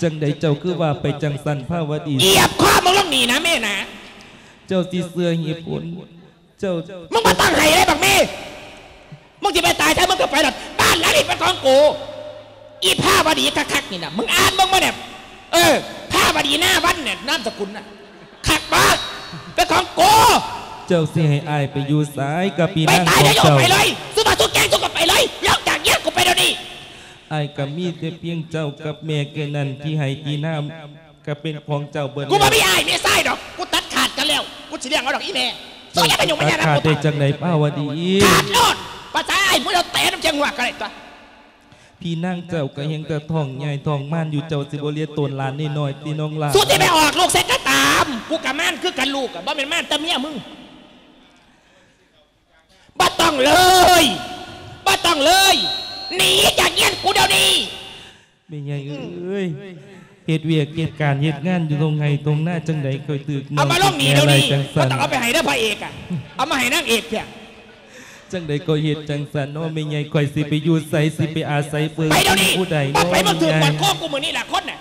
ຈັ່ງໃດເຈົ້າຄືວ່າໄປຈັ່ງຊັ້ນພາວະດີ? ຢຽບຄໍມຶງລົງນີ້ນະ ແມ່ນະ. ເຈົ້າຊິເຊື່ອເຫດຜົນ ເຈົ້າ ມຶງບໍ່ຕ້ອງໄຫ້ເລີຍບັກເມ. ມຶງຊິໄປຕາຍໃສ ມຶງກໍໄປໂລດ. ບ້ານຫຼັງນີ້ເປັນຂອງກູ. ອີພາວະດີຄັກໆນີ້ນະ ມຶງອ່ານເບິ່ງມາແດ່. ເອີ ພາວະດີນາວັນແດ່ ນາມສະກຸນນະ ຄັກບໍ່? ເປັນຂອງກູ. ເຈົ້າຊິໃຫ້ອ້າຍໄປຢູ່ໃສກັບພີ່ນາງຂອງເຈົ້າ? ໄປຕາຍແລ້ວ ໄປເລີຍ. ສຸມາສຸແກງສຸກໍໄປເລີຍ ລົງຈາກເຮືອນກູໄປດຽວນີ້. ອ້າຍກໍມີແຕ່ພຽງເຈົ້າກັບແມ່ແຄ່ນັ້ນ ທີ່ໄຮ່ທີ່ນາ ກໍເປັນຂອງເຈົ້າເບິດ. ກູບໍ່ມີອ້າຍມີຊາຍດອກ ກູຕັດຂາດກັນແລ້ວ. ກູຊິລ້ຽງເອົາດອກອີແມ່. ເຈົ້າຢ່າມາຫຍຸ້ງມາຫຍັງນຳກູ. ຕັດຂາດໄດ້ຈັ່ງໃດພາວະດີ? ຂາດໂລດ. ພາສາອ້າຍ ມຶງເອົາແຕະນຳຄຽງຫວກກໍໄດ້ຕົວະ. ພີ່ນາງເຈົ້າກໍຍັງແຕ່ທ້ອງໃຫຍ່ທ້ອງມານຢູ່ ເຈົ້າຊິບໍ່ລຽນໂຕນຫຼານນ້ອຍໆຕິນ້ອງຫຼ້າ? ສຸດທີ່ໄປອອກລູກໃສ່ກໍຕາມ ກູກໍມານຄືກັນ ລູກກໍບໍ່ແມ່ນມານແຕ່ເມຍມຶງ. ບໍ່ຕ້ອງເລີຍ ບໍ່ຕ້ອງເລີຍ ໜີຈາກເຮືອນກູດຽວນີ້. ແມ່ໃຫຍ່ເອີຍ ເຮັດວຽກເຮັດການເຮັດງານຢູ່ທົ່ງໄຮ່ທົ່ງນາ ຈັ່ງໃດຂ້ອຍຖືກນ້ອງຖືກແມ່ໄລ່ຈັ່ງຊັ້ນ? ເອົາມາລົງໜີດຽວນີ້ ບໍ່ຕ້ອງເອົາໄປໃຫ້ເດີພະເອກອະ ເອົາມາໃຫ້ນາງເອກເທື່ອ. ຈັ່ງໃດກໍເຮັດຈັ່ງຊັ້ນເນາະແມ່ໃຫຍ່ ຂ້ອຍຊິໄປຢູ່ໃສ ຊິໄປອາໄສເພິ່ງ ໄປດຽວນີ້ ຜູ້ໃດເນາະ? ບໍ່ໄປ ມຶງຖືກກອດຄໍກູມື້ນີ້ລະຄົນນະ.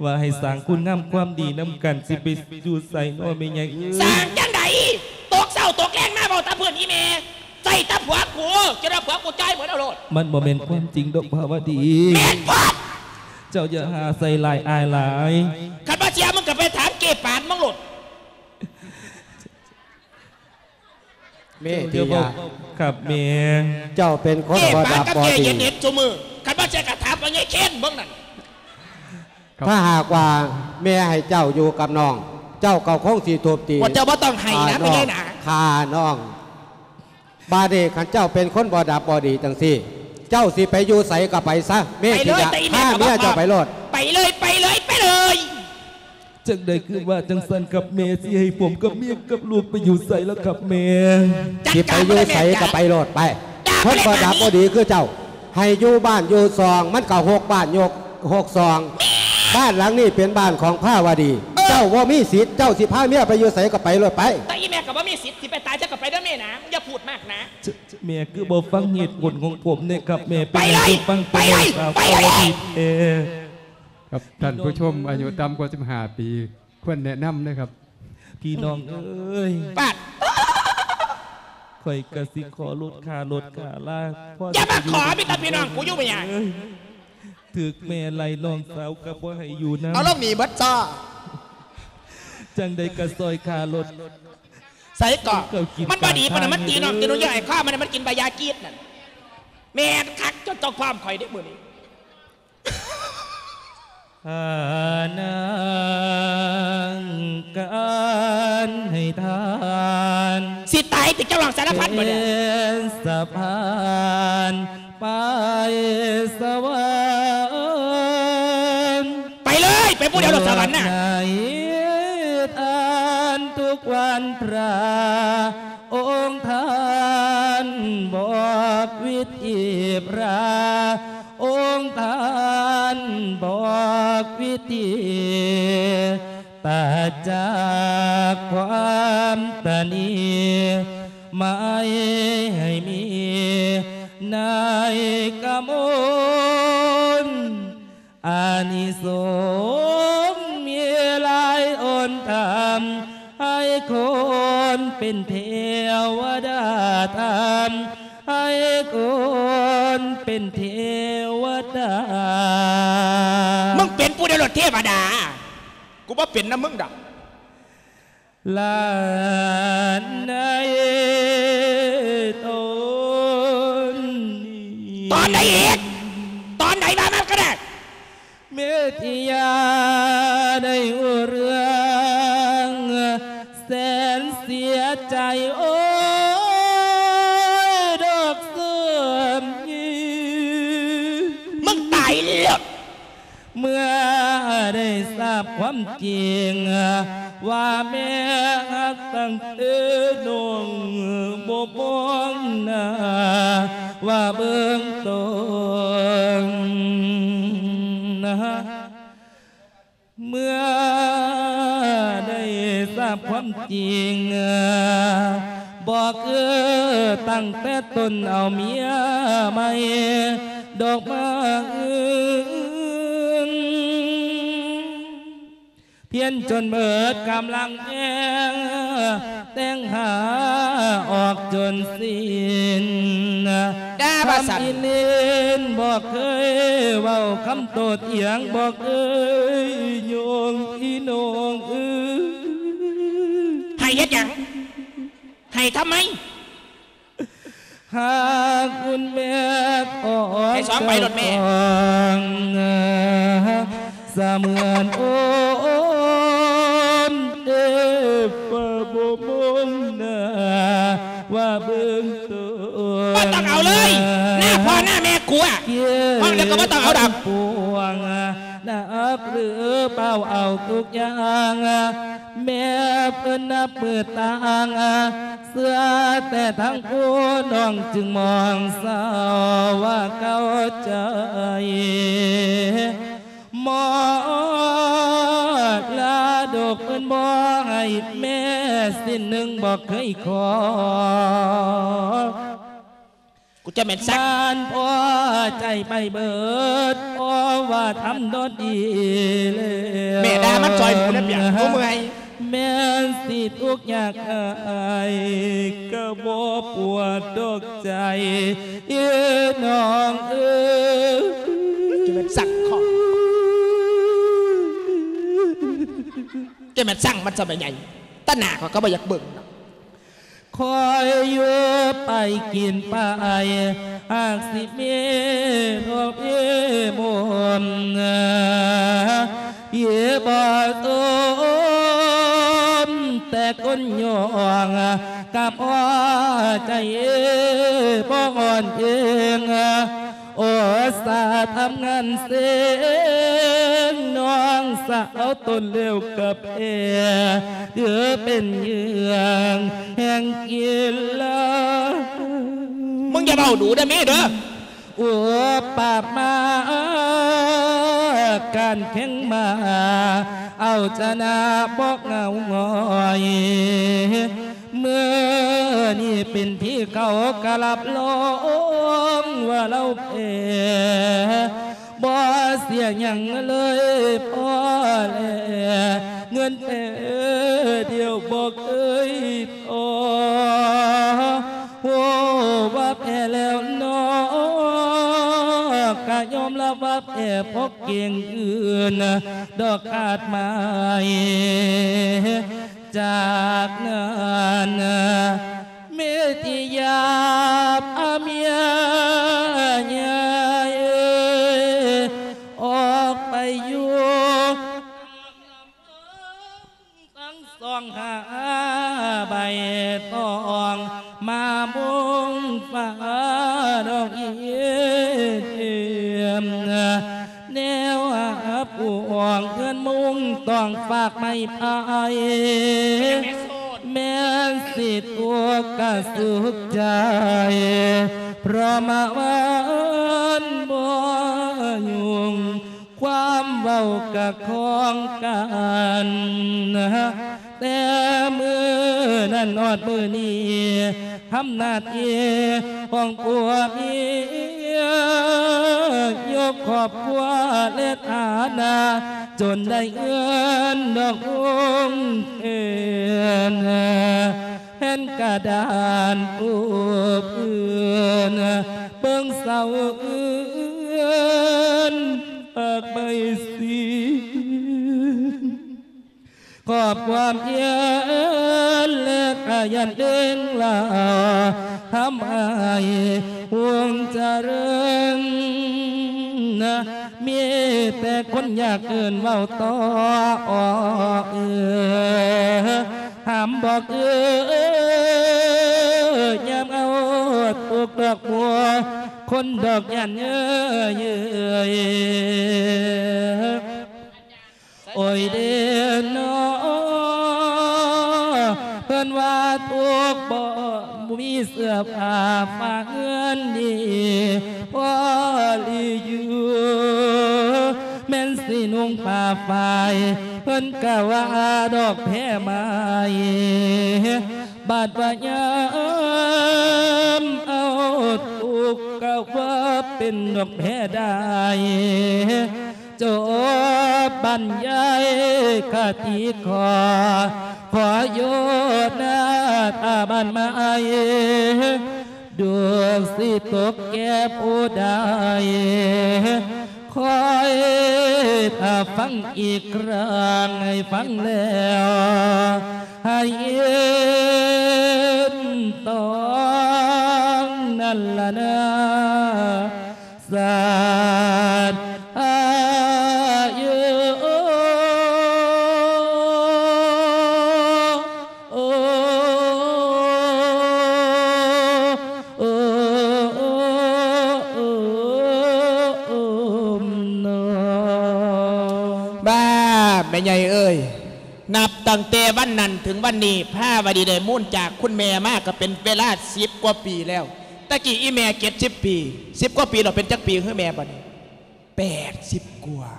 ວ່າໃຫ້ສ້າງຄຸນງາມຄວາມດີນຳກັນ ຊິໄປຢູ່ໃສເນາະແມ່ໃຫຍ່ເອີຍ? ສ້າງຈັ່ງໃດ? ຕົກເຊົ້າຕົກແລງມາເວົ້າແຕ່ພື້ນອີແມ່ ໃສ່ແຕ່ຜົວກູ ຈົນວ່າຜົວກູຈ່າຍເບິດເອົາໂລດ. ມັນບໍ່ແມ່ນຄວາມຈິງດອກພາວະດີ. ແມ່ນໂພດ. ເຈົ້າຢ່າຫາໃສ່ຮ້າຍອ້າຍຫຼາຍ. ຄັນບໍ່ເຊື່ອ ມຶງກໍໄປຖາມເຈ້ປານມັນໂລດ. ເມທິຍະ ຄັບແມ່. ເຈົ້າເປັນຄົນບໍ່ດັບບໍ່ດີ. ເຈົ້າເປັນຄົນບໍ່ດັບບໍ່ດີ. ຄັນບໍ່ເຊື່ອກໍຖາມພໍ່ໃຫຍ່ເຄນເບິ່ງນັ້ນ. ຖ້າຫາກວ່າແມ່ໃຫ້ເຈົ້າຢູ່ກັບນ້ອງ ເຈົ້າກໍຄົງຊິທຸບຕີ ພວກເຈົ້າບໍ່ຕ້ອງໄຫ້ນະ ພໍ່ໃຫຍ່ນະ ຂ້ານ້ອງ. ບາດນີ້ຄັນເຈົ້າເປັນຄົນບໍ່ດັບບໍ່ດີຈັ່ງຊີ້ ເຈົ້າຊິໄປຢູ່ໃສກໍໄປຊະ ເມທິຍະ. ພາເມຍເຈົ້າໄປໂລດ. ໄປເລີຍ ໄປເລີຍ ໄປເລີຍ. ຈັ່ງໃດຄືວ່າຈັ່ງຊັ້ນຄັບແມ່? ຊິໃຫ້ຜົມກັບເມຍກັບລູກໄປຢູ່ໃສລະຄັບແມ່? ຊິໄປຢູ່ໃສກໍໄປໂລດໄປ. ຄົນບໍ່ດັບບໍ່ດີຄືເຈົ້າ ໃຫ້ຢູ່ບ້ານຢູ່ຊ່ອງ ມັນກໍຮົກບ້ານ ຍົກຮົກຊ່ອງ. ບ້ານຫຼັງນີ້ເປັນບ້ານຂອງພາວະດີ ເອີ ເຈົ້າບໍ່ມີສິດ ເຈົ້າຊິພາເມຍໄປຢູ່ໃສກໍໄປໂລດໄປ. ແຕ່ອີແມ່ກໍບໍ່ມີສິດ ຊິໄປຕາຍ ເຈົ້າກໍໄປເດີແມ່ນາ ຢ່າພູດມາກນາ. ແມ່ຄືບໍ່ຟັງເຫດຜົນຂອງຜົມແດ່ຄັບແມ່ ເປັນຫຍັງຄືຟັງແຕ່ນ້ອງສາວພາວະດີແທ້? ຄັບ ທ່ານຜູ້ຊົມອາຍຸຕ່ຳກວ່າສິບຫ້າປີ ຄວນແນະນຳເດີຄັບ. ພີ່ນ້ອງເອີຍ ປາດ ຂ້ອຍກະຊິຂໍຫຼຸດຄ່າລົດຄ່າລາ ພໍ ຢ່າມາຂໍ ມີແຕ່ພີ່ນ້ອງກູຢູ່ບໍ່ຫຍັງ ເອີຍ ຖືກແມ່ໄລ່ ນ້ອງສາວກະບໍ່ໃຫ້ຢູ່ນຳ ເອົາລົງໜີເບິດຊໍ ຈັ່ງໃດກະຊ່ອຍຄ່າລົດ ໃສເກາະ ມັນບໍ່ດີປານນັ້ນ ມັນຕີນ້ອງຕີໜູ ຢ່າໃຫ້ຄາ ມັນ ມັນກິນໃບຢາກີດນັ້ນ ແມ່ນຄັກ ເຈົ້າ ເຈົ້າພ້ອມຂ້ອຍເດ້ມື້ນີ້. ຫານາງການໃຫ້ທ່ານ ຊິຕາຍຕິ ເຈົ້າຮ້ອງສາລະພັນບໍ່ແດ່ ເປັນສະພານໄປສະຫວັນ ໄປເລີຍ ໄປຜູ້ດຽວໂລດສະຫວັນນະ ໃຫ້ທ່ານທຸກວັນພະ ອົງທ່ານບອກວິທີພະ ອົງທ່ານບອກວິທີ ຕັດຈາກຄວາມຕະໜີ ໄມ່ໃຫ້ມີໃນກະມົນ ອານິສົງມີຫຼາຍອົນທຳ ໃຫ້ຄົນເປັນເທວະດາທຳ ໃຫ້ຄົນເປັນເທວະດາ. ມຶງເປັນຜູ້ດຽວໂລດເທວະດາ ກູບໍ່ເປັນນຳມຶງດອກ. ຫຼານໃນຕົນນີ້ ຕອນໃດອີກ? ຕອນໃດ? ວ່າມາກໍໄດ້. ເມທິຍາໄດ້ຮູ້ເລື່ອງແສນເສຍໃຈ ໂອ້ຍ ດອກເຊື່ອມຍິງ ມຶງຕາຍໂລດ. ເມື່ອໄດ້ຊາບຄວາມຈິງ ວ່າແມ່ຮັກຕັ້ງແຕ່ນ້ອງບໍ່ມອງໜ້າ ວ່າເບິ່ງຕົນ ເມື່ອໄດ້ຊາບຄວາມຈິງ ບອກເອີ ຕັ້ງແຕ່ຕົ້ນເອົາເມຍໃໝ່ ດອກມາອຶງ ພຽນຈົນເໝິດກຳລັງແຮງ ແຕ່ງຫາອອກຈົນສິ້ນ ດາວ່າຊັ້ນ ຄຳອີເລນບໍ່ເຄີຍເວົ້າຄຳໂຕ້ຖຽງ ບໍ່ເຄີຍໂຍງ ອີນ້ອງເອີຍ. ໃຫ້ເຮັດຫຍັງ? ໃຫ້ທຳໄມ? ຫາກຄຸນແມ່ອອກ ໃຫ້ສອງໃບໂລດແມ່ ຈອງ ສະເໝືອນໂອນເອ ຟ້າບໍ່ມອງໜ້າ ວ່າເບິ່ງຕົນ ບໍ່ຕ້ອງເອົາເລີຍ ໜ້າພໍ່ໜ້າແມ່ກູອະ ຫ້ອງແລ້ວກໍບໍ່ຕ້ອງເອົາດອກ ປວງ ໜັກຫຼືເປົ່າເອົາທຸກຢ່າງ ແມ່ເພິ່ນນັບມື້ຕ່າງ ເຊື່ອແຕ່ທາງຜູ້ນ້ອງຈຶ່ງມອງເສົ້າວ່າເຂົ້າໃຈ ມໍລະດົກເພິ່ນບໍ່ໃຫ້ແມ່ສິ້ນໜຶ່ງບໍ່ເຄີຍຂໍ. ກູຈະແມ່ນສັກ ບ້ານພໍໃຈໄປເບີດ ເພາະວ່າທຳນອນດີແລ້ວ ແມ່ດ່າມັນຊ່ອຍໝູນະປຽກ ກູເມື່ອຍ ແມ່ນຊິທຸກຍາກອາຍ ກໍບໍ່ປວດດອກໃຈ ເອີນ້ອງເອີຍ ຈະແມ່ນສັກຂໍ ຈະແມ່ນສັກມັນຊະແມ່ໃຫຍ່ ຕາໜ້າຂ້ອຍກໍບໍ່ຢາກເບິ່ງດອກ. ຄອຍຢູ່ໄປກິນໄປ ຫາກຊິມີໂລກເອໝົນ ພີ່ບໍ່ສົມແຕ່ຄົນຍ່ອງ ກັບຫົວໃຈບໍ່ອ່ອນເອງ. ໂອສາທຳງານເຊງ ນ້ອງສາວຕົນເລວກັບແອ ຖືເປັນເຫຍື່ອງແຫ່ງກິລາ. ມຶງຢ່າເວົ້າດູເດີແມ່ເດີ. ໂອປາບມາ ການແຂ່ງມ້າ ເອົາຊະນະບໍ່ເຫງົາຫງອຍ. ມື້ນີ້ເປັນທີ່ເຂົາກະຮັບຮອງວ່າລາວແພ້ ບໍ່ເສຍຫຍັງເລີຍພໍແລ ເງິນແຕ່ດຽວບໍ່ເຄີຍທໍ້. ໂອ້ ວ່າແພ້ແລ້ວເນາະ ກະຍອມຮັບວ່າແພ້ ເພາະເກັ່ງອື່ນດອກຄາດໝາຍ. ຈາກນັ້ນ ເມທິຍາບອາເມຍໃຫຍ່ ອອກໄປຢູ່ ທັງສອງຫາໃບຕອງ ມາມຸງຟ້າດອກອີ່ມ ແນວຫາປວງເຮືອນມຸງຕ້ອງຝາກໄມ້ພາຍ ແມ່ນຊິຕົວກະສຸກໃຈ ເພາະມາວານບໍ່ຫຍຸ້ງ ຄວາມເວົ້າກະຂອງກັນ ແຕ່ມື້ນັ້ນຮອດມື້ນີ້ ທຳໜ້າທີ່ຂອງຜົວເມຍ ຍົກຄອບຄົວ ແລະ ຖານະ ຈົນໄດ້ເຮືອນດອກຫົງເພິ່ນ ແຜ່ນກະດານປູພື້ນ ເບິ່ງເສົາເຮືອນ ປາກໄມ້ສີ ຄອບຄວາມເຮືອນ ແລະ ກະຢ້ານເລື່ອງລາວ ທຳໃຫ້ວົງຈະເລີນ ມີແຕ່ຄົນຢາກເອີ້ນເວົ້າຕໍ່ ເອີ ຫ້າມບອກເອີ ຍາມເອົາຕຸກດອກບົວ ຄົນດອກຢ້ານເອີຍ ໂອ້ຍເດເນາະ ເພິ່ນວ່າທຸກບໍ່ມີເສື້ອຜ້າ ຝາກເຮືອນດີພໍຫຼີຢູ່ ແມ່ນຊິນຸ່ງຜ້າຝ້າຍ ເພິ່ນກະວ່າດອກແພໄມ້ ບາດວ່າຍາມເອົາຕຸກ ກະວ່າເປັນດອກແພໄດ້ ຈົບບັນຍາຍຄະຕິຂໍ ຂໍໂຍນາຕາບ້ານໃໝ່ ດວງຊິຕົກແກ່ຜູ້ໃດ ຄອຍຖ້າຟັງອີກຄັ້ງ ໃຫ້ຟັງແລ້ວໃຫ້ເຫັນຕອງນັ້ນລະນາ ສາດອາຍຸ ໂອ້ ໂອ້ ໂອ້ ໂອ້ ໂອ້ ໂອ້ ບາ ແມ່ໃຫຍ່ເອີຍ ນັບຕັ້ງແຕ່ວັນນັ້ນເຖິງວັນນີ້ ພາວະດີໄດ້ມູນຈາກຄຸນແມ່ມາກໍເປັນເວລາສິບກວ່າປີແລ້ວ. ຕະກີ້ອີ່ແມ່ເຈັດສິບປີ ສິບກວ່າປີແລ້ວ ເປັນຈັກປີເຮີແມ່ບັດນີ້? ແປດສິບກວ່າ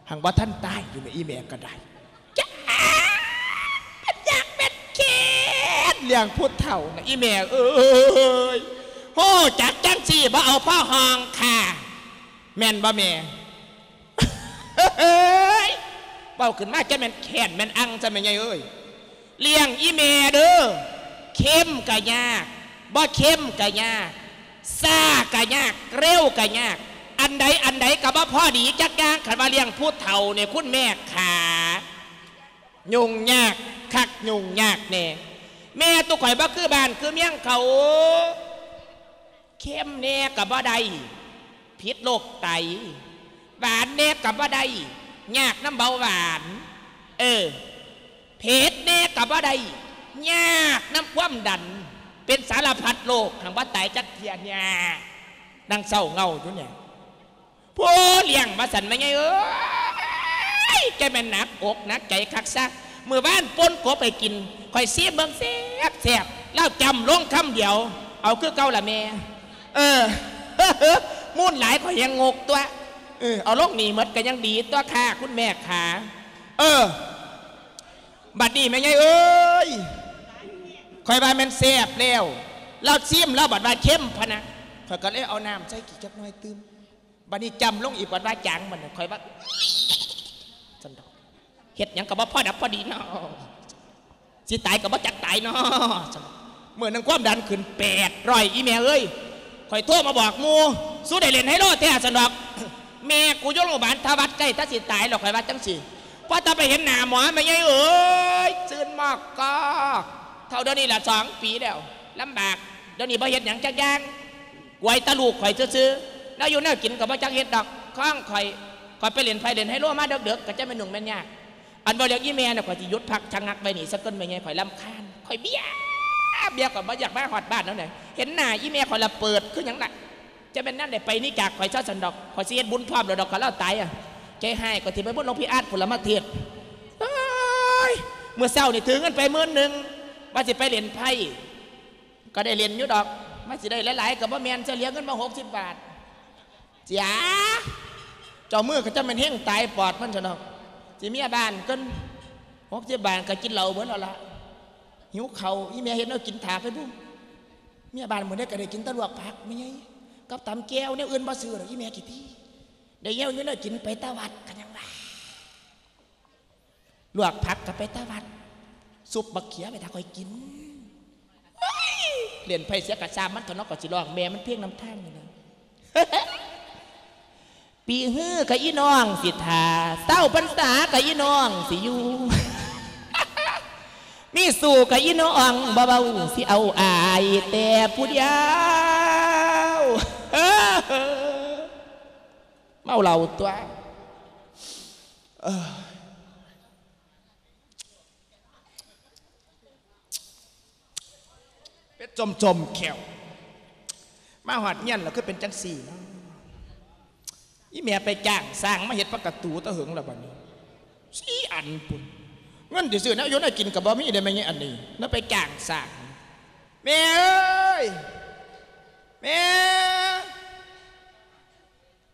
ຮັ່ງບໍ່ທັນຕາຍຢູ່ແມ່ ອີ່ແມ່ກໍໄດ້. ຈ້າ ມັນຢາກເປັນເຂດລ້ຽງຜູ້ເຖົ້ານະ ອີ່ແມ່ເອີຍ. ຮູ້ຈັກຈັ່ງຊີ້ບໍ່ເອົາພໍ່ຫ້ອງຄ່າ ແມ່ນບໍ່ແມ່? ເອີຍ ເວົ້າຂຶ້ນມາຈະແມ່ນແຄ້ນແມ່ນອັ່ງຊະແມ່ໃຫຍ່ເອີຍ. ລ້ຽງອີ່ແມ່ເດີ ເຄັມກະຍາກ ບໍ່ເຄັມກະຍາກ ຊ້າກະຍາກ ເລັວກະຍາກ ອັນໃດອັນໃດກະບໍ່ພໍດີຈັກຢ່າງ. ຄັນວ່າລ້ຽງຜູ້ເຖົ້ານີ້ ຄຸນແມ່ຂາ ຫຍຸ້ງຍາກຄັກຫຍຸ້ງຍາກແນ່. ແມ່ຕຸຂ້ອຍບໍ່ຄືບ້ານຄືເມືອງເຂົາ ເຄັມແນ່ກໍບໍ່ໄດ້ ຜິດໂລກໄຕ, ຫວານແນ່ກໍບໍ່ໄດ້ ຍາກນຳເບົາຫວານ, ເອີ ເຜັດແນ່ກໍບໍ່ໄດ້ ຍາກນຳຄວາມດັນ, ເປັນສາລະພັດໂລກ ຫາກບໍ່ຕາຍຈັກເທື່ອ. ຍາກ ນາງເສົ້າເຫງົ້າຢູ່ນີ້. ຜູ້ລ້ຽງວ່າຊັ້ນ ແມ່ໃຫຍ່ເອີຍ ແກແມ່ນໜັກອົກໜັກໃຈຄັກຊະ. ມື້ວານປົ່ນກົບໃຫ້ກິນ ຂ້ອຍຊີມເບິ່ງແຊບໆ ລາວຈ້ຳລົງຄຳດຽວ ເອົາຄືເກົ່າລະແມ່. ເອີ ມູນຫຼາຍ ຂ້ອຍແຮ່ງງົກຕົວະ. ເອີ ເອົາລົງນີ້ໝົດກໍຍັງດີຕົວະຄ່າ ຄຸນແມ່ຂາ. ເອີ ບັດນີ້ແມ່ໃຫຍ່ເອີຍ ຂ້ອຍວ່າແມ່ນແຊບແລ້ວ ລາວຊີມລາວບັດວ່າເຄັມພະນະ ຂ້ອຍກໍເລີຍເອົານ້ຳໃສ່ອີກຈັກໜ້ອຍຕື່ມ. ບັດນີ້ຈ້ຳລົງອີກ ບັດວ່າຈາງ ບັດນີ້ຂ້ອຍວ່າ ຊັ້ນດອກ ເຮັດຫຍັງກໍບໍ່ພໍດັບພໍດີເນາະ ຊິຕາຍກໍບໍ່ຈັກຕາຍເນາະ. ມື້ໜຶ່ງຄວາມດັນຂຶ້ນແປດຮ້ອຍ ອີແມ່ເອີຍ ຂ້ອຍໂທມາບອກໝູ່ ສູໄດ້ຫຼິ້ນໄຮໂລແທ້ ຊັ້ນດອກ. ແມ່ກູຢູ່ໂຮງບານທະວັດ ໃກ້ຕາຊິຕາຍແລ້ວ ຂ້ອຍວ່າຈັ່ງຊີ້. ພໍຕາໄປເຫັນໜ້າໝໍ ແມ່ໃຫຍ່ເອີຍ ຊືນມອກກອກ. ເທົ່າດຽວນີ້ລະ ສອງປີແລ້ວ ລຳບາກ. ດຽວນີ້ບໍ່ເຮັດຫຍັງຈັກຢ່າງ ກວຍແຕ່ລູກຂ້ອຍຊື່ໆ ແນວຢູ່ແນວກິນກໍບໍ່ຈັກເຮັດດອກ. ຂອງຂ້ອຍ ຂ້ອຍໄປຫຼິ້ນໄພ້ຫຼິ້ນໄຮໂລມາເດິກໆ ກໍຈະແມ່ນຫຍຸ້ງແມ່ນຍາກ. ອັນເວົ້າເລື່ອງອີແມ່ນະ ຂ້ອຍຊິຢຸດພັກຊະງັກໄວ້ນີ້ສາກ່ອນ ແມ່ໃຫຍ່ ຂ້ອຍລຳຄານ ຂ້ອຍເບຍ ເບຍ ຂ້ອຍບໍ່ຢາກມາຮອດບ້ານແລ້ວນະ. ເຫັນໜ້າອີແມ່ຂ້ອຍລະເປີດຄືຫຍັງລະ ຈະແມ່ນນຳໃດໄປໜີຈາກຂ້ອຍຊະຊັ້ນດອກ. ຂ້ອຍຊິເຮັດບຸນພ້ອມໂລດດອກ ຄັນລາວຕາຍອະ. ໃຈຮ້າຍ ຂ້ອຍຊິໄປບຸນຫຼວງພີ່ອາດພຸ້ນລະມາເທດ. ໂອ້ຍ ມື້ເຊົ້ານີ້ຖືເງິນໄປໝື່ນໜຶ່ງ ວ່າຊິໄປຫຼິ້ນໄພ້ ກໍໄດ້ຫຼິ້ນຢູ່ດອກ ມັນຊິໄດ້ຫຼາຍໆກໍບໍ່ແມ່ນ ເສຍເຫຼືອເງິນມາຫົກສິບບາດ. ເສຍ ເຈົ້າມືກໍຈະແມ່ນເຮັງຕາຍປອດມັນຊະເນາະ. ຊິເມຍບ້ານກ່ອນ ຫົກສິບບາດກໍກິນເຫຼົ້າເບິດແລ້ວລະ. ຫິວເຂົ້າ ອີແມ່ເຮັດແນວກິນຖ້າໄປບຸ້ມ. ເມຍບ້ານມື້ໃດກໍໄດ້ກິນແຕ່ລວກຜັກ ແມ່ໃຫຍ່ ກັບຕຳແຈ່ວ ແນວອື່ນບໍ່ຊື້ດອກ ອີແມ່ຂີ້ຕີ. ໄດ້ແນວຢູ່ແນວກິນໄປແຕ່ວັດ ກໍຍັງວ່າ ລວກຜັກກໍໄປແຕ່ວັດ ຊຸບບັກເຂືອໄປຖ້າຂ້ອຍກິນ. ໂອ້ຍ ຫຼິ້ນໄພ້ເສຍກະຊ່າງມັນເຖາະເນາະ ກໍຊິຮ້ອງແມ່ມັນເພງນຳທາງນີ້ນະ. ປີຮືກໍອີນ້ອງຊິຖ້າ ເຊົາພັນສາກໍອີນ້ອງຊິຢູ່ ມີສູ້ກໍອີນ້ອງບໍ່ເວົ້າ ຊິເອົາອ້າຍແຕ່ຜູ້ດຽວ. ເມົາເຫຼົ້າຕົວະ ເອີ ເປັດຈົ່ມໆແຂ້ວ ມາຮອດເຮືອນແລ້ວຄືເປັນຈັ່ງຊີ້ເນາະ. ອີແມ່ໄປຈ້າງຊ່າງມາເຮັດປະຕູແຕ່ເຫິງແລ້ວບັດນີ້ ສີ່ອັນພຸ້ນ. ເງິນຊິຊື້ແນວຢູ່ແນວກິນກໍບໍ່ມີເດ້ແມ່ໃຫຍ່ອັນນີ້ ແລ້ວໄປຈ້າງຊ່າງ. ແມ່ເອີຍ ແມ່!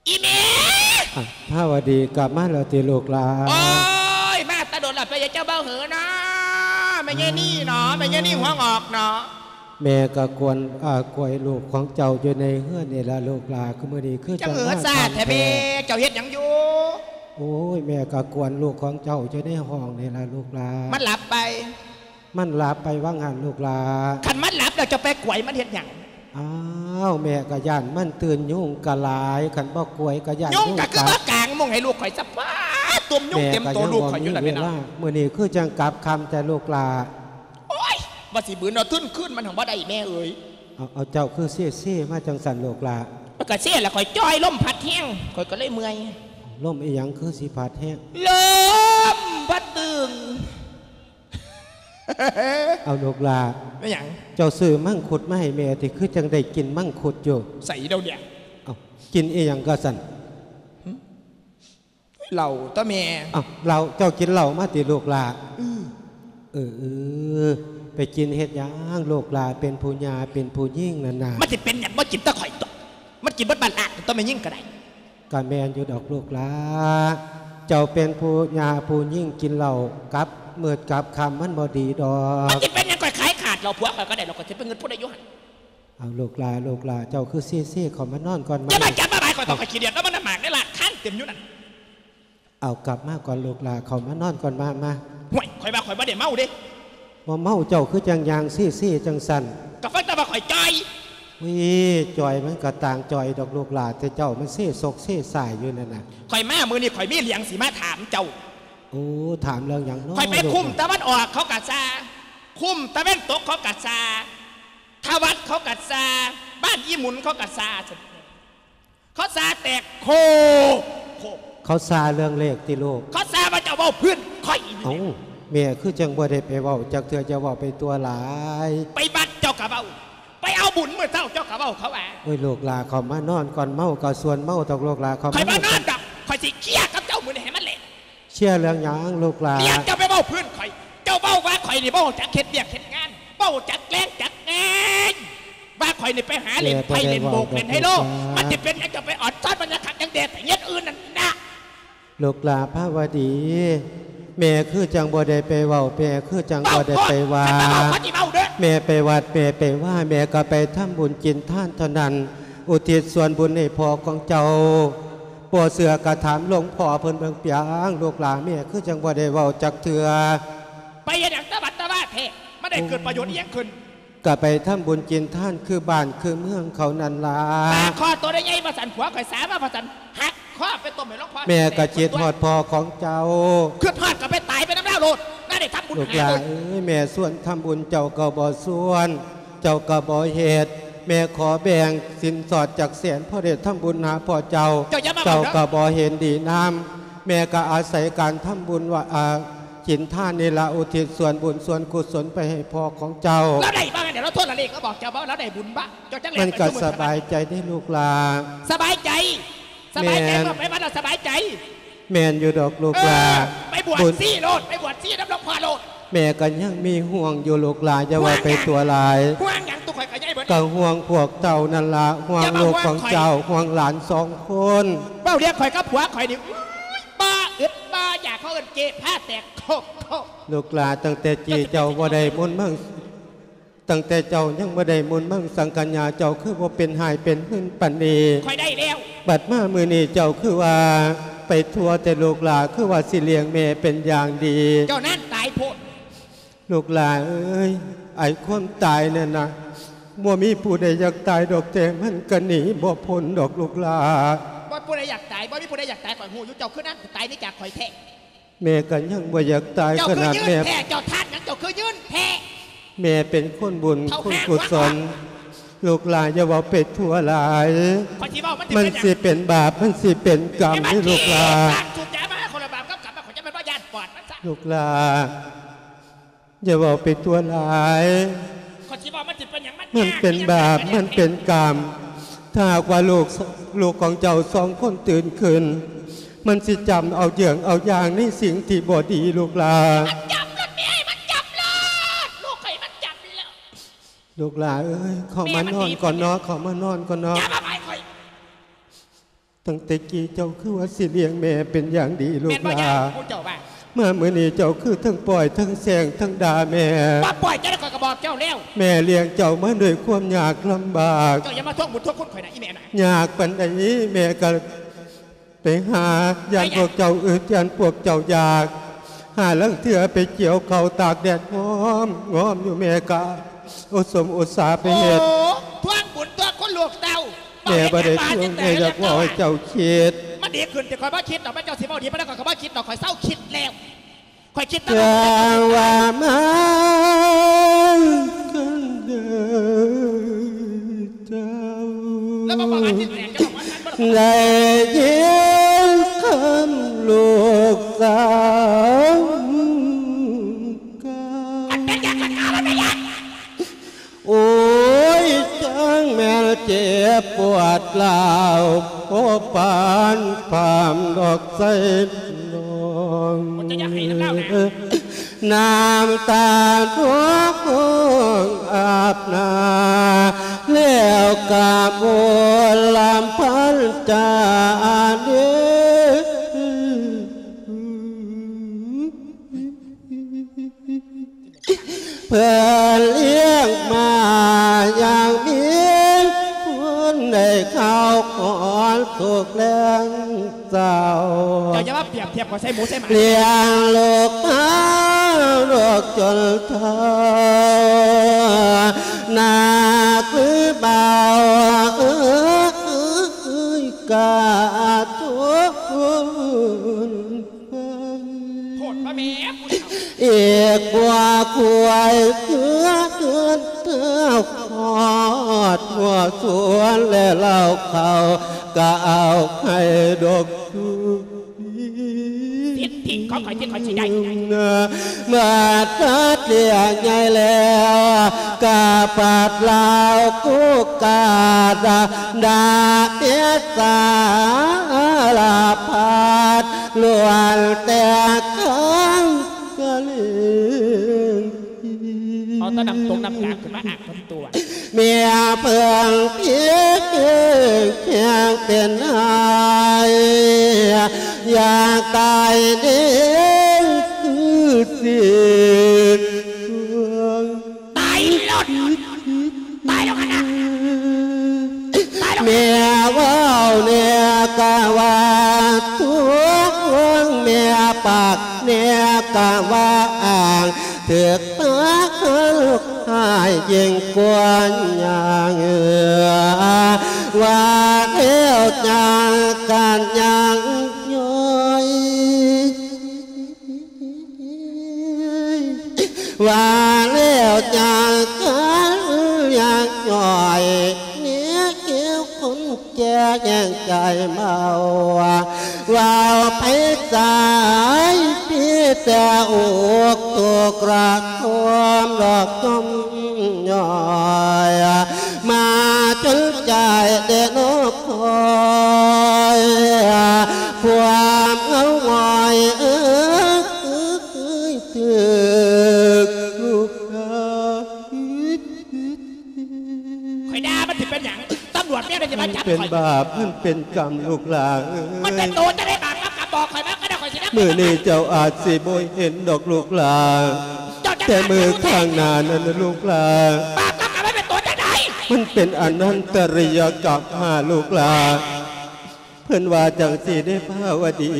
ອີແມ່! ອ້າວ ພາວະດີ ກັບມາແລ້ວຕິລູກຫຼານ? ໂອ້ຍ ມາແຕ່ດົນລະ ເປັນຫຍັງເຈົ້າບໍ່ຫືເນາະ ແມ່ໃຫຍ່ນີ້ເນາະ ແມ່ໃຫຍ່ນີ້ຫົວງອກເນາະ. ແມ່ກະກວນ ອາ ກວຍລູກຂອງເຈົ້າຢູ່ໃນເຮືອນນີ້ລະລູກຫຼານ ຄືມື້ນີ້ຄືຈັ່ງມາຊ້າແທ້ແມ່. ເຈົ້າເຮັດຫຍັງຢູ່? ໂອ້ຍ ແມ່ກະກວນລູກຂອງເຈົ້າຢູ່ໃນຫ້ອງນີ້ລະລູກຫຼານ. ມັນຫຼັບໄປ? ມັນຫຼັບໄປວ່າງຫັ້ນລູກຫຼານ. ຄັນມັນຫຼັບແລ້ວເຈົ້າໄປກວຍມັນເຮັດຫຍັງ? ອ້າວ ແມ່ກະຢ້ານມັນຕື່ນ ຍຸງກະຫຼາຍ ຄັນບໍ່ກວຍກະຢ້ານຍຸງກັດ. ຍຸງກະຄືມາກາງມຸ້ງໃຫ້ລູກຂ້ອຍຊະ ປ້າ ຕຸ່ມຍຸງເຕັມໂຕລູກຂ້ອຍຢູ່ລະແມ່ເນາະ. ມື້ນີ້ຄືຈັ່ງກັບຄ່ຳແຕ່ລູກຫຼານ. ໂອ້ຍ ວ່າຊິບືນເອົາທຶນຄືນມັນຫັ້ນບໍ່ໄດ້ແມ່ເອີຍ. ເອົາ ເອົາ ເຈົ້າຄືເຊໆມາຈັ່ງຊັ້ນລູກຫຼານ? ມັນກະເຊລະ ຂ້ອຍຈ່ອຍ ລົມພັດແຮງ ຂ້ອຍກະເລີຍເມື່ອຍ. ລົມອີ່ຫຍັງຄືຊິພັດແຮງ? ລົມພັດຕຶງ. ເອົາລູກຫຼານ ແມ່ນຫຍັງ? ເຈົ້າຊື້ມັງຄຸດມາໃຫ້ແມ່ຕິ ຄືຈັ່ງໄດ້ກິນມັງຄຸດຢູ່. ໃສດຽວນີ້? ເອົ້າ ກິນອີ່ຫຍັງກໍຊັ້ນ? ຫຶ? ເຫຼົ້າຕົວະແມ່. ເອົ້າ ເຫຼົ້າ ເຈົ້າກິນເຫຼົ້າມາຕິລູກຫຼານ? ອື ເອີ ເອີ ໄປກິນເຮັດຫຍັງລູກຫຼານ ເປັນຜູ້ຍ່າເປັນຜູ້ຍິງນັ້ນນະ. ມັນຊິເປັນຫຍັງ ບໍ່ກິນແຕ່ຂ້ອຍຕົວະ ມັນກິນເບິດບ້ານລ້ານຕົວະ ແມ່ຍິງກໍໄດ້. ກະແມ່ນຢູ່ດອກລູກຫຼານ ເຈົ້າເປັນຜູ້ຍ່າຜູ້ຍິງກິນເຫຼົ້າກັບມືດກັບຄ່ຳມັນບໍ່ດີດອກ. ມັນຊິເປັນຫຍັງ ຂ້ອຍຂາຍຂາດເຫຼົ້າຜົວຂ້ອຍກໍໄດ້ດອກ ຂ້ອຍຊິໄປເງິດຜູ້ໃດຢູ່ຫັ້ນ. ເອົາລູກຫຼານ ລູກຫຼານ ເຈົ້າຄືເຊໆ ເຂົ້າມານອນກ່ອນມາ. ຢ່າມາຈັບມາບາຍຂ້ອຍ ຂ້ອຍຂີ້ດຽດແລ້ວ ມັນນຳໝາກໃນລານຄານເຕັມຢູ່ນັ້ນ. ເອົາກັບມາກ່ອນລູກຫຼານ ເຂົ້າມານອນກ່ອນ ມາ ມາ. ຫ້ວຍ ຂ້ອຍວ່າຂ້ອຍບໍ່ໄດ້ເມົາເດ້. ບໍ່ເມົາ ເຈົ້າຄືຈັ່ງຍ່າງເຊໆຈັ່ງຊັ້ນ? ກໍຟັງແຕ່ວ່າຂ້ອຍຈ່ອຍ. ເວີຍ ຈ່ອຍມັນກໍຕ່າງຈ່ອຍດອກລູກຫຼານ ແຕ່ເຈົ້າມັນເຊສົກເຊສາຍຢູ່ນັ້ນນະ. ຂ້ອຍມາມື້ນີ້ ຂ້ອຍມີເລື່ອງຊິມາຖາມເຈົ້າ. ໂອ້ ຖາມເລື່ອງຫຍັງເນາະ? ຂ້ອຍໄປຄຸ້ມຕາເວັນອອກເຂົາກະຊາ ຄຸ້ມຕາເວັນຕົກເຂົາກະຊາ ທະວັດເຂົາກະຊາ ບ້ານອີ່ໝຸນເຂົາກະຊາ. ເຂົາຊາແຕກໂຄກໂຄກ. ເຂົາຊາເລື່ອງເລກຕິລູກ? ເຂົາຊາວ່າເຈົ້າເວົ້າພື້ນຂ້ອຍ. ເອົ້າ ແມ່ຄືຈັ່ງບໍ່ໄດ້ໄປເວົ້າຈັກເທື່ອ ຢ່າເວົ້າໄປຕົວະຫຼາຍ. ໄປວັດເຈົ້າກະເວົ້າ ໄປເອົາບຸນມື້ເຊົ້າເຈົ້າກະເວົ້າ ເຂົາວ່າ. ໂອ້ຍ ລູກຫຼານ ເຂົ້າມານອນກ່ອນ ເມົາກໍຊວນເມົາດອກລູກຫຼານ. ເຂົ້າມາ ຂ້ອຍບໍ່ນອນດອກ ຂ້ອຍຊິເຄຍກັບເຈົ້າມື້ນີ້ໃຫ້ມັນແຫຼະ. ເຄຍເລື່ອງຫຍັງລູກຫຼານ? ເລື່ອງເຈົ້າໄປເວົ້າພື້ນຂ້ອຍ ເຈົ້າເວົ້າວ່າຂ້ອຍນີ້ບໍ່ຮູ້ຈັກເຮັດວຽກເຮັດງານ ບໍ່ຮູ້ຈັກແລງຈັກງານ ວ່າ ຂ້ອຍນີ້ໄປຫາຫຼິ້ນໄພ້ຫຼິ້ນໂບກຫຼິ້ນໄຮໂລ ມັນຊິເປັນຫຍັງ ເຈົ້າໄປອອນຊອນມັນຫຍັງຄັກຫຍັງແດ່ ໄປເຮັດອື່ນນັ້ນນະ. ລູກຫຼ້າພາວະດີ ແມ່ຄືຈັ່ງບໍ່ໄດ້ໄປເວົ້າ ແມ່ຄືຈັ່ງບໍ່ໄດ້ໄປວ່າ. ເວົ້າໂລດ ຄັນວ່າເວົ້າ ຂ້ອຍຊິເວົ້າເດີ້. ແມ່ໄປວັດ ແມ່ໄປວາ ແມ່ກໍໄປທຳບຸນກິນທານເທົ່ານັ້ນ ອຸທິດສ່ວນບຸນໃຫ້ພໍ່ຂອງເຈົ້າ. ບໍ່ເຊື່ອກໍຖາມຫຼວງພໍ່ເພິ່ນເບິ່ງປຽງ ລູກຫຼ້າ ແມ່ຄືຈັ່ງບໍ່ໄດ້ເວົ້າຈັກເທື່ອ. ໄປເຮັດຫຍັງຕະບັດຕະວາແທ້ ມັນໄດ້ເກີດປະໂຫຍດອີ່ຫຍັງຂຶ້ນ? ກໍໄປທຳບຸນກິນທານຄືບ້ານຄືເມືອງເຂົານັ້ນລະ. ປາກຄໍໂຕໃຫຍ່ໆ ວ່າຊັ້ນ ຜົວຂ້ອຍສາມາວ່າຊັ້ນ ຫັກຄໍໄປຕົ້ມໃຫ້ຫຼວງພໍ່. ແມ່ກໍຄິດຮອດພໍ່ຂອງເຈົ້າ. ຄິດຮອດກໍໄປຕາຍໄປນຳລາວໂລດ ນັ້ນໄດ້ທຳບຸນ. ລູກຫຼ້າເອີຍ ແມ່ຊວນທຳບຸນເຈົ້າກໍບໍ່ຊວນ ເຈົ້າກໍບໍ່ເຮັດ. ແມ່ຂໍແບ່ງສິນສອດຈັກແສນ ພໍໄດ້ທຳບຸນຫາພໍ່ເຈົ້າ. ເຈົ້າຢ່າມາເວົ້າເດີ ເຈົ້າກໍບໍ່ເຫັນດີນຳ. ແມ່ກໍອາໄສການທຳບຸນວ່າ ອາ ກິນທານນີ້ລະ ອຸທິດສ່ວນບຸນສ່ວນກຸສົນໄປໃຫ້ພໍ່ຂອງເຈົ້າ. ລາວໄດ້ບໍ່? ແມ່ນລາວໂທລະເລກມາບອກເຈົ້າບໍ່? ລາວໄດ້ບຸນບໍ່? ເຈົ້າຈັ່ງແລ່ນໄປ ມັນກໍສະບາຍໃຈເດ້ລູກຫຼ້າ. ສະບາຍໃຈ? ສະບາຍໃຈ ແມ່ນ ເມື່ອໄປວັດລະສະບາຍໃຈ. ແມ່ນຢູ່ດອກລູກຫຼ້າ. ເອີ ໄປບວດຊີໂລດ ໄປບວດຊີນຳຫຼວງພໍ່ໂລດ. ແມ່ກໍຍັງມີຫ່ວງຢູ່ລູກຫຼ້າ ຢ່າເວົ້າໄປທົ່ວຫຼາຍ. ຫ່ວງຫຍັງ? ຕົວຂ້ອຍກໍໃຫຍ່ເບິດ ກໍຫ່ວງພວກເຈົ້ານັ້ນລະ ຫ່ວງລູກຂອງເຈົ້າ ຫ່ວງຫຼານສອງຄົນ. ເວົ້າເລື່ອງຂ້ອຍກັບຜົວຂ້ອຍນີ້ ໂອ້ຍ ບໍ່ອຶດບໍ່ຢາກ ເຂົາເອີ້ນເກພາແຕກໂຄກໆ. ລູກຫຼ້າ ຕັ້ງແຕ່ກີ້ເຈົ້າບໍ່ໄດ້ມົນມັງ ຕັ້ງແຕ່ເຈົ້າຍັງບໍ່ໄດ້ມົນມັງສັງກະຍາ ເຈົ້າຄືບໍ່ເປັນຮ້າຍເປັນຫືນປານນີ້? ຂ້ອຍໄດ້ແລ້ວ. ບັດມາມື້ນີ້ເຈົ້າຄືວ່າໄປທົ່ວແຕ່ລູກຫຼ້າ ຄືວ່າຊິລ້ຽງແມ່ເປັນຢ່າງດີ. ເຈົ້ານັ້ນຕາຍໂພດ. ລູກຫຼ້າເອີຍ ໄອ້ຄວາມຕາຍນັ້ນນະ ບໍ່ມີຜູ້ໃດຢາກຕາຍດອກ ແຕ່ມັນກະໜີບໍ່ພົ້ນດອກລູກຫຼ້າ. ບໍ່ມີຜູ້ໃດຢາກຕາຍ ບໍ່ມີຜູ້ໃດຢາກຕາຍ ຂ້ອຍຮູ້ຢູ່ ເຈົ້າຄືນັ້ນຕາຍໜີຈາກຂ້ອຍແທ້. ແມ່ກໍຍັງບໍ່ຢາກຕາຍຂະໜາດແມ່. ເຈົ້າຄືຢືນແທ້ ເຈົ້າທ່ານຫຍັງ ເຈົ້າຄືຢືນແທ້? ແມ່ເປັນຄົນບຸນ ເຂົາ ຄຸນກຸສົນ ລູກຫຼ້າຢ່າເວົ້າໄປທົ່ວຫຼາຍ. ຂ້ອຍຊິເວົ້າ ມັນຊິເປັນຫຍັງ? ມັນຊິເປັນບາບ ມັນຊິເປັນກຳເດ້ລູກຫຼ້າ. ແມ່ນຫຍັງ? ສູບຢາມາໃຫ້ຄົນລະບາບກັບກຳ ຂ້ອຍຈະແມ່ນວ່າຢ້ານປອດມັນຊະ. ລູກຫຼ້າ ຢ່າເວົ້າໄປທົ່ວຫຼາຍ. ຂ້ອຍຊິເວົ້າ ມັນຊິເປັນຫຍັງ? ມັນ ມັນເປັນບາບ ມັນເປັນກຳ. ຖ້າຫາກວ່າລູກ ລູກຂອງເຈົ້າສອງຄົນຕື່ນຂຶ້ນ ມັນຊິຈຳເອົາເຍື່ອງເອົາຢ່າງໃນສິ່ງທີ່ບໍ່ດີ ລູກຫຼ້າ. ມັນຈຳໂລດແມ່ ມັນຈຳໂລດ ລູກຂ້ອຍມັນຈຳແລ້ວ. ລູກຫຼ້າເອີຍ ເຂົ້າມານອນກ່ອນເນາະ ເຂົ້າມານອນກ່ອນເນາະ. ຢ່າມາບາຍຂ້ອຍ. ຕັ້ງແຕ່ກີ້ເຈົ້າຄືວ່າຊິລ້ຽງແມ່ເປັນຢ່າງດີ ລູກຫຼ້າ. ແມ່ນບໍ່ຍາຍ ຜູ້ເຈົ້າວ່າ? ມາມື້ນີ້ເຈົ້າຄືທັງປ່ອຍທັງແຊ່ງທັງດ່າແມ່. ບໍ່ປ່ອຍ ຈັ່ງໃດຂ້ອຍກໍບອກເຈົ້າແລ້ວ. ແມ່ລ້ຽງເຈົ້າມາດ້ວຍຄວາມຍາກລຳບາກ. ເຈົ້າຢ່າມາທວງບຸນທວງຄຸນຂ້ອຍນະ ອີແມ່ນະ. ຍາກປານໃດແມ່ກໍໄປຫາ ຢ້ານພວກເຈົ້າອຶດ ຢ້ານພວກເຈົ້າຢາກ. ຫາລາງເທື່ອໄປກ່ຽວເຂົ້າຕາກແດດງອມໆຢູ່ ແມ່ກະອຸສົມອຸດສາໄປເຮັດ. ໂອ້ ທວງບຸນທວງຄຸນລູກເຕົ້າ. ແມ່ບໍ່ໄດ້ທວງ ແມ່ຢາກເວົ້າໃຫ້ເຈົ້າຄິດ. ມັນດີຂຶ້ນ ແຕ່ຂ້ອຍບໍ່ຄິດດອກ ແມ່ນເຈົ້າຊິເວົ້າດີປານໃດ ຂ້ອຍກໍບໍ່ຄິດດອກ ຂ້ອຍເຊົາຄິດແລ້ວ ຂ້ອຍຄິດແຕ່ວ່າ ຈັ່ງວ່າມາກັນເດີເຈົ້າ ແລ້ວມາເວົ້າອາທິດແຕກ ເຈົ້າເວົ້າວ່າ ໄດ້ຍິນຄຳລູກສາວ ມັນເປັນຫຍັງ ມັນເປັນຫຍັງ ໂອ້ຍ ຈັ່ງແມ່ນເຈັບປວດລາວ ພໍປານປາມດອກໃສ່ນ້ອງ ນ້ຳຕານພວງອາບໜ້າ ແລ້ວກະບົນລຳພັນຈາເດ. ເພິ່ນລ້ຽງມາຢ່າງມີຄຸນ ໄດ້ເຂົ້າຂອນສຸກແລງເຊົ້າ ເຈົ້າຢ່າມາປຽບທຽບຂ້ອຍໃສ່ໝູໃສ່ໝາ ລ້ຽງລູກມາລູກຈົນເຖົ້າ ໜັກຫຼືເບົາເອີຍ ກະທົນ ໂທດພະແມ່ຜູ້ເຖົ້າ ອີກບໍ່ຄວາຍເຄືອເຮືອນເຈົ້າ ຮອດຫົວສວນແລະເລົ້າເຂົ້າ ກະເອົາໃຫ້ດົກ ສິດທິຂອງຂ້ອຍທີ່ຂ້ອຍຊິໄດ້ ເມື່ອຕັດລ້ຽງໃຫຍ່ແລ້ວ ກະປາດລາວກູກາດ ດາເມດສາລະພັດ ລ້ວນແຕ່ຄຳກະເລງ ເອົາແຕ່ນ້ຳຕົກນ້ຳກາຂຶ້ນມາອາບກັບຕົວ ແມ່ເພິ່ງທີ່ແຂງເປັນໄຫ້ ຢາກຕາຍເດ້ ຄືຊິ ຕາຍໂລດ ຕາຍໂລດຫັ້ນນະ ຕາຍໂລດ. ແມ່ເວົ້າແນ່ກະວ່າທຸກ ແມ່ປາກແນ່ກະວ່າອ້າງ ຖືກປາກເຮົາຮ້າຍຍິ່ງກວ່າຫຍັງ ວ່າແລ້ວຈັ່ງກັນຍັງຍ້ອຍ ວ່າແລ້ວຈັ່ງກັນຍັງຍ້ອຍ ແນວແກ້ວຄົນແກ່ແຫ່ງໃຈເມົາ ເວົ້າໄປສາຍ ມີແຕ່ອົກທຸກລະທົນດອກ ຍ້ອມຍ້ອຍ ມາຈົນໃຈໄດ້ນອກຄອຍ ຄວາມເຫງົາຫງອຍເອີຍ ຖືກລູກຄ້າ ຂ້ອຍດ່າມັນຊິເປັນຫຍັງ? ຕຳຫຼວດແມ່ນໄດ້ຊິມາຈັບຂ້ອຍ ມັນເປັນບາບ ມັນເປັນກຳລູກຫຼາເອີຍ ມັນເປັນໂຕຈັ່ງໃດບາບກັບກຳ? ບອກຂ້ອຍມາກໍໄດ້ ຂ້ອຍຊິນຳ ມື້ນີ້ເຈົ້າອາດຊິບໍ່ເຫັນດອກລູກຫຼາ ເຈົ້າຈະ ແຕ່ມື້ຂ້າງໜ້ານັ້ນນະລູກຫຼາ ບາບກັບກຳມັນເປັນໂຕຈັ່ງໃດ? ມັນເປັນອະນັນຕະລິຍະກັບຫາລູກຫຼາ ເພິ່ນວ່າຈັ່ງຊີ້ເດ້ພາວະດີ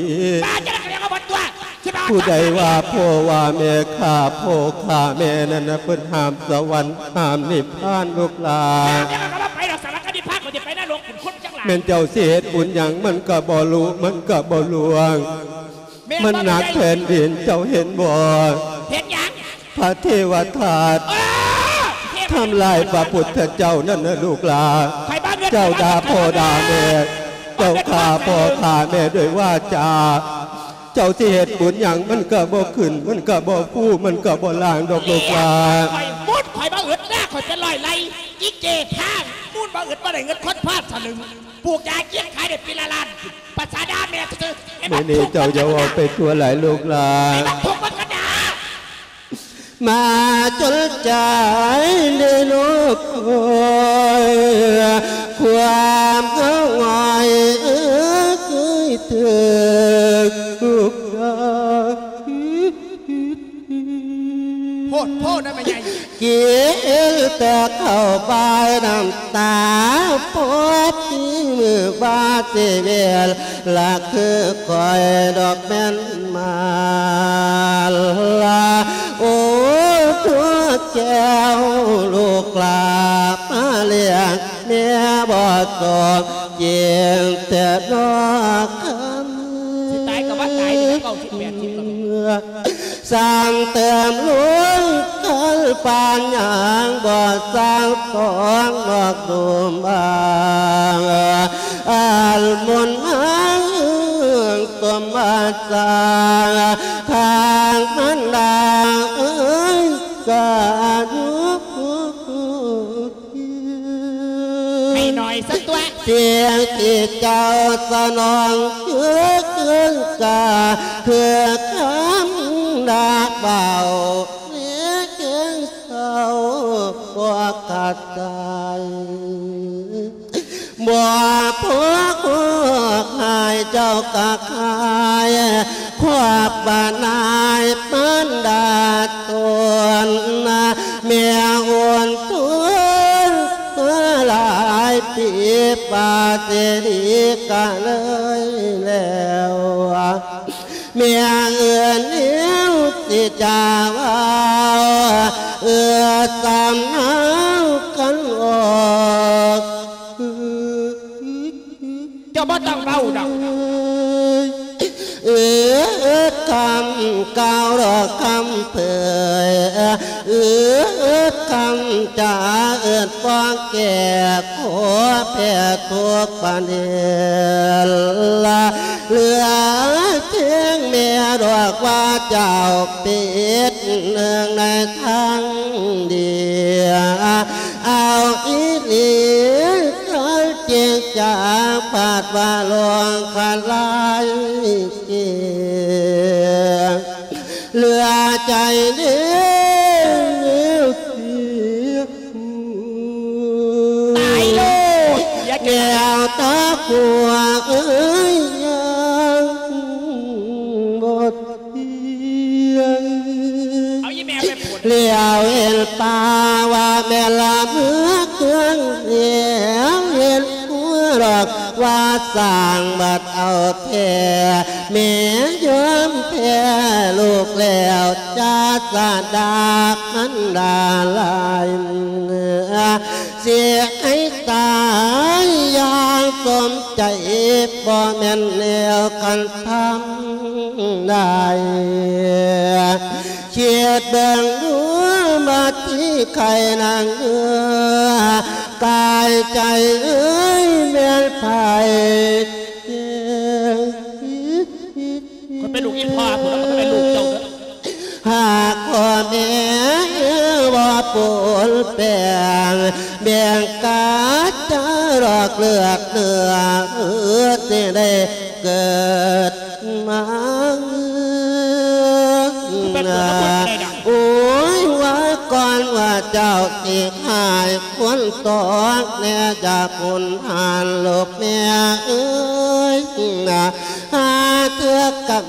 ວ່າຈັ່ງໃດກໍເລື່ອງຂອງເພິ່ນຕົວະ ຊິມາ ຜູ້ໃດວ່າພໍ່ວ່າແມ່ຂ້າພໍ່ຂ້າແມ່ນັ້ນນະ ເພິ່ນຫ້າມສະຫວັນຫ້າມນິບພານລູກຫຼາ ແມ່ນຫຍັງກໍວ່າໄປດອກ ສະຫວັນກັບນິບພານ ຂ້ອຍຊິໄປນະລົກ ເປັນຄົນຈັ່ງຫຼາຍ ແມ່ນເຈົ້າຊິເຮັດບຸນຫຍັງມັນກໍບໍ່ລຸ ມັນກໍບໍ່ລ່ວງ ແມ່ນ ມັນໜັກແຜ່ນດິນ ເຈົ້າເຫັນບໍ່? ເຫັນຫຍັງ? ພະເທວະທາດ ເອີ ທຳລາຍພະພຸດທະເຈົ້ານັ້ນນະລູກຫຼາ ເຈົ້າດ່າພໍ່ດ່າແມ່ ເຈົ້າຂ້າພໍ່ຂ້າແມ່ດ້ວຍວາຈາ ເຈົ້າຊິເຮັດບຸນຫຍັງມັນກໍບໍ່ຂຶ້ນ ມັນກໍບໍ່ຟູ ມັນກໍບໍ່ລ້າງດອກລູກຫຼາ ຂ້ອຍມຸດ ຂ້ອຍບໍ່ອຶດນາ ຂ້ອຍເປັນຮ້ອຍໄຮ່ ອີເກທາງມູນບໍ່ອຶດ ບໍ່ໄດ້ເງິນຄົນພາດສະລຶງ ປູກຢາເກັບຂາຍໄດ້ປີລະລ້ານ ພາສາດ່າແມ່ຊື່ໆ ມື້ນີ້ເຈົ້າຢ່າເວົ້າໄປທົ່ວຫຼາຍລູກຫຼາ ໃຫ້ມັນທຸກມັນກໍດ່າ ມາຈົນໃຈໄດ້ນອກຄອຍ ຄວາມເຫງົາຫງອຍເອີຍ ເຄີຍຖືກລູກຄ້າ ໂພດໂພດນະແມ່ໃຫຍ່ ກິນແຕ່ເຂົ້າບາຍນ້ຳຕາ ພໍດີມື້ບາດຊີວິດ ລະຄືຂ້ອຍດອກແມ່ນມາລະ ໂອ້ ພວກແກ້ວລູກຫຼາ ມາລ້ຽງແມ່ບໍ່ສົມຈິງແທ້ນອກຄຳ ຊິຕາຍກໍວ່າຕາຍເດີ ເກົ້າສິບ ແປດສິບກໍມີ ສ້າງເຕີມລຸງກັນປານຫຍັງ ບໍ່ສ້າງສອງນອກດຸມບາງ ອັນມົນມາເອີງສົມບັດສ້າງ ທາງມັນດາເອີຍກະດຸ ໃຫ້ໜ້ອຍຊະຕົວະ ສິ່ງທີ່ເຈົ້າສະໜອງຄືຄືນກາ ຄືຄຳດາເບົາ ແລະເຄື່ອງເສົ້າບໍ່ຂາດສາຍ ບໍ່ພໍຄວບໃຫ້ເຈົ້າກະຂາຍ ຄວບບານາຍມານດາຕົນ ແມ່ອຸ່ນຕົນມາຫຼາຍປີ ປາດເສລີກະເລີຍແລ້ວ ແມ່ເອື້ອນແນວຊິຈາເວົ້າ ເອື້ອສຳເນົາກັນອອກ ເຈົ້າບໍ່ຕ້ອງເວົ້າດອກ ເອື້ອຄຳກ່າວດອກຄຳເຜີຍ ເອື້ອຄຳຈາເອີ້ນຟ້ອງແກ່ ຂໍແຜ່ທຸກປະເດັນລະ ເຫຼືອພຽງແມ່ດອກວ່າເຈົ້າປິດເນື່ອງໃນທາງດຽວ ເອົາອີ່ຫຼີ ຄັນຈິງຈາ ບາດວ່າຫຼວງຄະລາຍເກ ເຫຼືອໃຈເດວເສຍ ຜົວເອີຍ ຍັງບໍ່ທ່ຽງ ເອົາອີ່ແມ່ໄປໂພດ ຫຼຽວເຫັນປ່າວ່າແມ່ນລະເມືອເຄື່ອງ ຫຼຽວເຫັນຜົວດອກວ່າສ້າງບັດເອົາແທ້ ແມ່ຍອມແພ້ລູກແລ້ວ ຈາສະດາມັນດາຫຼາຍ ຊິໃຫ້ຕາຍຢ່າງສົມໃຈ ບໍ່ແມ່ນແນວຄັນທຳໄດ້ ຄິດເບິ່ງດູມາທີ່ໄຄນາງເອີ ກາຍໃຈເອີຍແມ່ນໃຜ ຂ້ອຍເປັນລູກອີ່ພໍ່ພຸ້ນ ແລ້ວຂ້ອຍເປັນລູກເຈົ້າເດີ ຫາກພໍ່ແມ່ບໍ່ປົນແປງ ແບ່ງກາຈາດອກເລືອດເນື້ອ ເອີ ຊິໄດ້ເກີດມາ ເປັນເກີດມາເພື່ອໃດດອກ ໂອ້ຍ ວ່າກ່ອນວ່າເຈົ້າຊິຫາຍຄົນຕອກແນ່ ຈາກຄຸນຫານລູກແມ່ເອີຍນະ ຫາເທື່ອກຳ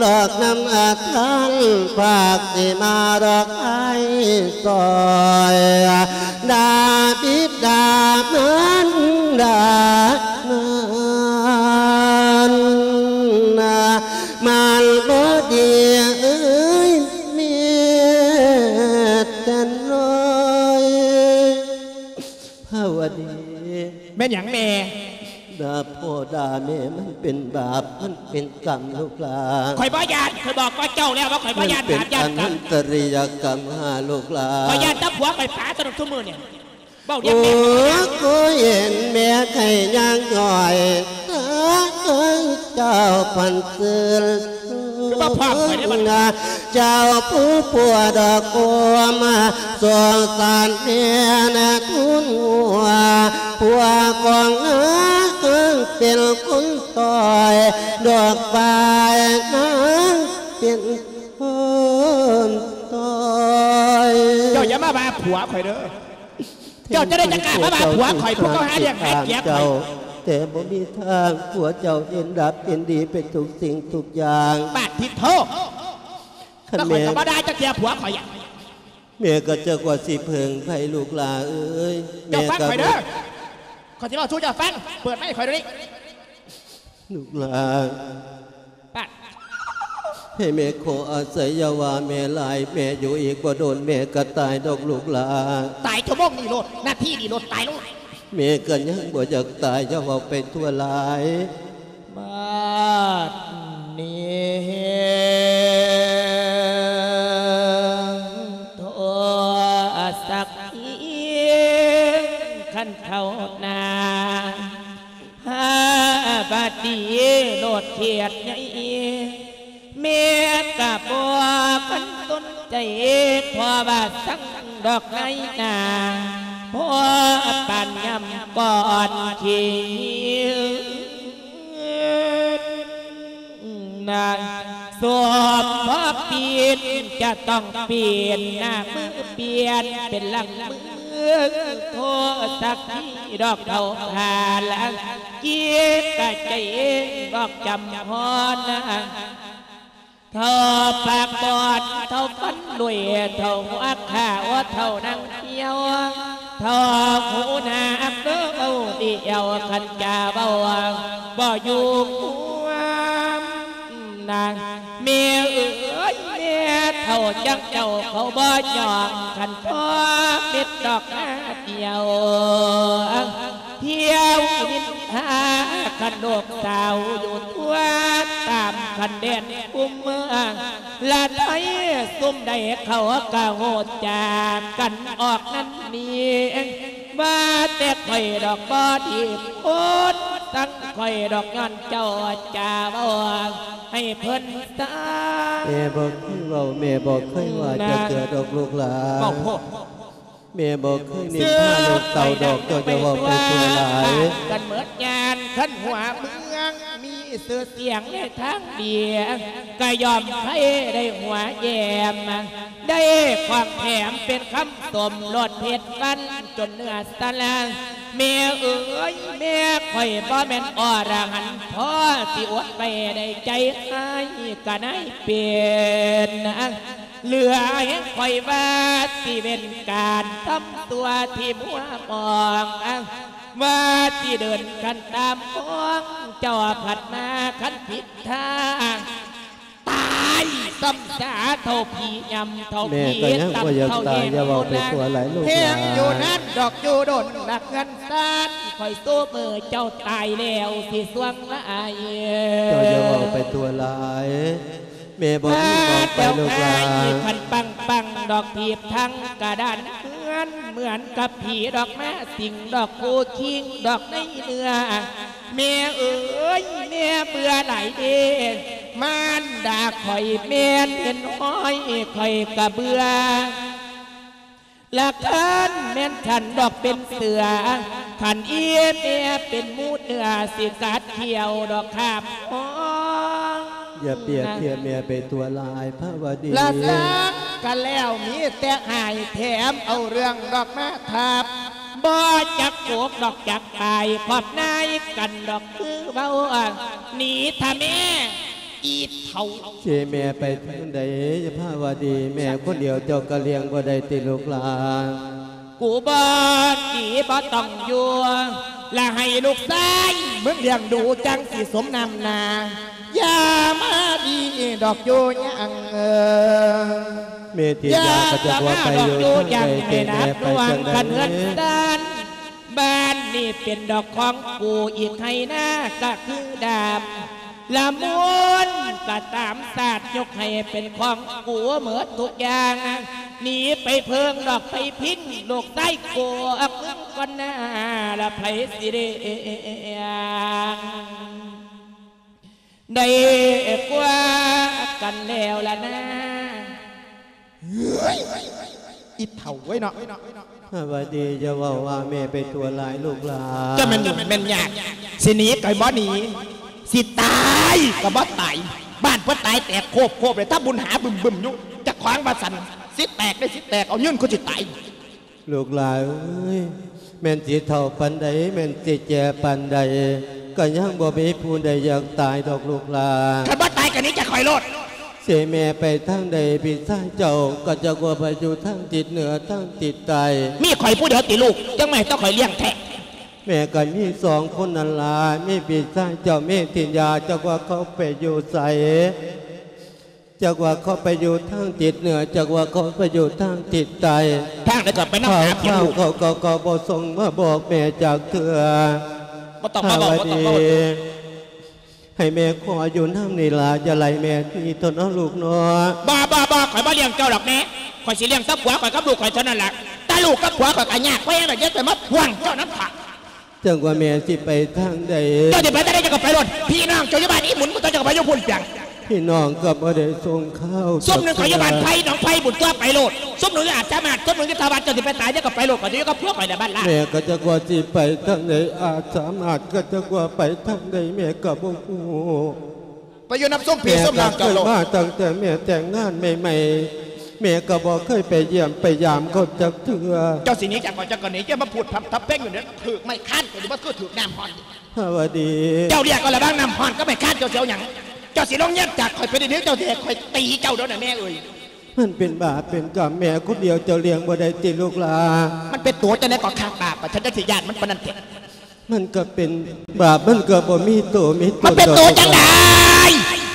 ດອກນຳອາທ່ານ ພາກຊິມາດອກໃຫ້ຊ່ອຍ ດາບິດາມານດານັ້ນນະ ມັນບໍ່ດີເອີຍ ມີແຕ່ນ້ອຍ ພາວະດີ ແມ່ນຫຍັງແມ່? ດ່າພໍ່ດ່າແມ່ມັນເປັນບາບ ມັນເປັນກຳລູກຫຼານ ຂ້ອຍບໍ່ຢ້ານ ຂ້ອຍບອກກັບເຈົ້າແລ້ວວ່າຂ້ອຍບໍ່ຢ້ານບາບຢ້ານກຳ ມັນເປັນອະນັນຕະລິຍະກຳຫາລູກຫຼານ ຂ້ອຍຢ້ານແຕ່ຜົວຂ້ອຍປາຕົວນັ້ນຊຸມື້ນີ້ ເວົ້າຮຽກແມ່ ໂອ້ ກໍເຫັນແມ່ໄຂ້ຍ່າງຍ້ອຍ ເຈົ້າພັນຊື່ນ ຄືວ່າພາບຂ້ອຍໄດ້ບັດນີ້ ເຈົ້າຜູ້ຜົວດອກໂອມ ສົງສານແມ່ນະທຸນຫົວ ຜົວຂອງນາງເປັນຄົນຕ້ອຍ ດອກຝ້າຍນາງເປັນຄົນຕ້ອຍ ເຈົ້າຢ່າມາວ່າຜົວຂ້ອຍເດີ ເຈົ້າຈະໄດ້ຈັດການມາວ່າຜົວຂ້ອຍ ຜູ້ເຂົາຫາລ້ຽງຫາເກັບຂ້ອຍ ແຕ່ບໍ່ມີທາງ ຜົວເຈົ້າເຫັນດັບເຫັນດີເປັນທຸກສິ່ງທຸກຢ່າງ ປາດທິດໂທ ຄັນແມ່ນ ແລ້ວຂ້ອຍກໍບໍ່ໄດ້ຈັກເທື່ອຜົວຂ້ອຍ ແມ່ກໍຈັກວ່າຊິເພິ່ງໃຜລູກຫຼາເອີຍ ເຈົ້າຟັງຂ້ອຍເດີ ແມ່ກໍ ຂ້ອຍຊິເວົ້າສູ່ເຈົ້າຟັງ ເປີດໄມຂ້ອຍດຽວນີ້ ລູກຫຼາ ປາດ ໃຫ້ແມ່ຂໍອາໄສ ຢ່າວ່າແມ່ຫຼາຍ ແມ່ຢູ່ອີກບໍ່ດົນແມ່ກໍຕາຍດອກລູກຫຼາ ຕາຍຊົ່ວໂມງນີ້ໂລດ ນາທີນີ້ໂລດ ຕາຍໂລດ ແມ່ກໍຍັງບໍ່ຢາກຕາຍ ຢ່າເວົ້າໄປທົ່ວຫຼາຍ ບາດນີ້ໂທສັກ ຄັນເທົ່ານາ ຫາບາດນີ້ໂລດເຂດໃຫຍ່ ແມ່ກະບໍ່ຄັນສົນໃຈ ເພາະວ່າສັງດອກນາຍໜ້າ ພໍປານຍາມກ່ອນຂີ້ນາ ສົມພໍປິ່ນຈະຕ້ອງປ່ຽນໜ້າມື ປ່ຽນເປັນຫຼັງມື ໂທສັກ ທີ່ດອກເຖົ້າຂ້າລະ ເຈັບກະໃຈເອງດອກຈຳພອນນາ ເຖົ້າປາກບອດ ເຖົ້າຟັນລຸຍ ເຖົ້າຫົວຂາວ ເຖົ້າໜັງຫ່ຽວ ເຖົ້າຫູໜາກເດີ ເວົ້າດີແອວ ຄັນຈະເວົ້າບໍ່ຢູ່ຄວາມນາ ແມ່ເອີຍ ແມ່ເຖົ້າຈັ່ງເຈົ້າເຂົາບໍ່ຍ້ອງ ຄັນພໍເມັດດອກໜ້າດຽວ ທ່ຽວນິນທາ ຄັນລູກສາວຢູ່ທົ່ວ ຕາມຄັນແດນຄຸ້ມເມືອງ ລະໄທຊຸມໃດເຂົາກະຮູ້ຈັກກັນອອກນັ້ນນີ້ ວ່າແຕ່ຂ້ອຍດອກບໍ່ດີ ຄົນສັງຂ້ອຍດອກ ຍ້ອນເຈົ້າຈະເວົ້າໃຫ້ເພິ່ນຊາ ແມ່ບໍ່ເຄີຍເວົ້າ ແມ່ບໍ່ເຄີຍວ່າຈັກເທື່ອດອກລູກຫຼານ ເວົ້າໂພດ ແມ່ບໍ່ເຄີຍນິນທາລູກເຕົ້າດອກ ເຈົ້າຈະເວົ້າໄປທົ່ວຫຼາຍ ກັນເໝິດຍານ ຄັນຫົວເມືອງມີຊື່ສຽງໃນທາງດີ ກະຍ່ອມໃຜໄດ້ຫົວແຍ້ມ ໄດ້ຂອງແຖມເປັນຄຳຊົມ ໂລດເພັດວັນຈົນເນື້ອສະລາ ແມ່ເອີຍ ແມ່ຂ້ອຍບໍ່ແມ່ນອໍລະຫັນພໍຊິອົດໄວ້ໄດ້ໃຈຮ້າຍກະນາຍເປັນນາງ ເຫຼືອແຮງຂ້ອຍວ່າຊິເວັ້ນການທຳຊົ່ວທີ່ມົວມອງ ວ່າຊິເດີນກັນຕາມຂອງເຈົ້າພັດມາຄັນຜິດທາງ ຕາຍຊ້ຳຊາເທົ່າຜີຍ່ຳເທົ່າ ແມ່ກໍຍັງບໍ່ຢາກຕາຍ ຢ່າເວົ້າໄປທົ່ວຫຼາຍລູກຫຼານ ແຮງຢູ່ນັ້ນດອກຢູ່ດົນຫຼັກເຮືອນຊານ ຂ້ອຍໂຊເມີເຈົ້າຕາຍແລ້ວຊິສ່ວງຫຼາຍ ເຈົ້າຢ່າເວົ້າໄປທົ່ວຫຼາຍ ແມ່ບໍ່ມີໝ່ອງໄປລູກຫຼານ ຄັນປັງໆດອກຖີບທັງກະດານເຮືອນ ເໝືອນກັບຜີດອກມາສິງດອກຄູ່ຄິງດອກໃນເນື້ອ ແມ່ເອີຍ ແມ່ເບື່ອຫຼາຍເດ້ ມານດາຂ້ອຍແມ່ນເຫັນຫ້ອຍ ຂ້ອຍກະເບື່ອ ລະຄັນແມ່ນສັນດອກເປັນເສືອ ຄັນອີແມ່ເປັນໝູເນື້ອ ຊິກັດຂ້ຽວດອກຄາບຫ້ອງ ຢ່າປຽບທຽບແມ່ໄປຕົວຫຼາຍພະວະດີ ລະສັງກະແລ້ວມີແຕ່ຫາຍ ແຖມເອົາເລື່ອງດອກມາທັບ ບໍ່ຈັກໂກກດອກຈັກປາຍ ຂອບນາຍກັນດອກຄືເວົ້າ ໜີຖ້າແມ່ ອີເຖົ້າ ເຈແມ່ໄປທາງໃດພະວະດີ ແມ່ຄົນດຽວເຈົ້າກະລ້ຽງບໍ່ໄດ້ຕິລູກຫຼານ ກູບໍ່ໜີບໍ່ຕ້ອງຢູ່ ລະໃຫ້ລູກຊາຍມຶງລ້ຽງດູ ຈັ່ງຊິສົມນ້ຳໜ້າ ຢ່າມາດີດອກຢູ່ຍັງ ເອີ ແມ່ທິດຢາກະຈະບໍ່ໄປຢູ່ທາງໃດ ເຈແມ່ໄປຈັ່ງໃດ ບ້ານນີ້ເປັນດອກຂອງກູ ອີກໄຮ່ນາກະຄືດາມ ລະມູນກະຕາມຊາດ ຍົກໃຫ້ເປັນຂອງກູເໝິດທຸກຢ່າງ ໜີໄປເພິ່ງດອກໄປພິງ ລູກຊາຍກູອອກເມືອງກ່ອນໜ້າ ລະໃຜຊິລ້ຽງ ໄດ້ກວ່າກັນແລ້ວລະນາ ເຮີ້ຍ ອີເຖົ້າເວີຍເນາະ ພະວະດີ ຢ່າເວົ້າວ່າແມ່ໄປຕົວຫຼາຍລູກຫຼານ ຈະແມ່ນຫຍຸ້ງແມ່ນຍາກ ຊິໜີກະບໍ່ໜີ ຊິຕາຍກະບໍ່ຕາຍ ບ້ານເພິ່ນຕາຍແຕກໂຄບໆ ເລີຍ ທຳບຸນຫາບຶ້ມໆຢູ່ ເຈົ້າຂອງວ່າຊັ້ນ ຊິແຕກໄດ້ຊິແຕກ ເອົາຍືນຄືຊິຕາຍ ລູກຫຼານເອີຍ ແມ່ນຊິເຖົ້າປານໃດ ແມ່ນຊິແກ່ປານໃດ ກະຍັງບໍ່ມີຜູ້ໃດຢາກຕາຍດອກລູກຫຼານ ຄັນບໍ່ຕາຍກະໜີຈາກຂ້ອຍໂລດ ເຈແມ່ໄປທາງໃດ ພີ່ຊາຍເຈົ້າກະຈັກວ່າໄປຢູ່ທາງທິດເໜືອ ທາງທິດໃຕ້ ມີຂ້ອຍຜູ້ດຽວຕິລູກ ຈັ່ງມາໃຫ້ແຕ່ຂ້ອຍລ້ຽງແທ້ ແມ່ກະມີສອງຄົນນັ້ນລະ ມີພີ່ຊາຍເຈົ້າ ເມທິນຍາ ຈັກວ່າເຂົາໄປຢູ່ໃສ ຈັກວ່າເຂົາໄປຢູ່ທາງທິດເໜືອ ຈັກວ່າເຂົາໄປຢູ່ທາງທິດໃຕ້ ທາງໃດກະໄປນຳຫາ ເຂົາ ເຂົາ ເຂົາກະບໍ່ສົ່ງມາບອກແມ່ຈັກເທື່ອ ບໍ່ຕ້ອງມາບອກ ພະວະດີ ບໍ່ຕ້ອງມາບອກ ໃຫ້ແມ່ຂໍຢູ່ນຳນີ້ລະ ຢ່າໄລ່ແມ່ໜີເຖາະເນາະລູກເນາະ ບໍ່ ບໍ່ ບໍ່ ຂ້ອຍບໍ່ລ້ຽງເຈົ້າດອກແມ່ ຂ້ອຍຊິລ້ຽງແຕ່ຜົວຂ້ອຍກັບລູກຂ້ອຍເທົ່ານັ້ນລະ ແຕ່ລູກກັບຜົວຂ້ອຍກະຍາກ ບໍ່ແມ່ນດອກ ຢ່າໄປມາພ່ວງເຈົ້ານຳຂ້ອຍ ຈັ່ງວ່າແມ່ຊິໄປທາງໃດ ເຈົ້າຊິໄປທາງໃດເຈົ້າກະໄປໂລດ ພີ່ນ້ອງເຈົ້າຢູ່ບ້ານອີ່ໝຸນ ເຈົ້າກະໄປຢູ່ພຸ້ນເປີຍງ ພີ່ນ້ອງກະບໍ່ໄດ້ສົ່ງຂ່າວ ຊຸມໜຶ່ງເຂົາຢູ່ບ້ານໄຜ່ ໜອງໄຜ່ພຸ້ນຕົວະ ໄປໂລດ ຊຸມໜຶ່ງຢູ່ອາດສາມາດ ຊຸມໜຶ່ງຢູ່ທ່າບາດ ເຈົ້າຊິໄປຕາຍ ເຈົ້າກະໄປໂລດ ຂ້ອຍຊິຢູ່ກັບຜົວຂ້ອຍໃນບ້ານລາ ແມ່ກະຈັກວ່າຊິໄປທາງໃດ ອາດສາມາດກະຈັກວ່າໄປທາງໃດ ແມ່ກະບໍ່ຮູ້ ໄປຢູ່ນຳຊຸມພີ່ຊຸມນ້ອງເຈົ້າໂລດ ແມ່ກະເຄີຍມາຕັ້ງແຕ່ແມ່ແຕ່ງງານໃໝ່ໆ ແມ່ກະບໍ່ເຄີຍໄປຢ້ຽມໄປຢາມເຂົາຈັກເທື່ອ ເຈົ້າຊິໜີຈາກຂ້ອຍເຈົ້າກະໜີ ຢ່າມາພູດພ່ຳທຳເພງຢູ່ນີ້ ຖືກໄມ້ຄານກະຊິບໍ່ຄືຖືກນ້ຳຮ້ອນ ພະວະດີ ເຈົ້າເລືອກເອົາລະຫວ່າງນ້ຳຮ້ອນກັບໄມ້ຄານ ເຈົ້າຊິເອົາຫຍັງ ເຈົ້າຊິລົງເຮືອນຈາກຂ້ອຍໄປດຽວນີ້ ເຈົ້າຊິໃຫ້ຂ້ອຍຕີເຈົ້າເດີນະແມ່ເອີຍ ມັນເປັນບາບເປັນກຳ ແມ່ຄົນດຽວເຈົ້າລ້ຽງບໍ່ໄດ້ຕິລູກຫຼານ ມັນເປັນໂຕຈັ່ງໃດກະຂ້າບາບ ກະຊັ້ນຈັ່ງຊິຢ້ານມັນປານນັ້ນແທ້ ມັນກະເປັນບາບ ມັນກະບໍ່ມີໂຕມີຕົນ ມັນເປັນໂຕຈັ່ງໃດ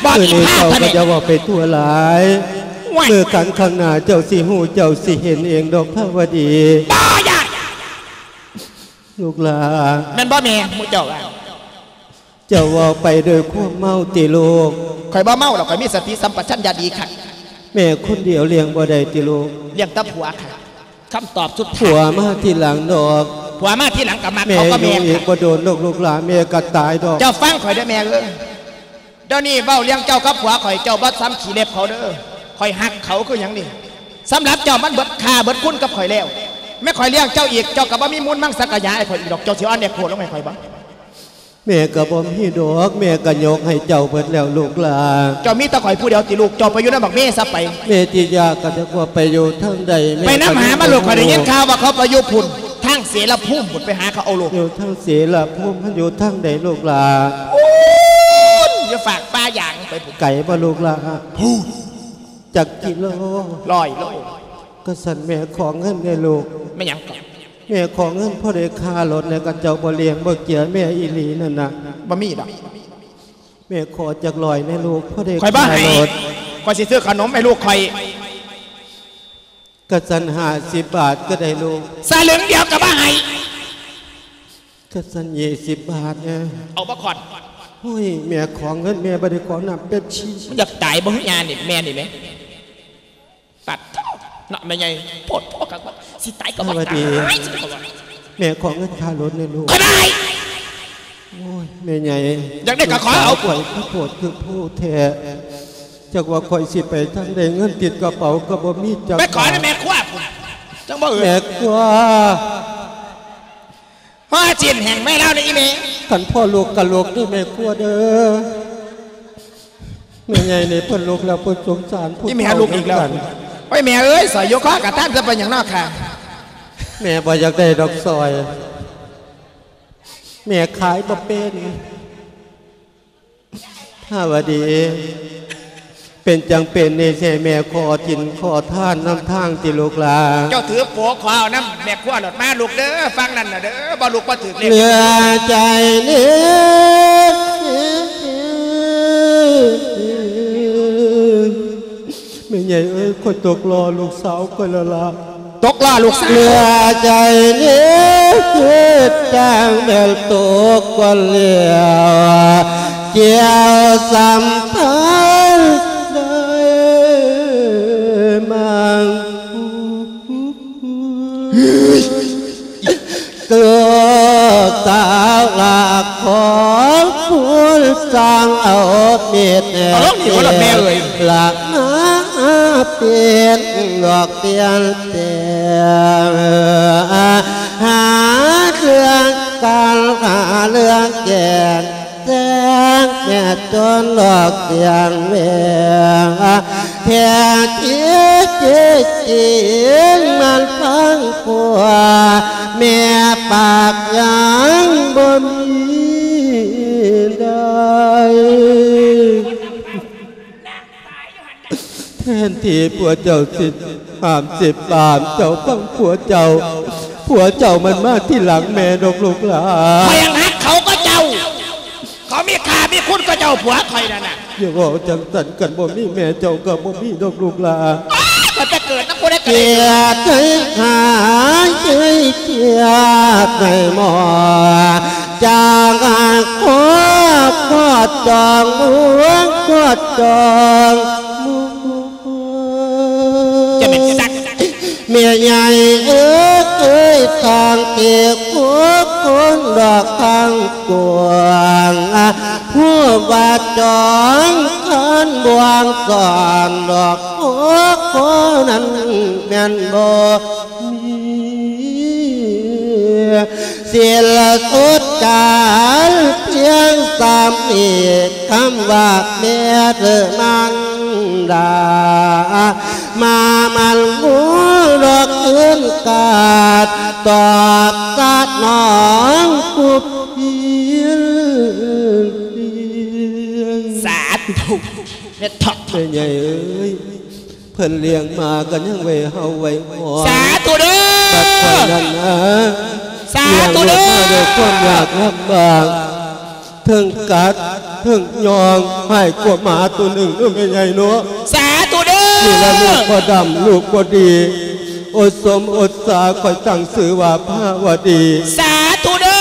ບອກອີກ ມື້ນີ້ເຈົ້າກະຢ່າເວົ້າໄປທົ່ວຫຼາຍ ມື້ກັນຂ້າງໜ້າເຈົ້າຊິຮູ້ ເຈົ້າຊິເຫັນເອງດອກພະວະດີ ບໍ່ຢາກ ລູກຫຼານ ແມ່ນບໍ່ແມ່ ໝູ່ເຈົ້າວ່າ ເຈົ້າເວົ້າໄປດ້ວຍຄວາມເມົາຕິລູກ ຂ້ອຍບໍ່ເມົາດອກ ຂ້ອຍມີສະຕິສຳປະຊັນຍະດີຄັກ ແມ່ຄົນດຽວລ້ຽງບໍ່ໄດ້ຕິລູກ ລ້ຽງແຕ່ຜົວຄັກ ຄຳຕອບສຸດທ້າຍ ຜົວມາທີຫຼັງດອກ ຜົວມາທີຫຼັງກະມັກເຂົາກະແມ່ນ ແມ່ຢູ່ອີກບໍ່ດົນດອກລູກຫຼານ ແມ່ກະຕາຍດອກ ເຈົ້າຟັງຂ້ອຍເດີແມ່ເອີຍ ດຽວນີ້ເວົ້າເລື່ອງເຈົ້າກັບຜົວຂ້ອຍ ເຈົ້າບໍ່ຊ່ຳຂີ້ເລັບເຂົາເດີ ຂ້ອຍຮັກເຂົາຄືຫຍັງນີ້ ສຳລັບເຈົ້າມັນເບິດຄ່າເບິດຄຸນກັບຂ້ອຍແລ້ວ ແມ່ນຂ້ອຍລ້ຽງເຈົ້າອີກ ເຈົ້າກະບໍ່ມີມູນມັງສັກກະຍາໃຫ້ຂ້ອຍອີກດອກ ເຈົ້າຊິອ່ອນແອກໂພລົງໃຫ້ຂ້ອຍບໍ່ ແມ່ກະບໍ່ມີດອກ ແມ່ກະຍົກໃຫ້ເຈົ້າເບິດແລ້ວລູກຫຼານ ເຈົ້າມີແຕ່ຂ້ອຍຜູ້ດຽວຕິລູກ ເຈົ້າໄປຢູ່ນຳບັກເມຊະໄປ ແມ່ຕິຢາກະຈັກວ່າໄປຢູ່ທາງໃດ ແມ່ໄປນຳຫາມັນໂລດ ຂ້ອຍໄດ້ຍິນຂ່າວວ່າເຂົາໄປຢູ່ພຸ້ນ ໄທ ທາງເສລະພູມພຸ້ນ ໄປຫາເຂົາເອົາໂລດ. ຢູ່ທາງເສລະພູມ ມັນຢູ່ທາງໃດລູກຫຼ້າ? ພຸ້ນ ຢູ່ຟາກປ່າຢາງໄປພຸ້ນ. ໄກບໍ່ລູກຫຼ້າ? ພຸ້ນ ຈັກກິໂລ? ຮ້ອຍໂລ. ກະຊັ້ນແມ່ຂໍເງິນແດ່ລູກ. ແມ່ນຫຍັງເກາະ? ແມ່ຂໍເງິນພໍໄດ້ຄ່າລົດແດ່ ຄັນເຈົ້າບໍ່ລ້ຽງບໍ່ເກຍແມ່ອີ່ຫຼີນັ້ນນະ. ບໍ່ມີດອກ. ແມ່ຂໍຈັກຮ້ອຍແດ່ລູກ ພໍໄດ້ຄ່າລົດ. ຂ້ອຍບໍ່ໃຫ້ ຂ້ອຍຊິຊື້ຂະໜົມໃຫ້ລູກຂ້ອຍ. ກະຊັ້ນຫ້າສິບບາດກະໄດ້ລູກ. ສະລຶງດຽວກະບໍ່ໃຫ້. ກະຊັ້ນຊາວບາດແດ່. ເອົາບໍ່ຄອນ? ໂອ້ຍ ແມ່ຂໍເງິນ ແມ່ບໍ່ໄດ້ຂໍນ້ຳເປັບຊີ. ມັນຢາກຕາຍບໍ່ຫືອຍານີ້ ແມ່ນີ້ແໝ່? ປັດໂທ້ ເນາະແມ່ໃຫຍ່ ໂພດໂພ ຄັກວ່າ ຊິຕາຍກະບໍ່ຕາຍ. ສະຫວັດດີ ຊິບໍ່ວ່າ ແມ່ຂໍເງິນຄ່າລົດແດ່ລູກ. ບໍ່ໄດ້. ໂອ້ຍ ແມ່ໃຫຍ່ ຢາກໄດ້ກະຂໍເອົາ. ລູກສາວຂ້ອຍຄືໂພດຄືໂພແທ້ ຈັກວ່າຂ້ອຍຊິໄປທາງໃດ ເງິນຕິດກະເປົາກະບໍ່ມີຈັກບາດ. ໄປຂໍນຳແມ່ຄົວພຸ້ນ ຈັ່ງບໍ່ອຶດ. ແມ່ຄົວ ພໍ້ຊີ້ນແຫ້ງແມ່ລາວນີ້ອີ່ແມ່. ຄັນພໍ່ລຸກກະລຸກເດີແມ່ຄົວເດີ. ແມ່ໃຫຍ່ນີ້ເພິ່ນລຸກແລ້ວ ເພິ່ນສົງສານຜູ້ເຖົ້າ. ອີ່ແມ່ລຸກອີກແລ້ວ. ໂອ້ຍ ແມ່ເອີຍ ສອຍຢູ່ຄໍກະຕາມ ຈະເປັນຫຍັງເນາະຄະ? ແມ່ບໍ່ຢາກໄດ້ດອກສອຍ ແມ່ຂາຍບໍ່ເປັນ. ພາວະດີ ເປັນຈັ່ງເປັນນີ້ ຊິໃຫ້ແມ່ຂໍກິນຂໍທານນຳທາງຕິລູກຫຼ້າ? ເຈົ້າຖືໂປຂໍເອົານຳແມ່ຄົວໂລດ. ມາລູກເດີ ຝັ່ງນັ້ນນະເດີ ບໍ່ລຸກບໍ່ຖືກເລກ. ເຫຼືອໃຈນີ້ ແມ່ໃຫຍ່ເອີຍ ຂ້ອຍຕົກລໍ້ລູກສາວຂ້ອຍແລ້ວລະ. ຕົກລໍ້ລູກສາວ. ເຫຼືອໃຈນີ້ ຄືຈັ່ງແມ່ນຕົກກ່ອນແລ້ວ ກ່ຽວສຳພັນໄດ້ມັງ. ລູກສາວລະຂໍບຸນ ຊ່າງເອົາເມັດແອບ ເອົາລົງນີ້ບໍ່ລະແມ່ເອີຍ ລະມາປ່ຽນດອກປ່ຽນແປງ ຫາເລື່ອງກັນ ຫາເລື່ອງແກ່ງ ແຈ້ງແມ່ຈົນດອກສຽງແວວ ແທ້ຈິງຈິງມັນຟັງກວ່າ ແມ່ປາກຍັງບໍ່ມີໄດ້. ແທນທີ່ຜົວເຈົ້າຊິຫ້າມຊິປາມເຈົ້າຟັງຜົວເຈົ້າ, ຜົວເຈົ້າມັນມາທີຫຼັງແມ່ດອກລູກຫຼ້າ. ຂ້ອຍຫັ້ນຮັກເຂົາກວ່າເຈົ້າ. ເຂົາມີຄ່າມີຄຸນກວ່າເຈົ້າ ຜົວຂ້ອຍນັ້ນນະ. ຢ່າເວົ້າຈັ່ງຊັ້ນ, ຄັນບໍ່ມີແມ່ເຈົ້າກໍບໍ່ມີດອກລູກຫຼ້າ. ໂອ້ຍ ຂ້ອຍໄປເກີດນຳຜູ້ໃດກໍໄດ້. ກຽດໃຈຫາໃຈກຽດໃນໝໍ ຈາກຄອບຄອດຈອງເມືອງຄອດຈອງ ຈະແມ່ນສັກ ແມ່ໃຫຍ່ເອີຍ ທາງເກກໂຄກຄົນດອກທາງກວ້າງ ຜູ້ວ່າຈອງຄັນບ່ວງສອນດອກໂຄກຄົນນັ້ນແມ່ນບໍ່ມີ ສິ້ນສຸດການພຽງສ່ຳອີກ ຄຳວ່າແມ່ເທີມານດາ ມາມັນໝູດອກຄືນກາດ ຕອບສະໜອງຜູ້ພຽງ. ສາທຸ ແມ່ເຖົ້າ ແມ່ໃຫຍ່ເອີຍ. ເພິ່ນລ້ຽງມາກໍຍັງໄວ້ເຮົາໄວ້ຫອມ. ສາທຸເດີ ບັດຂ້ອຍນັ້ນນະ ສາທຸເດີ ລ້ຽງລູກມາດ້ວຍຄວາມຍາກລຳບາກ ເທິງກັດເທິງຍ່ອງ ຮ້າຍກວ່າໝາໂຕໜຶ່ງເດີແມ່ໃຫຍ່ເນາະ. ສາທຸເດີ ນີ້ລະລູກບໍ່ດຳ ລູກບໍ່ດີ ອົດສົມອົດສາ ຂ້ອຍຕັ້ງຊື່ວ່າພາວະດີ. ສາທຸເດີ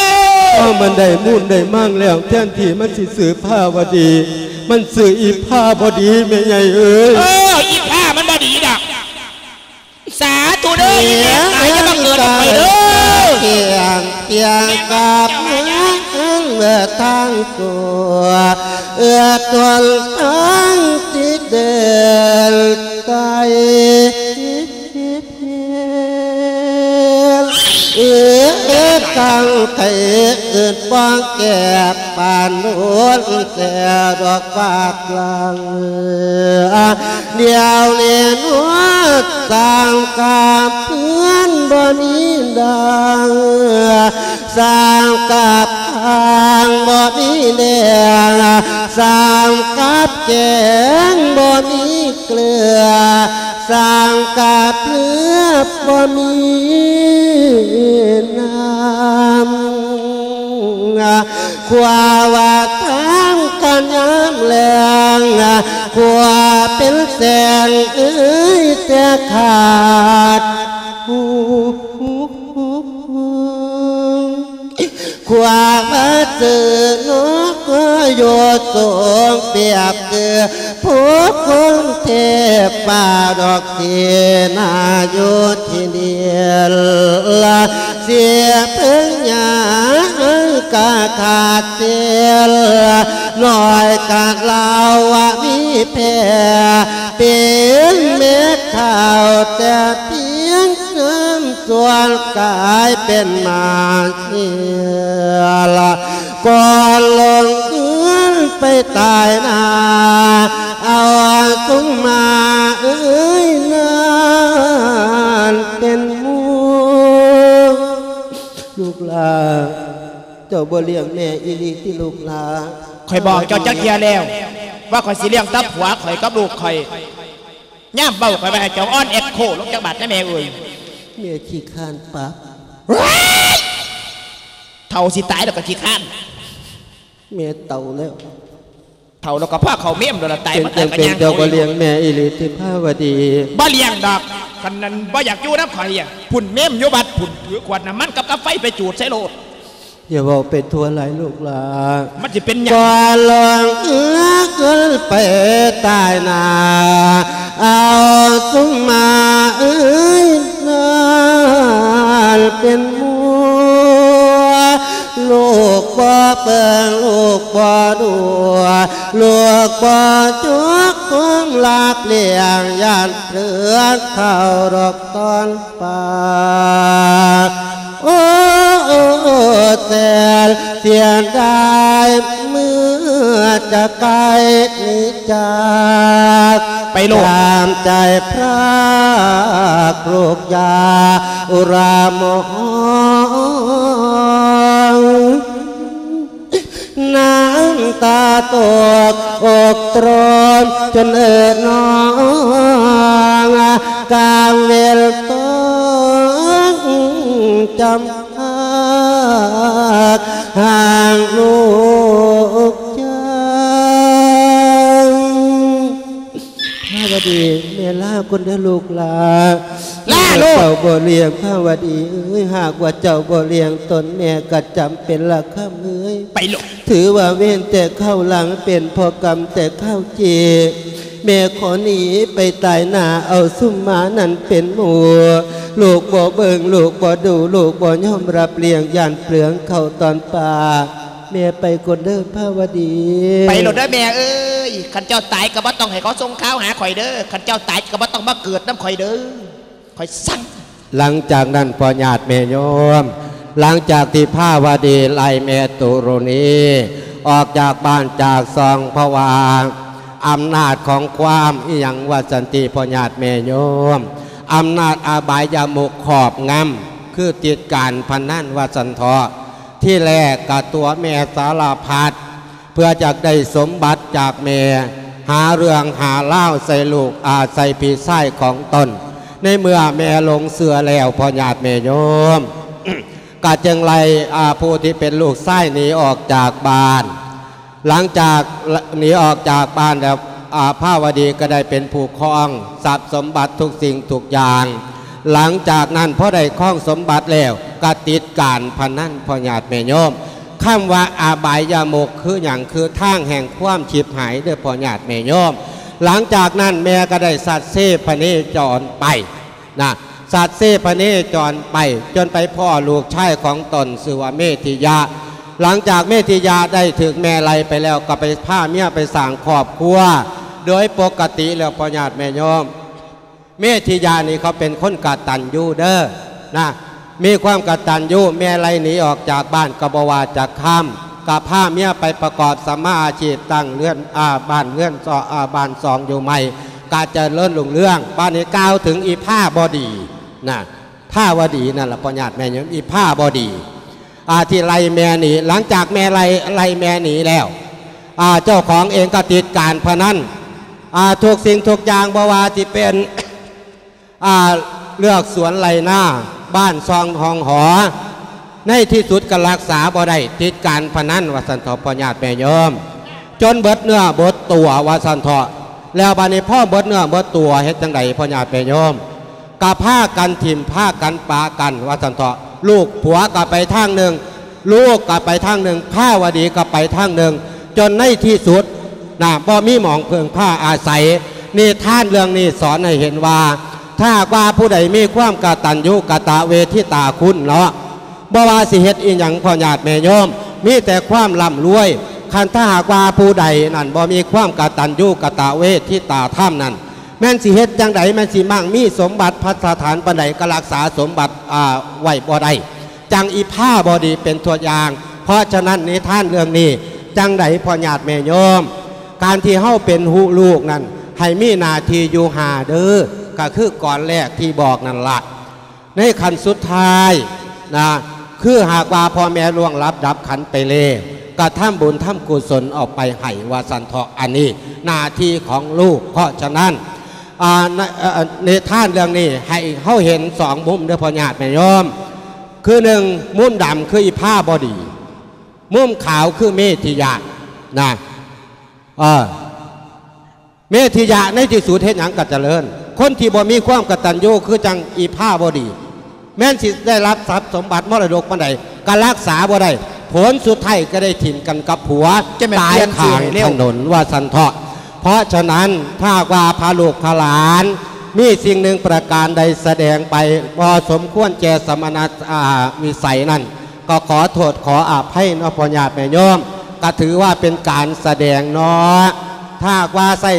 ເພາະມັນໄດ້ມູນໄດ້ມາງແລ້ວ ແທນທີ່ມັນຊິຊື່ພາວະດີ ມັນຊື່ອີພາບໍດີ ແມ່ໃຫຍ່ເອີຍ. ເອີ ອີພາມັນບໍ່ດີດອກ. ສາທຸເດີ ອີແມ່ຕາຍຢ່າມາເກີດນຳຂ້ອຍເດີ. ກຽງກຽງກັບເມືອງທາງຕົວ ເອື້ອຕົນທາງຊິເດີນໄກ ເອື້ອຕັ້ງໃຈເອີ້ນ ແກບປານໂດນແຕ່ດອກບາດຫຼັງ ດຽວນີ້ນວດສ້າງກາບເຮືອນບໍ່ມີດັງ ສ້າງກັບຂ້າງບໍ່ມີແດງ ສ້າງກັບແກງບໍ່ມີເກືອ ສ້າງກັບເຮືອບໍ່ມີນ້ຳ ຄວ້າວ່າທາງກັນຍາມແລງ ຄວ້າເປັນແສງເອີຍແຕ່ຂາດ ຄວ້າມາເຈີນອກໂຍສົງ ປຽບຄືຜູ້ຄົນເທບປ່າດອກທີ່ນາຢູ່ທີ່ນີ້ລະ ເສຍເພິງຫຍ້າກະຂາດເສຍ ນ້ອຍກະລາວວ່າມີແຜ່ ເປັນແມ່ເຖົ້າແຕ່ພຽງ ສ່ວນກາຍເປັນມາເຊຍລະ ກ່ອນລົງເຮືອນໄປຕາຍໜ້າ ເອົາສຸມມາເອີຍນັ້ນເປັນໝູ່. ລູກຫຼ້າ ເຈົ້າບໍ່ລ້ຽງແມ່ອີ່ຫຼີຕິລູກຫຼ້າ? ຂ້ອຍບອກເຈົ້າຈັກເທື່ອແລ້ວ ວ່າຂ້ອຍຊິລ້ຽງແຕ່ຜົວຂ້ອຍກັບລູກຂ້ອຍ. ຍາມເວົ້າຂ້ອຍວ່າໃຫ້ເຈົ້າອ່ອນແອັກໂຄລົງຈັກບາດນະແມ່ເອີຍ. ແມ່ຂີ້ຄ້ານປັບ. ເຖົ້າຊິຕາຍແລ້ວກໍຂີ້ຄ້ານ. ແມ່ເຖົ້າແລ້ວ. ເຖົ້າແລ້ວກໍພໍເຂົ້າເມມໂດນລະຕາຍ ເປັນ ມັນຕາຍກໍ ເປັນ ຍ່າງ ເຈົ້າບໍ່ລ້ຽງແມ່ອີ່ຫຼີຕິພາວະດີ? ບໍ່ລ້ຽງດອກ. ຄັນນັ້ນບໍ່ຢາກຢູ່ນຳຂ້ອຍ ພຸ້ນເມມຢູ່ວັດພຸ້ນ ຖືຂວດນ້ຳມັນກັບກາໄຟໄປຈູດໃສ່ໂລດ. ຢ່າເວົ້າໄປທົ່ວຫຼາຍລູກຫຼ້າ ມັນຊິເປັນຫຍັງ? ກ່ອນລົງເຮືອນໄປຕາຍໜ້າ ເອົາສຸມມາເອີຍນັ້ນເປັນໝູ່. ລູກບໍ່ເບິ່ງ ລູກບໍ່ດູ ລູກບໍ່ຈົກຄົງລາບລ້ຽງ ຢ້ານເຜືອເຂົ້າດອກຕອນ ປາກ. ໂອ້ ແສນເສຍດາຍເມື່ອຈະໄກໜີຈາກ ໄປໂລດ ຕາມໃຈພຣາກລູກຢ່າອຸຣາມອງ. ນ້ຳຕາຕົກອົກຕຣອນຈົນເອີນອງ ກາງເວນຕ້ອງຈຳພາກຫ່າງລູກຈັນ. ພາວະດີ ແມ່ລາກ່ອນເດີລູກຫຼ້າ. ລາລູກ ເຈົ້າບໍ່ລ້ຽງພາວະດີເອີຍ ຫາກວ່າເຈົ້າບໍ່ລ້ຽງຕົນ ແມ່ກໍຈຳເປັນລະຄຳເອີຍ ໄປໂລດ. ຖືວ່າເວນແຕ່ຄາວຫຼັງ ເປັນເພາະກຳແຕ່ຄາວເຈ ແມ່ຂໍໜີໄປຕາຍໜ້າ ເອົາຊຸມມານັ້ນເປັນໝູ່. ລູກບໍ່ເບິ່ງ ລູກບໍ່ດູ ລູກບໍ່ຍອມຮັບລ້ຽງ ຢ້ານເປືອງເຂົ້າຕອນປາກ. ແມ່ໄປກ່ອນເດີພາວະດີ. ໄປໂລດເດີແມ່ເອີຍ ຄັນເຈົ້າຕາຍກໍບໍ່ຕ້ອງໃຫ້ເຂົາສົ່ງຂ່າວຫາຂ້ອຍເດີ ຄັນເຈົ້າຕາຍກໍບໍ່ຕ້ອງມາເກີດນຳຂ້ອຍເດີ ຂ້ອຍສັ່ງ. ຫຼັງຈາກນັ້ນພໍ່ຍາດແມ່ໂຍມ ຫຼັງຈາກທີ່ພາວະດີໄລ່ແມ່ຕຸລຸນີອອກຈາກບ້ານຈາກຊ່ອງ ເພາະວ່າອຳນາດຂອງຄວາມອີ່ຫຍັງວ່າຊັ້ນຕິ ພໍ່ຍາດແມ່ໂຍມ ອຳນາດອະບາຍຍະມຸກຄອບງຳ ຄືຕິດການພະນັນວ່າຊັ້ນເຖາະ. ທີແລກກະຕົວະແມ່ສາລະພັດ ເພື່ອຢາກໄດ້ສົມບັດຈາກແມ່ ຫາເລື່ອງຫາລາວໃສ່ລູກ ອາ ໃສ່ພີ່ຊາຍຂອງຕົນ. ໃນເມື່ອແມ່ຫຼົງເຊື່ອແລ້ວ ພໍ່ຍາດແມ່ໂຍມ ກະຈຶ່ງໄລ່ ອາ ຜູ້ທີ່ເປັນລູກຊາຍໜີອອກຈາກບ້ານ. ຫຼັງຈາກ ໜີອອກຈາກບ້ານແລ້ວ ອາ ພາວະດີກໍໄດ້ເປັນຜູ້ຄອງຊັບສົມບັດທຸກສິ່ງທຸກຢ່າງ. ຫຼັງຈາກນັ້ນພໍໄດ້ຄອງສົມບັດແລ້ວ ກໍຕິດການພະນັນ ພໍ່ຍາດແມ່ໂຍມ. ຄຳວ່າອະບາຍຍະມຸກຄືຫຍັງ? ຄືທາງແຫ່ງຄວາມຊິບຫາຍເດີພໍ່ຍາດແມ່ໂຍມ. ຫຼັງຈາກນັ້ນແມ່ກໍໄດ້ສັດເຊພະເນຈອນໄປນະ ສັດເຊພະເນຈອນໄປ ຈົນໄປພໍ້ລູກຊາຍຂອງຕົນຊື່ວ່າເມທິຍະ. ຫຼັງຈາກເມທິຍະໄດ້ຖືກແມ່ໄລ່ໄປແລ້ວ ກໍໄປພາເມຍໄປສ້າງຄອບຄົວໂດຍປົກກະຕິແລ້ວ ພໍ່ຍາດແມ່ໂຍມ. ເມທິຍະນີ້ເຂົາເປັນຄົນກະຕັນຍູເດີນະ. ມີຄວາມກະຕັນຍູ ແມ່ໄລ່ໜີອອກຈາກບ້ານກໍບໍ່ວ່າຈັກຄຳ ກໍພາເມຍໄປປະກອບສຳມາອາຊີບ ຕັ້ງເຮືອນ ອາ ບ້ານເຮືອນຊອ ອາ ບ້ານຊ່ອງຢູ່ໃໝ່ ກໍຈະເລີນຮຸ່ງເຮືອງ. ບາດນີ້ກ່າວເຖິງອີພາບໍດີນະ ພາວະດີນັ້ນລະ ພໍ່ຍາດແມ່ໂຍມ ອີພາບໍດີ ອາ ທີ່ໄລ່ແມ່ໜີ. ຫຼັງຈາກແມ່ໄລ່ ໄລ່ແມ່ໜີແລ້ວ ອາ ເຈົ້າຂອງເອງກໍຕິດການພະນັນ ອາ ທຸກສິ່ງທຸກຢ່າງ ບໍ່ວ່າຊິເປັນ ອາ ເລືອກສວນໄຮ່ນາ ບ້ານຊ່ອງຫ້ອງຫໍ ໃນທີ່ສຸດກໍລັກສາບໍ່ໄດ້ ຕິດການພະນັນວ່າຊັ້ນເຖາະ ພໍ່ຍາດແມ່ໂຍມ ຈົນເບິດເນື້ອເບິດຕົວວ່າຊັ້ນເຖາະ. ແລ້ວບາດນີ້ພໍເບິດເນື້ອເບິດຕົວເຮັດຈັ່ງໃດ ພໍ່ຍາດແມ່ໂຍມ? ກໍພາກັນຖິ້ມພາກັນປະກັນວ່າຊັ້ນເຖາະ ລູກຜົວກໍໄປທາງໜຶ່ງ ລູກກໍໄປທາງໜຶ່ງ ພາວະດີກໍໄປທາງໜຶ່ງ ຈົນໃນທີ່ສຸດນະ ບໍ່ມີໝ່ອງເພິ່ງພາອາໄສ. ນິທານເລື່ອງນີ້ສອນໃຫ້ເຫັນວ່າ ຖ້າຫາກວ່າຜູ້ໃດມີຄວາມກະຕັນຍູກະຕະເວທິຕາຄຸນເນາະ ບໍ່ວ່າຊິເຮັດອີ່ຫຍັງ ພໍ່ຍາດແມ່ໂຍມ ມີແຕ່ຄວາມລ່ຳລວຍ. ຄັນຖ້າຫາກວ່າຜູ້ໃດນັ້ນບໍ່ມີຄວາມກະຕັນຍູກະຕະເວທິຕາທຳນັ້ນ ແມ່ນຊິເຮັດຈັ່ງໃດ ແມ່ນຊິໝັ່ງມີສົມບັດພັດສະຖານປານໃດ ກໍລັກສາສົມບັດ ອາ ໄວ້ບໍ່ໄດ້. ຈັ່ງອີພາບໍດີເປັນຕົວຢ່າງ. ເພາະສະນັ້ນ ນິທານເລື່ອງນີ້ ຈັ່ງໃດພໍ່ຍາດແມ່ໂຍມ ການທີ່ເຮົາເປັນລູກນັ້ນ ໃຫ້ມີໜ້າທີ່ຢູ່ຫ້າເດີ ກໍຄືກ່ອນແລກທີ່ບອກນັ້ນລະ ໃນຂັ້ນສຸດທ້າຍນະ ຄືຫາກວ່າພໍ່ແມ່ລ່ວງລັບດັບຂັນໄປແລ້ວ ກໍທຳບຸນທຳກຸສົນເອົາໄປໃຫ້ວ່າຊັ້ນເຖາະ. ອັນນີ້ໜ້າທີ່ຂອງລູກ. ເພາະສະນັ້ນ ອາ ໃນ ເອີ ນິທານເລື່ອງນີ້ໃຫ້ເຮົາເຫັນສອງມຸມເດີພໍ່ຍາດແມ່ໂຍມ ຄືໜຶ່ງ ມຸມດຳຄືອີພາບໍດີ ມຸມຂາວຄືເມທິຍະນະ ເອີ ເມທິຍະໃນທີ່ສຸດເຮັດຫຍັງກໍຈະເລີນ. ຄົນທີ່ບໍ່ມີຄວາມກະຕັນຍູຄືຈັ່ງອີພາບໍດີ ແມ່ນຊິໄດ້ຮັບຊັບສົມບັດມໍລະດົກປານໃດ ກໍລັກສາບໍ່ໄດ້ ຜົນສຸດທ້າຍກໍໄດ້ຖິ້ມກັນກັບຜົວ ຈະແມ່ນ ຕາຍຂ້າງຖະໜົນວ່າຊັ້ນເຖາະ. ເພາະສະນັ້ນ ຖ້າຫາກວ່າພາລູກພາຫຼານມີສິ່ງໜຶ່ງປະການໃດສະແດງໄປບໍ່ສົມຄວນແກ່ສະມະນະ ອາ ວິໄສນັ້ນ ກໍຂໍໂທດຂໍອະໄພເນາະ ພໍ່ຍາດແມ່ໂຍມ ກໍຖືວ່າເປັນການສະແດງເນາະ. ຖ້າຫາກວ່າໃຊ້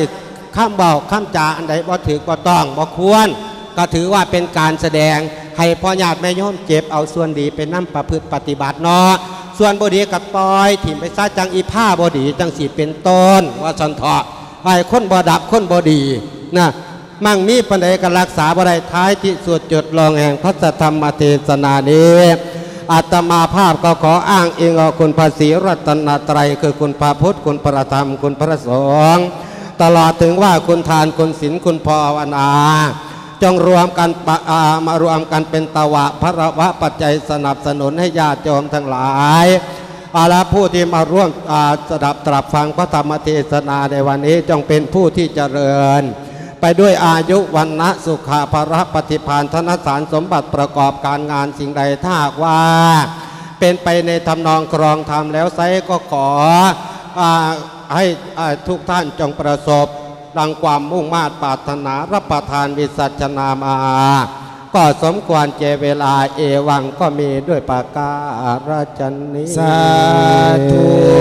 ຄຳເວົ້າຄຳຈາອັນໃດບໍ່ຖືກບໍ່ຕ້ອງບໍ່ຄວນ ກໍຖືວ່າເປັນການສະແດງໃຫ້ພໍ່ຍາດແມ່ໂຍມເກັບເອົາສ່ວນດີໄປນຳປະພຶດປະຕິບັດເນາະ ສ່ວນບໍ່ດີກໍປ່ອຍຖິ້ມໄປຊະ ຈັ່ງອີພາບໍ່ດີຈັ່ງຊີ້ເປັນຕົ້ນ ວ່າຊັ້ນເຖາະ. ໃຫ້ຄົນບໍ່ດັບຄົນບໍ່ດີນະ ໝັ່ງມີປານໃດກໍລັກສາບໍ່ໄດ້. ທ້າຍທີ່ສຸດ ຈຸດລົງແຫ່ງພະທຳມະເທສະນານີ້ ອາດຕະມາພາບກໍຂໍອ້າງອີງເອົາຄຸນພະສີລັດຕະນະໄຕ ຄືຄຸນພະພຸດ ຄຸນພະທຳ ຄຸນພະສົງ ຕະຫຼອດເຖິງວ່າຄຸນທານ ຄຸນສິນ ຄຸນພາວະນາ ຈົ່ງລວມກັນປະ ອາ ມາລວມກັນເປັນຕະວະພະລະວະປັດໄຈສະໜັບສະໜູນໃຫ້ຍາດໂຍມທັງຫຼາຍ ເອົາລະ ຜູ້ທີ່ມາຮ່ວມ ອາ ສະດັບຕະລັບຟັງພະທຳມະເທສະນາໃນວັນນີ້ ຈົ່ງເປັນຜູ້ທີ່ຈະເລີນໄປດ້ວຍອາຍຸ ວັນນະ ສຸຂະ ພະລະ ປະຕິພານ ທະນະສານສົມບັດ ປະກອບການງານສິ່ງໃດ ຖ້າຫາກວ່າເປັນໄປໃນທຳນອງຄອງທຳແລ້ວໄຊ ກໍຂໍ ອາ ໃຫ້ ອາ ທຸກທ່ານຈົ່ງປະສົບ ດັ່ງຄວາມມຸ່ງມາດປາດຖະໜາ ຮັບປະທານວິສັດຊະນາມາ ກໍສົມຄວນແກ່ເວລາ ເອວັງ ກໍມີດ້ວຍປະການະນີ້ ສາທຸ.